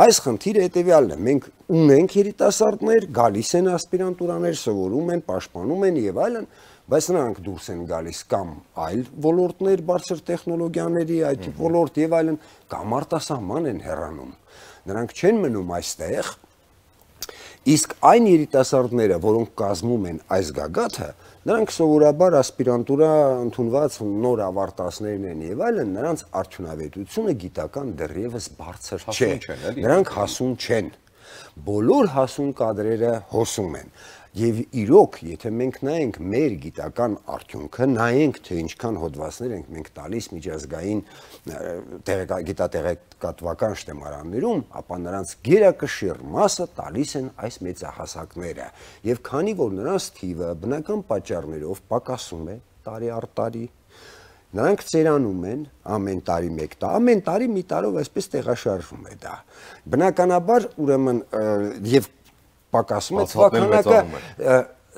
Այս խնդիրը հետևյալն է, մենք ունենք երիտասարդներ, գալիս են ասպիրանտուրաներ, սովորում են, պաշտպանում են եւ այլն, բայց նրանք դուրս են գալիս կամ այլ ոլորտներ, բարձր տեխնոլոգիաների, այդ ոլորտ եւ այլն, կամ արտասահման են հեռանում։ Նրանք չեն մնում այստեղ Իսկ այն երիտասարդները, որոնք կազմում են այս գագաթը, նրանք սովորաբար ասպիրանտուրա ընդունված նոր ավարտածներն են եւ այլն, նրանց արդյունավետությունը գիտական դեռևս բարձր չէ։ Նրանք հասուն չեն։ Բոլոր հասուն կադրերը հոսում են։ Եվ իրոք, եթե մենք նայենք մեր գիտական արդյունքը, նայենք, թե ինչքան հոդվածներ ենք մենք տալիս միջազգային գիտատեղեկատվական շտեմարաններում, ապա նրանց գերակշիռ մասը տալիս են այս մեծահասակները։ Եվ քանի որ նրանց թիվը բնական պատճառներով պակասում է տարի առ տարի, նրանք ծերանում են ամեն տարի մեկ տա, ամեն տարի մի տարով այսպես տեղաշարժվում է դա։ Բնականաբար, ուրեմն, եւ պակասում է թվականակը,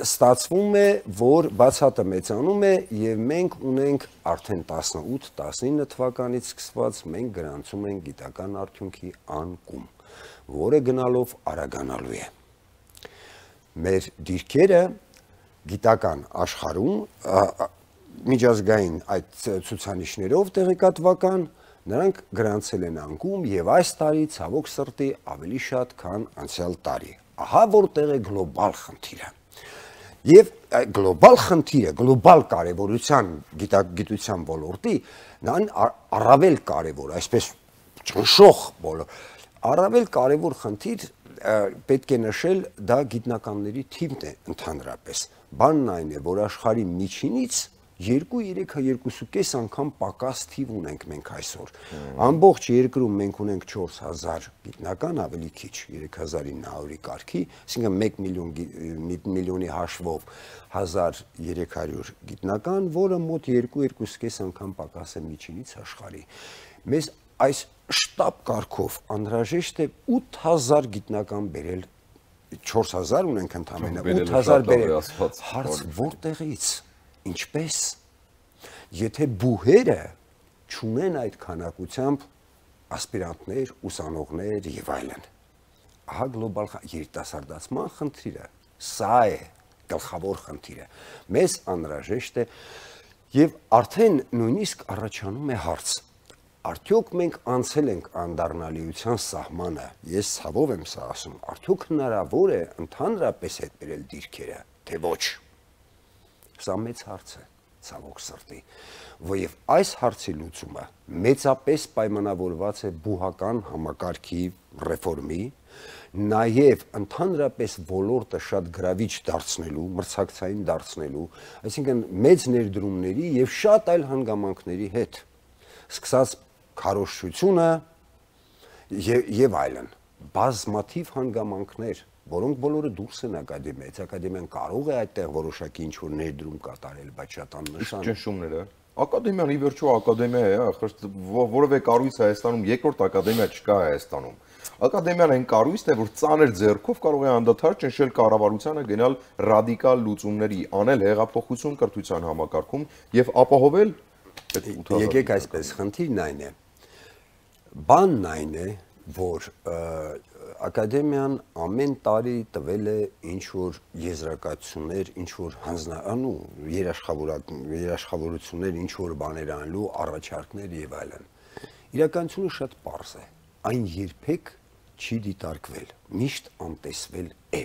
ստացվում է, որ բացատը մեծանում է եւ մենք ունենք արդեն տասնութ տասնինը թվականից սկսված մենք գրանցում ենք գիտական արդյունքի անկում, որը գնալով արագանալու է։ Մեր դիրքերը գիտական աշխարհում միջազգային այդ ցուցանիշներով տեղեկատվական նրանք գրանցել են անկում եւ այս տարի ցավոք սրտի ավելի շատ, քան անցյալ տարի։ Ահա որտեղ է գլոբալ խնդիրը։ Եվ գլոբալ խնդիրը, գլոբալ կարևորության գիտության ոլորտի, նրան առավել կարևոր, այսպես ճնշող բոլոր, առավել կարևոր խնդիր պետք է նշել, դա գիտնականների թիվն է ընդհանրապես։ Բանն այն է, որ աշխարհի միջինից երկու երեք երկուսուկես անգամ պակաս թիվ ունենք մենք այսօր։ Ամբողջ երկրում մենք ունենք չորս հազար գիտնական, ավելի քիչ, երեք հազար ինը հարյուրի կարգի, այսինքն մեկ միլիոնի հաշվով հազար երեք հարյուր գիտնական, որը մոտ երկու երկուսուկես անգամ պակաս է միջինից աշխարհի։ Մեզ այս շտապ կարգով անհրաժեշտ է ութ հազար գիտնական բերել, չորս հազար ունենք ընդամենը, ութ հազար բերել։ Հարց որտեղից, ինչպես, եթե բուհերը չունեն այդ քանակությամբ ասպիրանտներ, ուսանողներ եւ այլն։ Ահա գլոբալ երիտասարդացման խնդիրը, սա է գլխավոր խնդիրը։ Մեզ անհրաժեշտ է եւ արդեն նույնիսկ առաջանում է հարց. արդյոք մենք անցել ենք անդառնալիության սահմանը, ես ցավով եմ սա ասում, արդյոք հնարավոր է ընդհանրապես հետ բերել դիրքերը, թե ոչ։ Սա մեծ հարց է, ցավոք սրտի, եւ այս հարցի լուծումը մեծապես պայմանավորված է բուհական համակարգի ռեֆորմի, նաեւ ընդհանրապես ոլորտը շատ գրավիչ դարձնելու, մրցակցային դարձնելու, այսինքն մեծ ներդրումների եւ շատ այլ հանգամանքների հետ, սկսած քարոզչությունը եւ այլն, բազմաթիվ հանգամանքներ, որոնք բոլորը դուրս են ակադեմիայից, ակադեմիան կարող է այդտեղ որոշակի ինչ-որ ներդրում կատարել, բայց շատ աննշան։ Ճնշումները։ Ակադեմիան ի վերջո ակադեմիա է, որևէ կառույց Հայաստանում, երկրորդ ակադեմիա չկա Հայաստանում։ Ակադեմիան այն կառույցն է, որ ծանր ձեռքով կարող է անդադար ճնշել կառավարությանը, գնալ ռադիկալ լուծումների, անել հեղափոխություն կրթության համակարգում եւ ապահովել։ Եկեք այսպես, խնդիրն այն է։ Բանն այն է, որ ակադեմիան ամեն տարի տվել է ինչ-որ եզրակացություններ, ինչ-որ հանձնանու, երաշխավորություններ, ինչ-որ բաներ անելու, առաջարկներ եւ այլն։ Իրականությունը շատ պարզ է։ Այն երբեք չի դիտարկվել, միշտ անտեսվել է։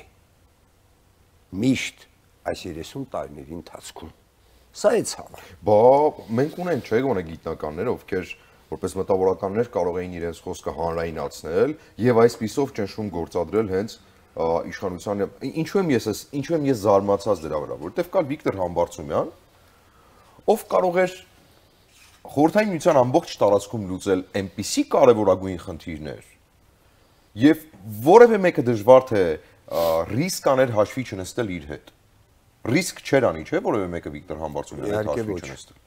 Միշտ այս երեսուն տարիների ընթացքում։ Սա է ցավը։ Բա մենք ունենք, չէ՞, գոնե գիտնականներ, ովքեր որպես մտավորականներ կարող էին իրենց խոսքը հանրայնացնել եւ այսպիսով ճնշում գործադրել հենց իշխանության։ Ինչու եմ ես ինչու եմ ես զարմացած դրա վրա, որովհետեւ կար Վիկտոր Համբարձումյան, ով կարող էր խորհրդային միության ամբողջ տարածքում լուծել այնպիսի կարևորագույն խնդիրներ եւ որևէ մեկը դժվար թե ռիսկ աներ հաշվի չնստել իր հետ։ Ռիսկ չէր անի, չէ՞, որևէ մեկը Վիկտոր Համբարձումյանի հետ հաշվի չնստել։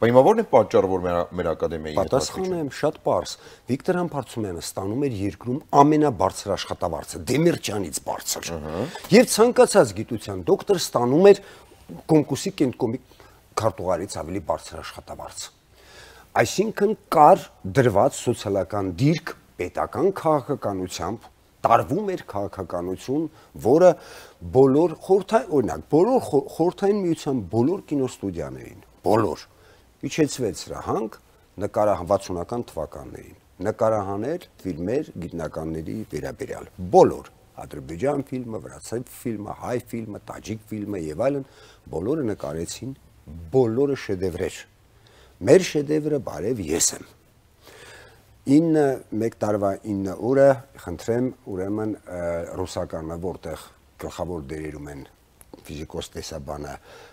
Բայց հիմա ո՞րն է պատճառը, որ մեր ակադեմիայի հետ պատասխանը եմ շատ պարզ։ Վիկտոր Համբարձումյանը ստանում էր երկրում ամենաբարձր աշխատավարձը, Դեմիրճյանից բարձր։ Եվ ցանկացած գիտության դոկտոր ստանում էր կոմկուսի կենտկոմի քարտուղարից ավելի բարձր աշխատավարձ։ Այսինքն կար դրված սոցիալական դիրք պետական քաղաքականությամբ, տարվում էր քաղաքականություն, որը բոլոր խորհրդային, օրինակ, բոլոր խորհրդային միության բոլոր կինոստուդիաներին, բոլոր իջեցվեց սրահանք նկարահանվածունական թվականներին, նկարահաներ, ֆիլմեր, գիտնականների վերաբերյալ, բոլոր, Ադրբեջան ֆիլմը, վրացի ֆիլմը, հայ ֆիլմը, տաջիկ ֆիլմը եւ այլն, բոլորը նկարեցին, բոլորը շեդևրեր։ Մեր շեդևրը բարև ես եմ։ ինը մեկ տարվա ինը օրը, խնդրեմ, ուրեմն ռուսականը, որտեղ գլխավոր դերերում են ֆիզիկոս տեսաբանը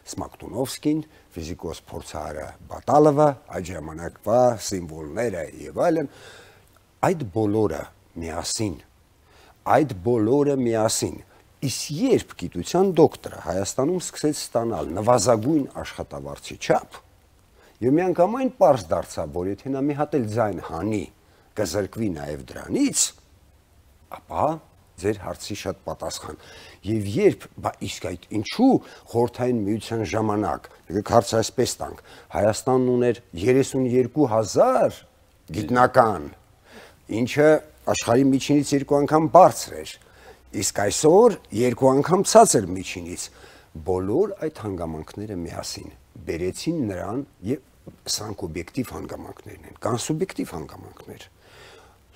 Սմակտունովսկին, ֆիզիկոս փորձարարը Բատալովը, այդ ժամանակվա սիմվոլները եւ այլն, այդ բոլորը միասին, այդ բոլորը միասին, իսկ երբ գիտության դոկտորը Հայաստանում սկսեց ստանալ նվազագույն աշխատավարձի չափ, եւ միանգամայն պարզ դարձավ, որ եթե նա մի հատ էլ ձայն հանի, կզրկվի նաեւ դրանից, ապա ձեր հարցի շատ պատասխան։ Եվ երբ, բա իսկ այդ ինչու խորհրդային միության ժամանակ, եկեք հարցը այսպես տանք, Հայաստանն ուներ երեսունյերկու հազար գիտնական, ինչը աշխարհի միջինից երկու անգամ բարձր էր, իսկ այսօր երկու անգամ ցածր միջինից, բոլոր այդ հանգամանքները միասին բերեցին նրան, եւ սրանք օբյեկտիվ հանգամանքներն են, կան սուբյեկտիվ հանգամանքներ։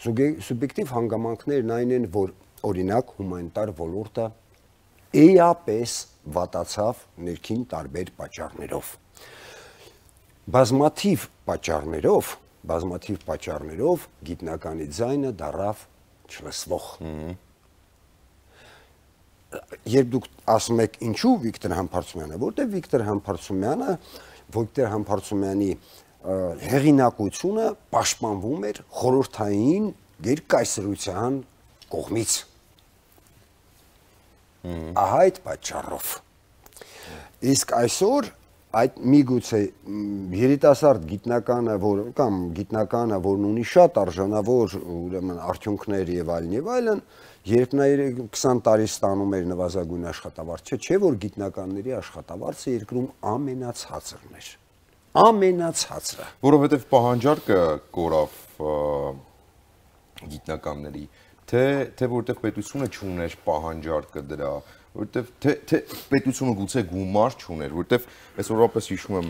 Սուբյեկտիվ հանգամանքներն այն են, որ օրինակ հումանիտար ոլորտը էապես վատացավ ներքին տարբեր պատճառներով։ Բազմաթիվ պատճառներով, բազմաթիվ պատճառներով գիտնականի ձայնը դարավ չլսվող։ Երբ դուք ասում եք ինչու Վիկտոր Համբարձումյանը, որտեղ Վիկտոր Համբարձումյանը, Վիկտոր Համբարձումյանի հեղինակությունը պաշտպանվում էր խորհրդային գերկայսրության կողմից։ Ահա այդ պատճառով։ Իսկ այսօր այդ միգուցե երիտասարդ գիտնականը, որ կամ գիտնականը, որն ունի շատ արժանավոր ուրեմն արդյունքներ եւ այլն եւ այլն, երբ նա քսան տարի ստանում էր նվազագույն աշխատավարձը, չէ՞ որ գիտնականների աշխատավարձը երկրում ամենացածրն էր։ Ամենացածրը։ Որովհետեւ պահանջարկը կորավ գիտնականների, թե թե որտեղ պետությունը չուներ պահանջարկը դրա, որտեղ թե թե պետությունը գուցե գումար չուներ, որտեղ այսօրապես հիշում եմ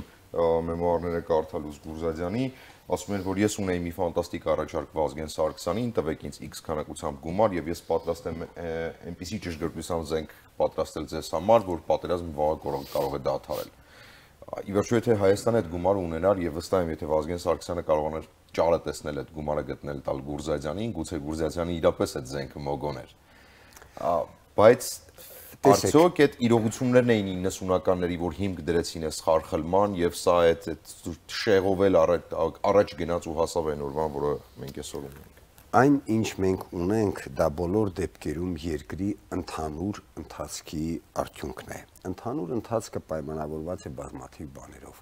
մեմուարները կարդալուց Գուրզադյանի, ասում էր, որ ես ունեի մի ֆանտաստիկ առաջարկ Վազգեն Սարգսյանին, տվեք ինձ X քանակությամբ գումար եւ ես պատրաստ եմ այնպիսի ճշգրտությամբ զենք պատրաստել ձեզ համար, որ պատերազմը վաղը կարող է դադարել։ Ի վերջո եթե Հայաստանը այդ գումարը ունենար եւ վստահ եմ, եթե Վազգեն Սարգսյանը կարողանար ճարը տեսնել այդ գումարը գտնել տալ Գուրզադյանին, գուցե Գուրզադյանը իրապես այդ զենքը մոգոներ։ Բայց արդյոք այդ իրողություններն էին իննսունականների, որ հիմք դրեցին այս խարխլման եւ սա այդ շեղով էլ առաջ գնաց ու հասավ այն օրվան, որը մենք այսօր ունենք։ Այն ինչ մենք ունենք, դա բոլոր դեպքերում երկրի ընդհանուր ընթացքի արդյունքն է։ Ընդհանուր ընթացքը պայմանավորված է բազմաթիվ բաներով։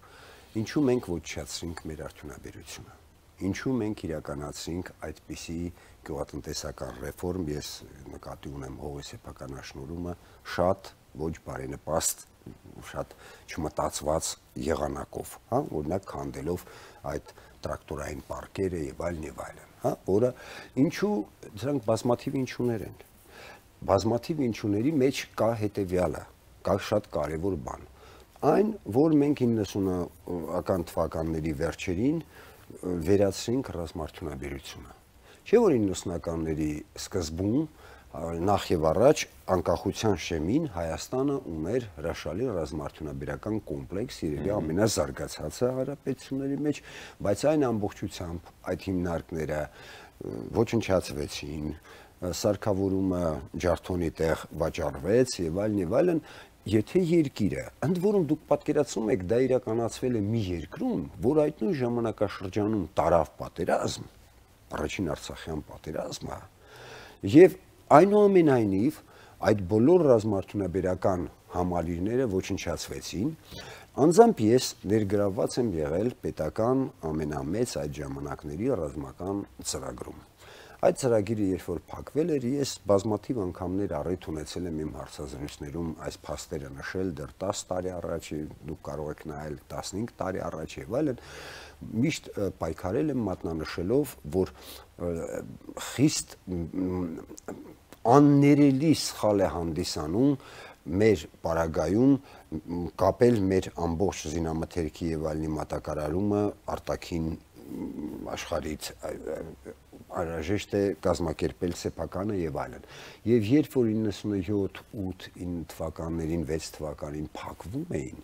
Ինչու մենք ոչնչացրինք մեր արդյունաբերությունը։ Ինչու մենք իրականացրինք այդպիսի գյուղատնտեսական ռեֆորմ, ես նկատի ունեմ հողեսեփական աշնորհումը, շատ ոչ բարենպաստ, շատ չմտածված եղանակով, հա, օրինակ քանդելով այդ տրակտորային պարկերը եւ այլն եւ այլն, հա, որը ինչու դրանք բազմաթիվ ինչուներ են։ Բազմաթիվ ինչուների մեջ կա հետեւյալը, կա շատ կարեւոր բան։ Այն, որ մենք իննսունական թվականների վերջերին վերացրինք ռազմարդյունաբերությունը։ Չէ՞ որ իննսունականների սկզբում նախ եւ առաջ անկախության շեմին Հայաստանը ուներ հրաշալի ռազմարդյունաբերական կոմպլեքս, երևի ամենազարգացածը հանրապետությունների մեջ, բայց այն ամբողջությամբ այդ հիմնարկները ոչնչացվեցին, սարքավորումը ջարդոնի տեղ վաճառվեց եւ այլն եւ այլն։ Եթե երկիրը, ընդ որում դուք պատկերացնում եք, դա իրականացվել է մի երկրում, որ այդ նույն ժամանակաշրջանում տարավ պատերազմ, առաջին Արցախյան պատերազմը, եւ այնուամենայնիվ այդ բոլոր ռազմարդյունաբերական համալիրները ոչնչացվեցին, անձամբ ես ներգրավված եմ եղել պետական ամենամեծ այդ ժամանակների ռազմական ծրագրում։ Այդ ծրագիրը երբ որ փակվել էր, ես բազմաթիվ անգամներ առիթ ունեցել եմ իմ հարցազրույցներում այս փաստերը նշել դեռ տասը տարի առաջ, դուք կարող եք նայել տասնհինգ տարի առաջ եւ այլն, միշտ պայքարել եմ մատնանշելով, որ խիստ աններելի սխալ է հանդիսանում մեր պարագայում կապել մեր ամբողջ զինամթերքի եւ այլնի մատակարարումը արտաքին աշխարհից անհրաժեշտ է կազմակերպել սեփականը եւ այլն։ Եվ երբ որ իննսունյոթ, ութ, ինը թվականներին, վեց թվականին փակվում էին,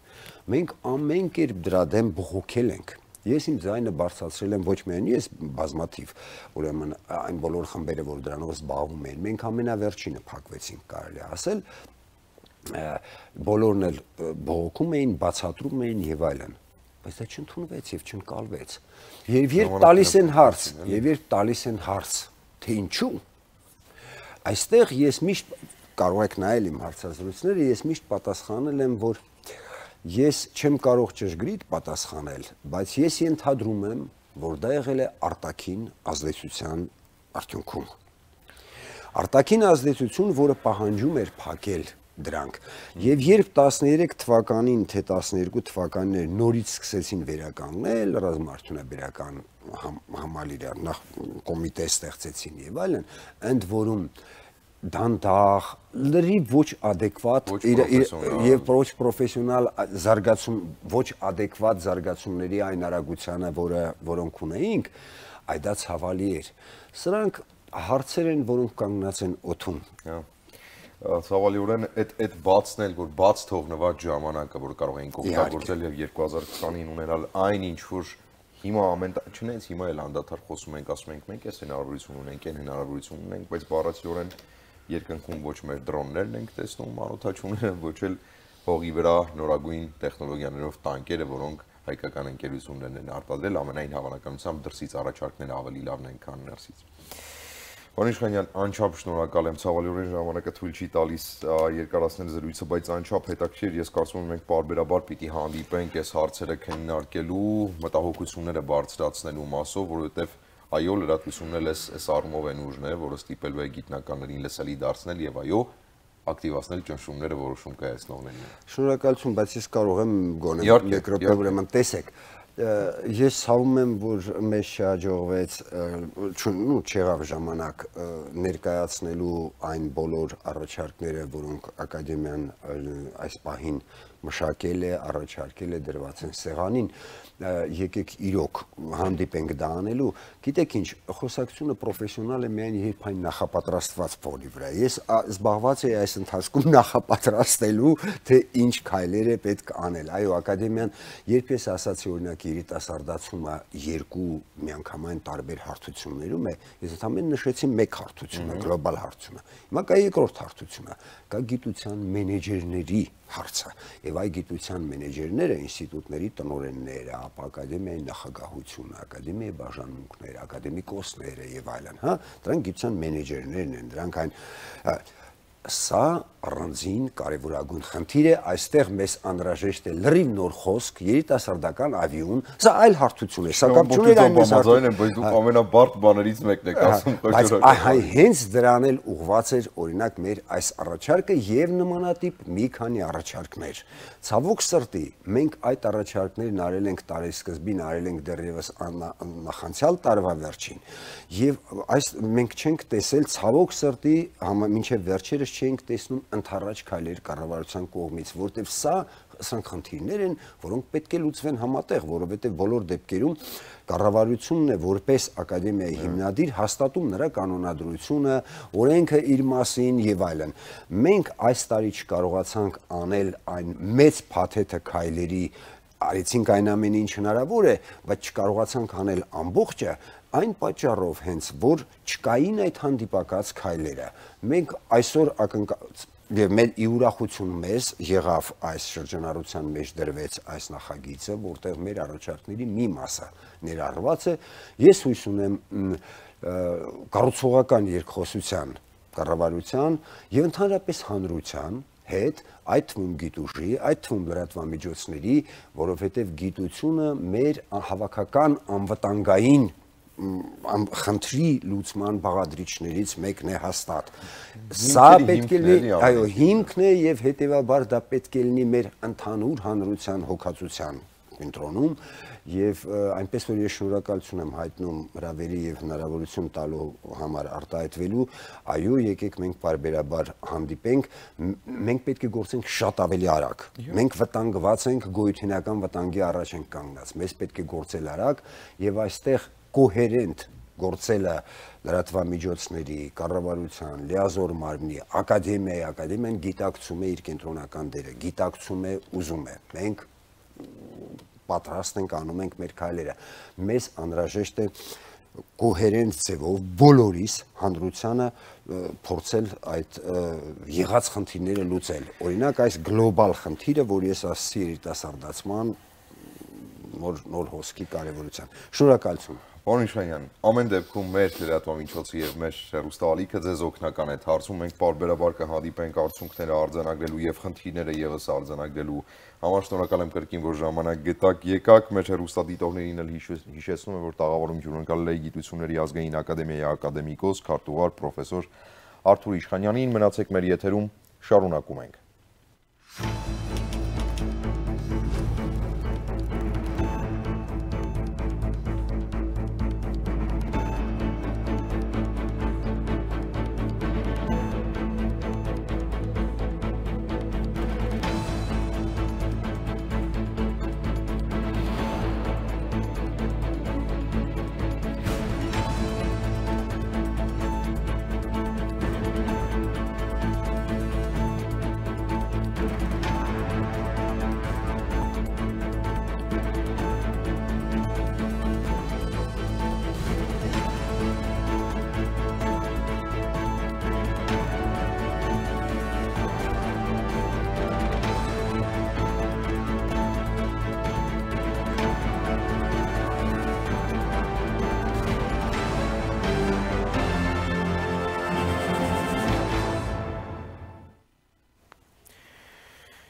մենք ամեն կերպ դրա դեմ բողոքել ենք։ Ես իմ ձայնը բարձրացրել եմ ոչ միայն ես, բազմաթիվ, ուրեմն այն բոլոր խմբերը, որ դրանով զբաղվում էին, մենք ամենավերջինը փակվեցինք, կարելի է ասել, բոլորն էլ բողոքում էին, բացատրում էին եւ այլն, բայց դա չընդունվեց եւ չընկալվեց։ Եվ երբ տալիս են հարց, եւ երբ տալիս են հարց, թե ինչու, այստեղ ես միշտ կարող եք նայել իմ հարցազրույցները, ես միշտ պատասխանել եմ, որ ես չեմ կարող ճշգրիտ պատասխանել, բայց ես ենթադրում եմ, որ դա եղել է արտաքին ազդեցության արդյունքում։ Արտաքին ազդեցություն, որը պահանջում էր փակել դրանք։ Եվ երբ տասներեք թվականին, թե տասներկու թվականներ նորից սկսեցին վերականգնել ռազմաարդյունաբերական համալիրը, նախ կոմիտե ստեղծեցին եւ այլն, ընդ որում դանդաղ, լրիվ ոչ ադեկվատ եւ ոչ պրոֆեսիոնալ զարգացում, ոչ ադեկվատ զարգացումների այն արագությանը, որը որոնք ունեինք, այ դա ցավալի էր։ Սրանք հարցեր են, որոնք կանգնած են օդում։ Ցավալիորեն այդ այդ բացն էլ, որ բաց թողնված ժամանակը, որ կարող էին օգտագործել եւ երկու հազար քսանին ունենալ այն ինչ որ հիմա ամեն չնայած հիմա էլ անդադար խոսում ենք, ասում ենք մենք էս հնարավորություն ունենք, այն հնարավորություն ունենք, բայց բառացիորեն երկնքում ոչ մեր դրոններն ենք տեսնում, անօթաչուները, ոչ էլ հողի վրա նորագույն տեխնոլոգիաներով տանկերը, որոնք հայկական ընկերություններն են արտադրել, ամենայն հավանականությամբ դրսից առաջարկները ավելի լավն են, քան ներսից։ Պարոն Իշխանյան, անչափ շնորհակալ եմ, ցավալիորեն ժամանակը թույլ չի տալիս երկարացնել զրույցը, բայց անչափ հետաքրքիր, ես կարծում եմ մենք պարբերաբար պիտի հանդիպենք այս հարցերը քննարկելու, մտահոգությունները բարձրացնելու մասով, որովհետև այո, լրատվությունն էլ այս առումով են ուժներ, որը ստիպելու է գիտնականներին լսելի դարձնել եւ այո, ակտիվացնել ճնշումները որոշում կայացնողներին։ Շնորհակալություն, բայց ես կարող եմ գոնե մեկ րոպե ուրեմն տեսեք։ Ես ցավում եմ, որ մեզ չհաջողվեց, ու չեղավ ժամանակ ներկայացնելու այն բոլոր առաջարկները, որոնք ակադեմիան այս պահին մշակել է, առաջարկել է, դրված են սեղանին, եկեք իրոք հանդիպենք դա անելու, գիտեք ինչ, խոսակցությունը պրոֆեսիոնալ է միայն երբ այն նախապատրաստված փորի վրա։ Ես զբաղված եի այս ընթացքում նախապատրաստելու, թե ինչ քայլեր է պետք անել։ Այո, ակադեմիան, երբ ես ասացի օրինակ երիտասարդացումը երկու միանգամայն տարբեր հարթություններում է, ես ընդհանրապես նշեցի մեկ հարթությունը, գլոբալ հարթությունը։ Հիմա կա երկրորդ հարթությունը, կա գիտության մենեջերների հարցը, եւ այ գիտության մենեջերները, ինստիտուտների տնօրենները, ապա ակադեմիայի նախագահությունը, ակադեմիայի բաժանմունքները, ակադեմիկոսները եւ այլն, հա, դրանք գիտության մենեջերներն են, դրանք այն սա առանձին կարևորագույն խնդիր է, այստեղ մեզ անհրաժեշտ է լրիվ նոր խոսք, երիտասարդական ավիուն, սա այլ հարթություն է, սա կապ չունի այն մեզ հարթություն, բայց դուք ամենաբարդ բաներից մեկն եք ասում, բայց այ հենց դրան էլ ուղղված էր օրինակ մեր այս առաջարկը եւ նմանատիպ մի քանի առաջարկներ։ Ցավոք սրտի, մենք այդ առաջարկներն արել ենք տարեսկզբին, արել ենք դեռևս նախանցյալ տարվա վերջին, եւ այս մենք չենք տեսել ցավոք սրտի մինչեւ վերջերս չենք տեսնում ընդառաջ քայլեր կառավարության կողմից, որտեղ սա սրանք խնդիրներ են, որոնք պետք է լուծվեն համատեղ, որովհետև բոլոր դեպքերում կառավարությունն է որպես ակադեմիայի հիմնադիր հաստատում նրա կանոնադրությունը, օրենքը իր մասին եւ այլն։ Մենք այս տարի չկարողացանք անել այն մեծ փաթեթը քայլերի, արեցինք այն ամենը ինչ հնարավոր է, բայց չկարողացանք անել ամբողջը, այն պատճառով հենց որ չկային այդ հանդիպակաց քայլերը։ Մենք այսօր ակնկալում եւ մեր ի ուրախություն մեզ եղավ այս շրջանառության մեջ դրվեց այս նախագիծը, որտեղ մեր առաջարկների մի մասը ներառված է։ Ես հույս ունեմ կառուցողական երկխոսության կառավարության եւ ընդհանրապես հանրության հետ, այդ թվում գիտուժի, այդ թվում լրատվամիջոցների, որովհետեւ գիտությունը մեր հավաքական անվտանգային խնդրի լուծման բաղադրիչներից մեկն է հաստատ։ Սա պետք է լինի, այո, հիմքն է եւ հետեւաբար դա պետք է լինի մեր ընդհանուր հանրության հոգացության կենտրոնում եւ այնպես որ ես շնորհակալություն եմ հայտնում հրավերի եւ հնարավորություն տալու համար արտահայտվելու, այո, եկեք մենք բարբերաբար հանդիպենք, մենք պետք է գործենք շատ ավելի արագ։ Մենք վտանգված ենք, գոյութենական վտանգի առաջ ենք կանգնած։ Մեզ պետք է գործել արագ եւ այստեղ կոհերենտ գործելը լրատվամիջոցների, կառավարության, լիազոր մարմնի, ակադեմիայի, ակադեմիան գիտակցում է իր կենտրոնական դերը, գիտակցում է, ուզում է։ Մենք պատրաստ ենք, անում ենք մեր քայլերը։ Մեզ անհրաժեշտ է կոհերենտ ձևով բոլորիս հանրությանը փորձել այդ եղած խնդիրները լուծել։ Օրինակ այս գլոբալ խնդիրը, որ ես ասացի երիտասարդացման նոր հոսքի կարևորության։ Շնորհակալություն։ Պարոն Իշխանյան, ամեն դեպքում մեր լրատվամիջոցը եւ մեր հեռուստաալիքը ձեզ օգնական է դարձում, մենք պարբերաբար կհանդիպենք արդյունքները արձանագրելու եւ խնդիրները եւս արձանագրելու համար։ Շնորհակալ եմ կրկին, որ ժամանակ գտաք, եկաք։ Մեր հեռուստադիտողներին էլ հիշեցնում եմ, որ տաղավարում հյուրընկալել է Գիտությունների ազգային ակադեմիայի ակադեմիկոս, քարտուղար, պրոֆեսոր Արթուր Իշխանյանին։ Մնացեք մեր եթերում, շարունակում ենք։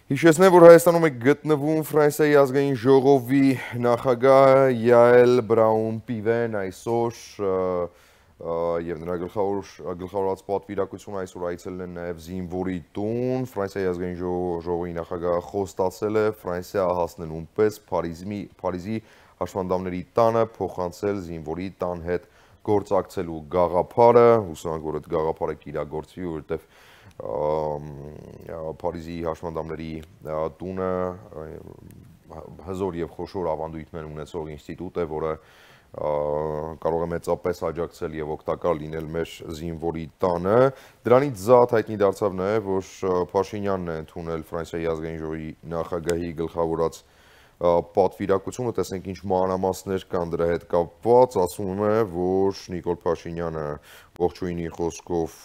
Հիշեցնեմ, որ Հայաստանում է գտնվում Ֆրանսիայի ազգային ժողովի նախագահ Յաել Բրաուն-Պիվեն այսօր եւ նրա գլխավորած պատվիրակությունը այսօր այցելել են նաեւ զինվորի տուն։ Ֆրանսիայի ազգային ժողովի նախագահը խոստացել է Ֆրանսիա հասնելուն պես Փարիզի հաշվանդամների տանը փոխանցել զինվորի տան հետ գործակցելու գաղափարը, հուսանք, որ այդ գաղափարը կիրագործվի, որովհետեւ Փարիզի հաշմանդամների տունը հզոր եւ խոշոր ավանդույթներ ունեցող ինստիտուտ է, որը կարող է մեծապես աջակցել եւ օգտակար լինել մեր զինվորի տանը։ Դրանից զատ հայտնի դարձավ նաեւ, որ Փաշինյանն է ընդունել Ֆրանսիայի ազգային ժողովի նախագահի գլխավորած պատվիրակությունը, տեսնենք ինչ մանրամասներ կան դրա հետ կապված, ասում է, որ Նիկոլ Փաշինյանը ողջույնի խոսքով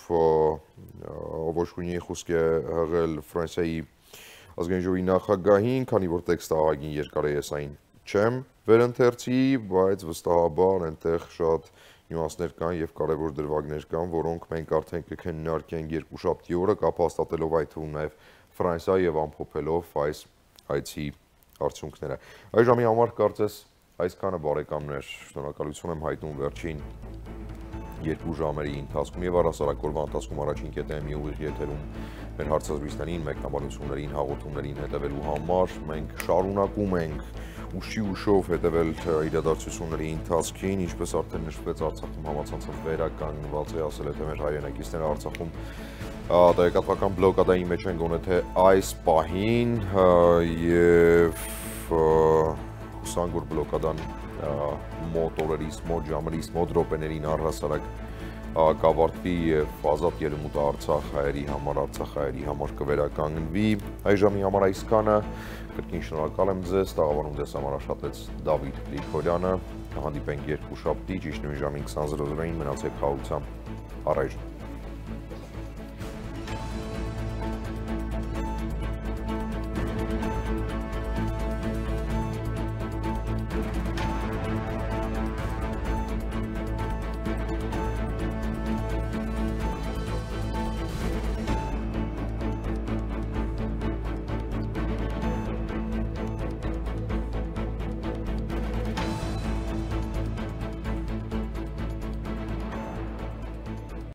ողջույնի խոսք է հղել Ֆրանսիայի ազգային ժողովի նախագահին, քանի որ տեքստը ահագին երկար է, ես այն չեմ վերընթերցի, բայց վստահաբար այնտեղ շատ նյուանսներ կան եւ կարեւոր դրվագներ կան, որոնք մենք արդեն կքննարկենք երկուշաբթի օրը, կապ հաստատելով այդ թվում նաեւ Ֆրանսիա եւ ամփոփելով այս այցի արդյունքները։ Այժմի համար կարծես այսքանը, բարեկամներ, շնորհակալություն եմ հայտնում վերջին երկու ժամերի ընթացքում եւ առհասարակ օրվա ընթացքում առաջին կետեմի ուղիղ եթերում մեր հարցազրույցներին, մեկնաբանություններին, հաղորդումներին հետևելու համար մենք շարունակում ենք ուշի ուշով հետևել իրադարձությունների ընթացքին, ինչպես արդեն նշվեց, Արցախում համացանցով վերականգնված է, ասել է թե մեր հայրենակիցները Արցախում տեղեկատվական բլոկադայի մեջ են գոնե թե այս պահին եւ հուսանք, որ բլոկադան մոտ օրերից, մոտ ժամերից, մոտ րոպեներին առհասարակ կավարտվի եւ ազատ ելումուտ Արցախ հայերի համար, Արցախ հայերի համար կվերականգնվի։ Այժմի համար այսքանը, կրկին շնորհակալ եմ ձեզ, տաղավարում ձեզ համար աշխատեց Դավիթ Գրիգորյանը, կհանդիպենք երկուշաբթի, ճիշտ նույն ժամին քսան զրո զրոին, մնացեք խաղաղությամբ, առայժմ։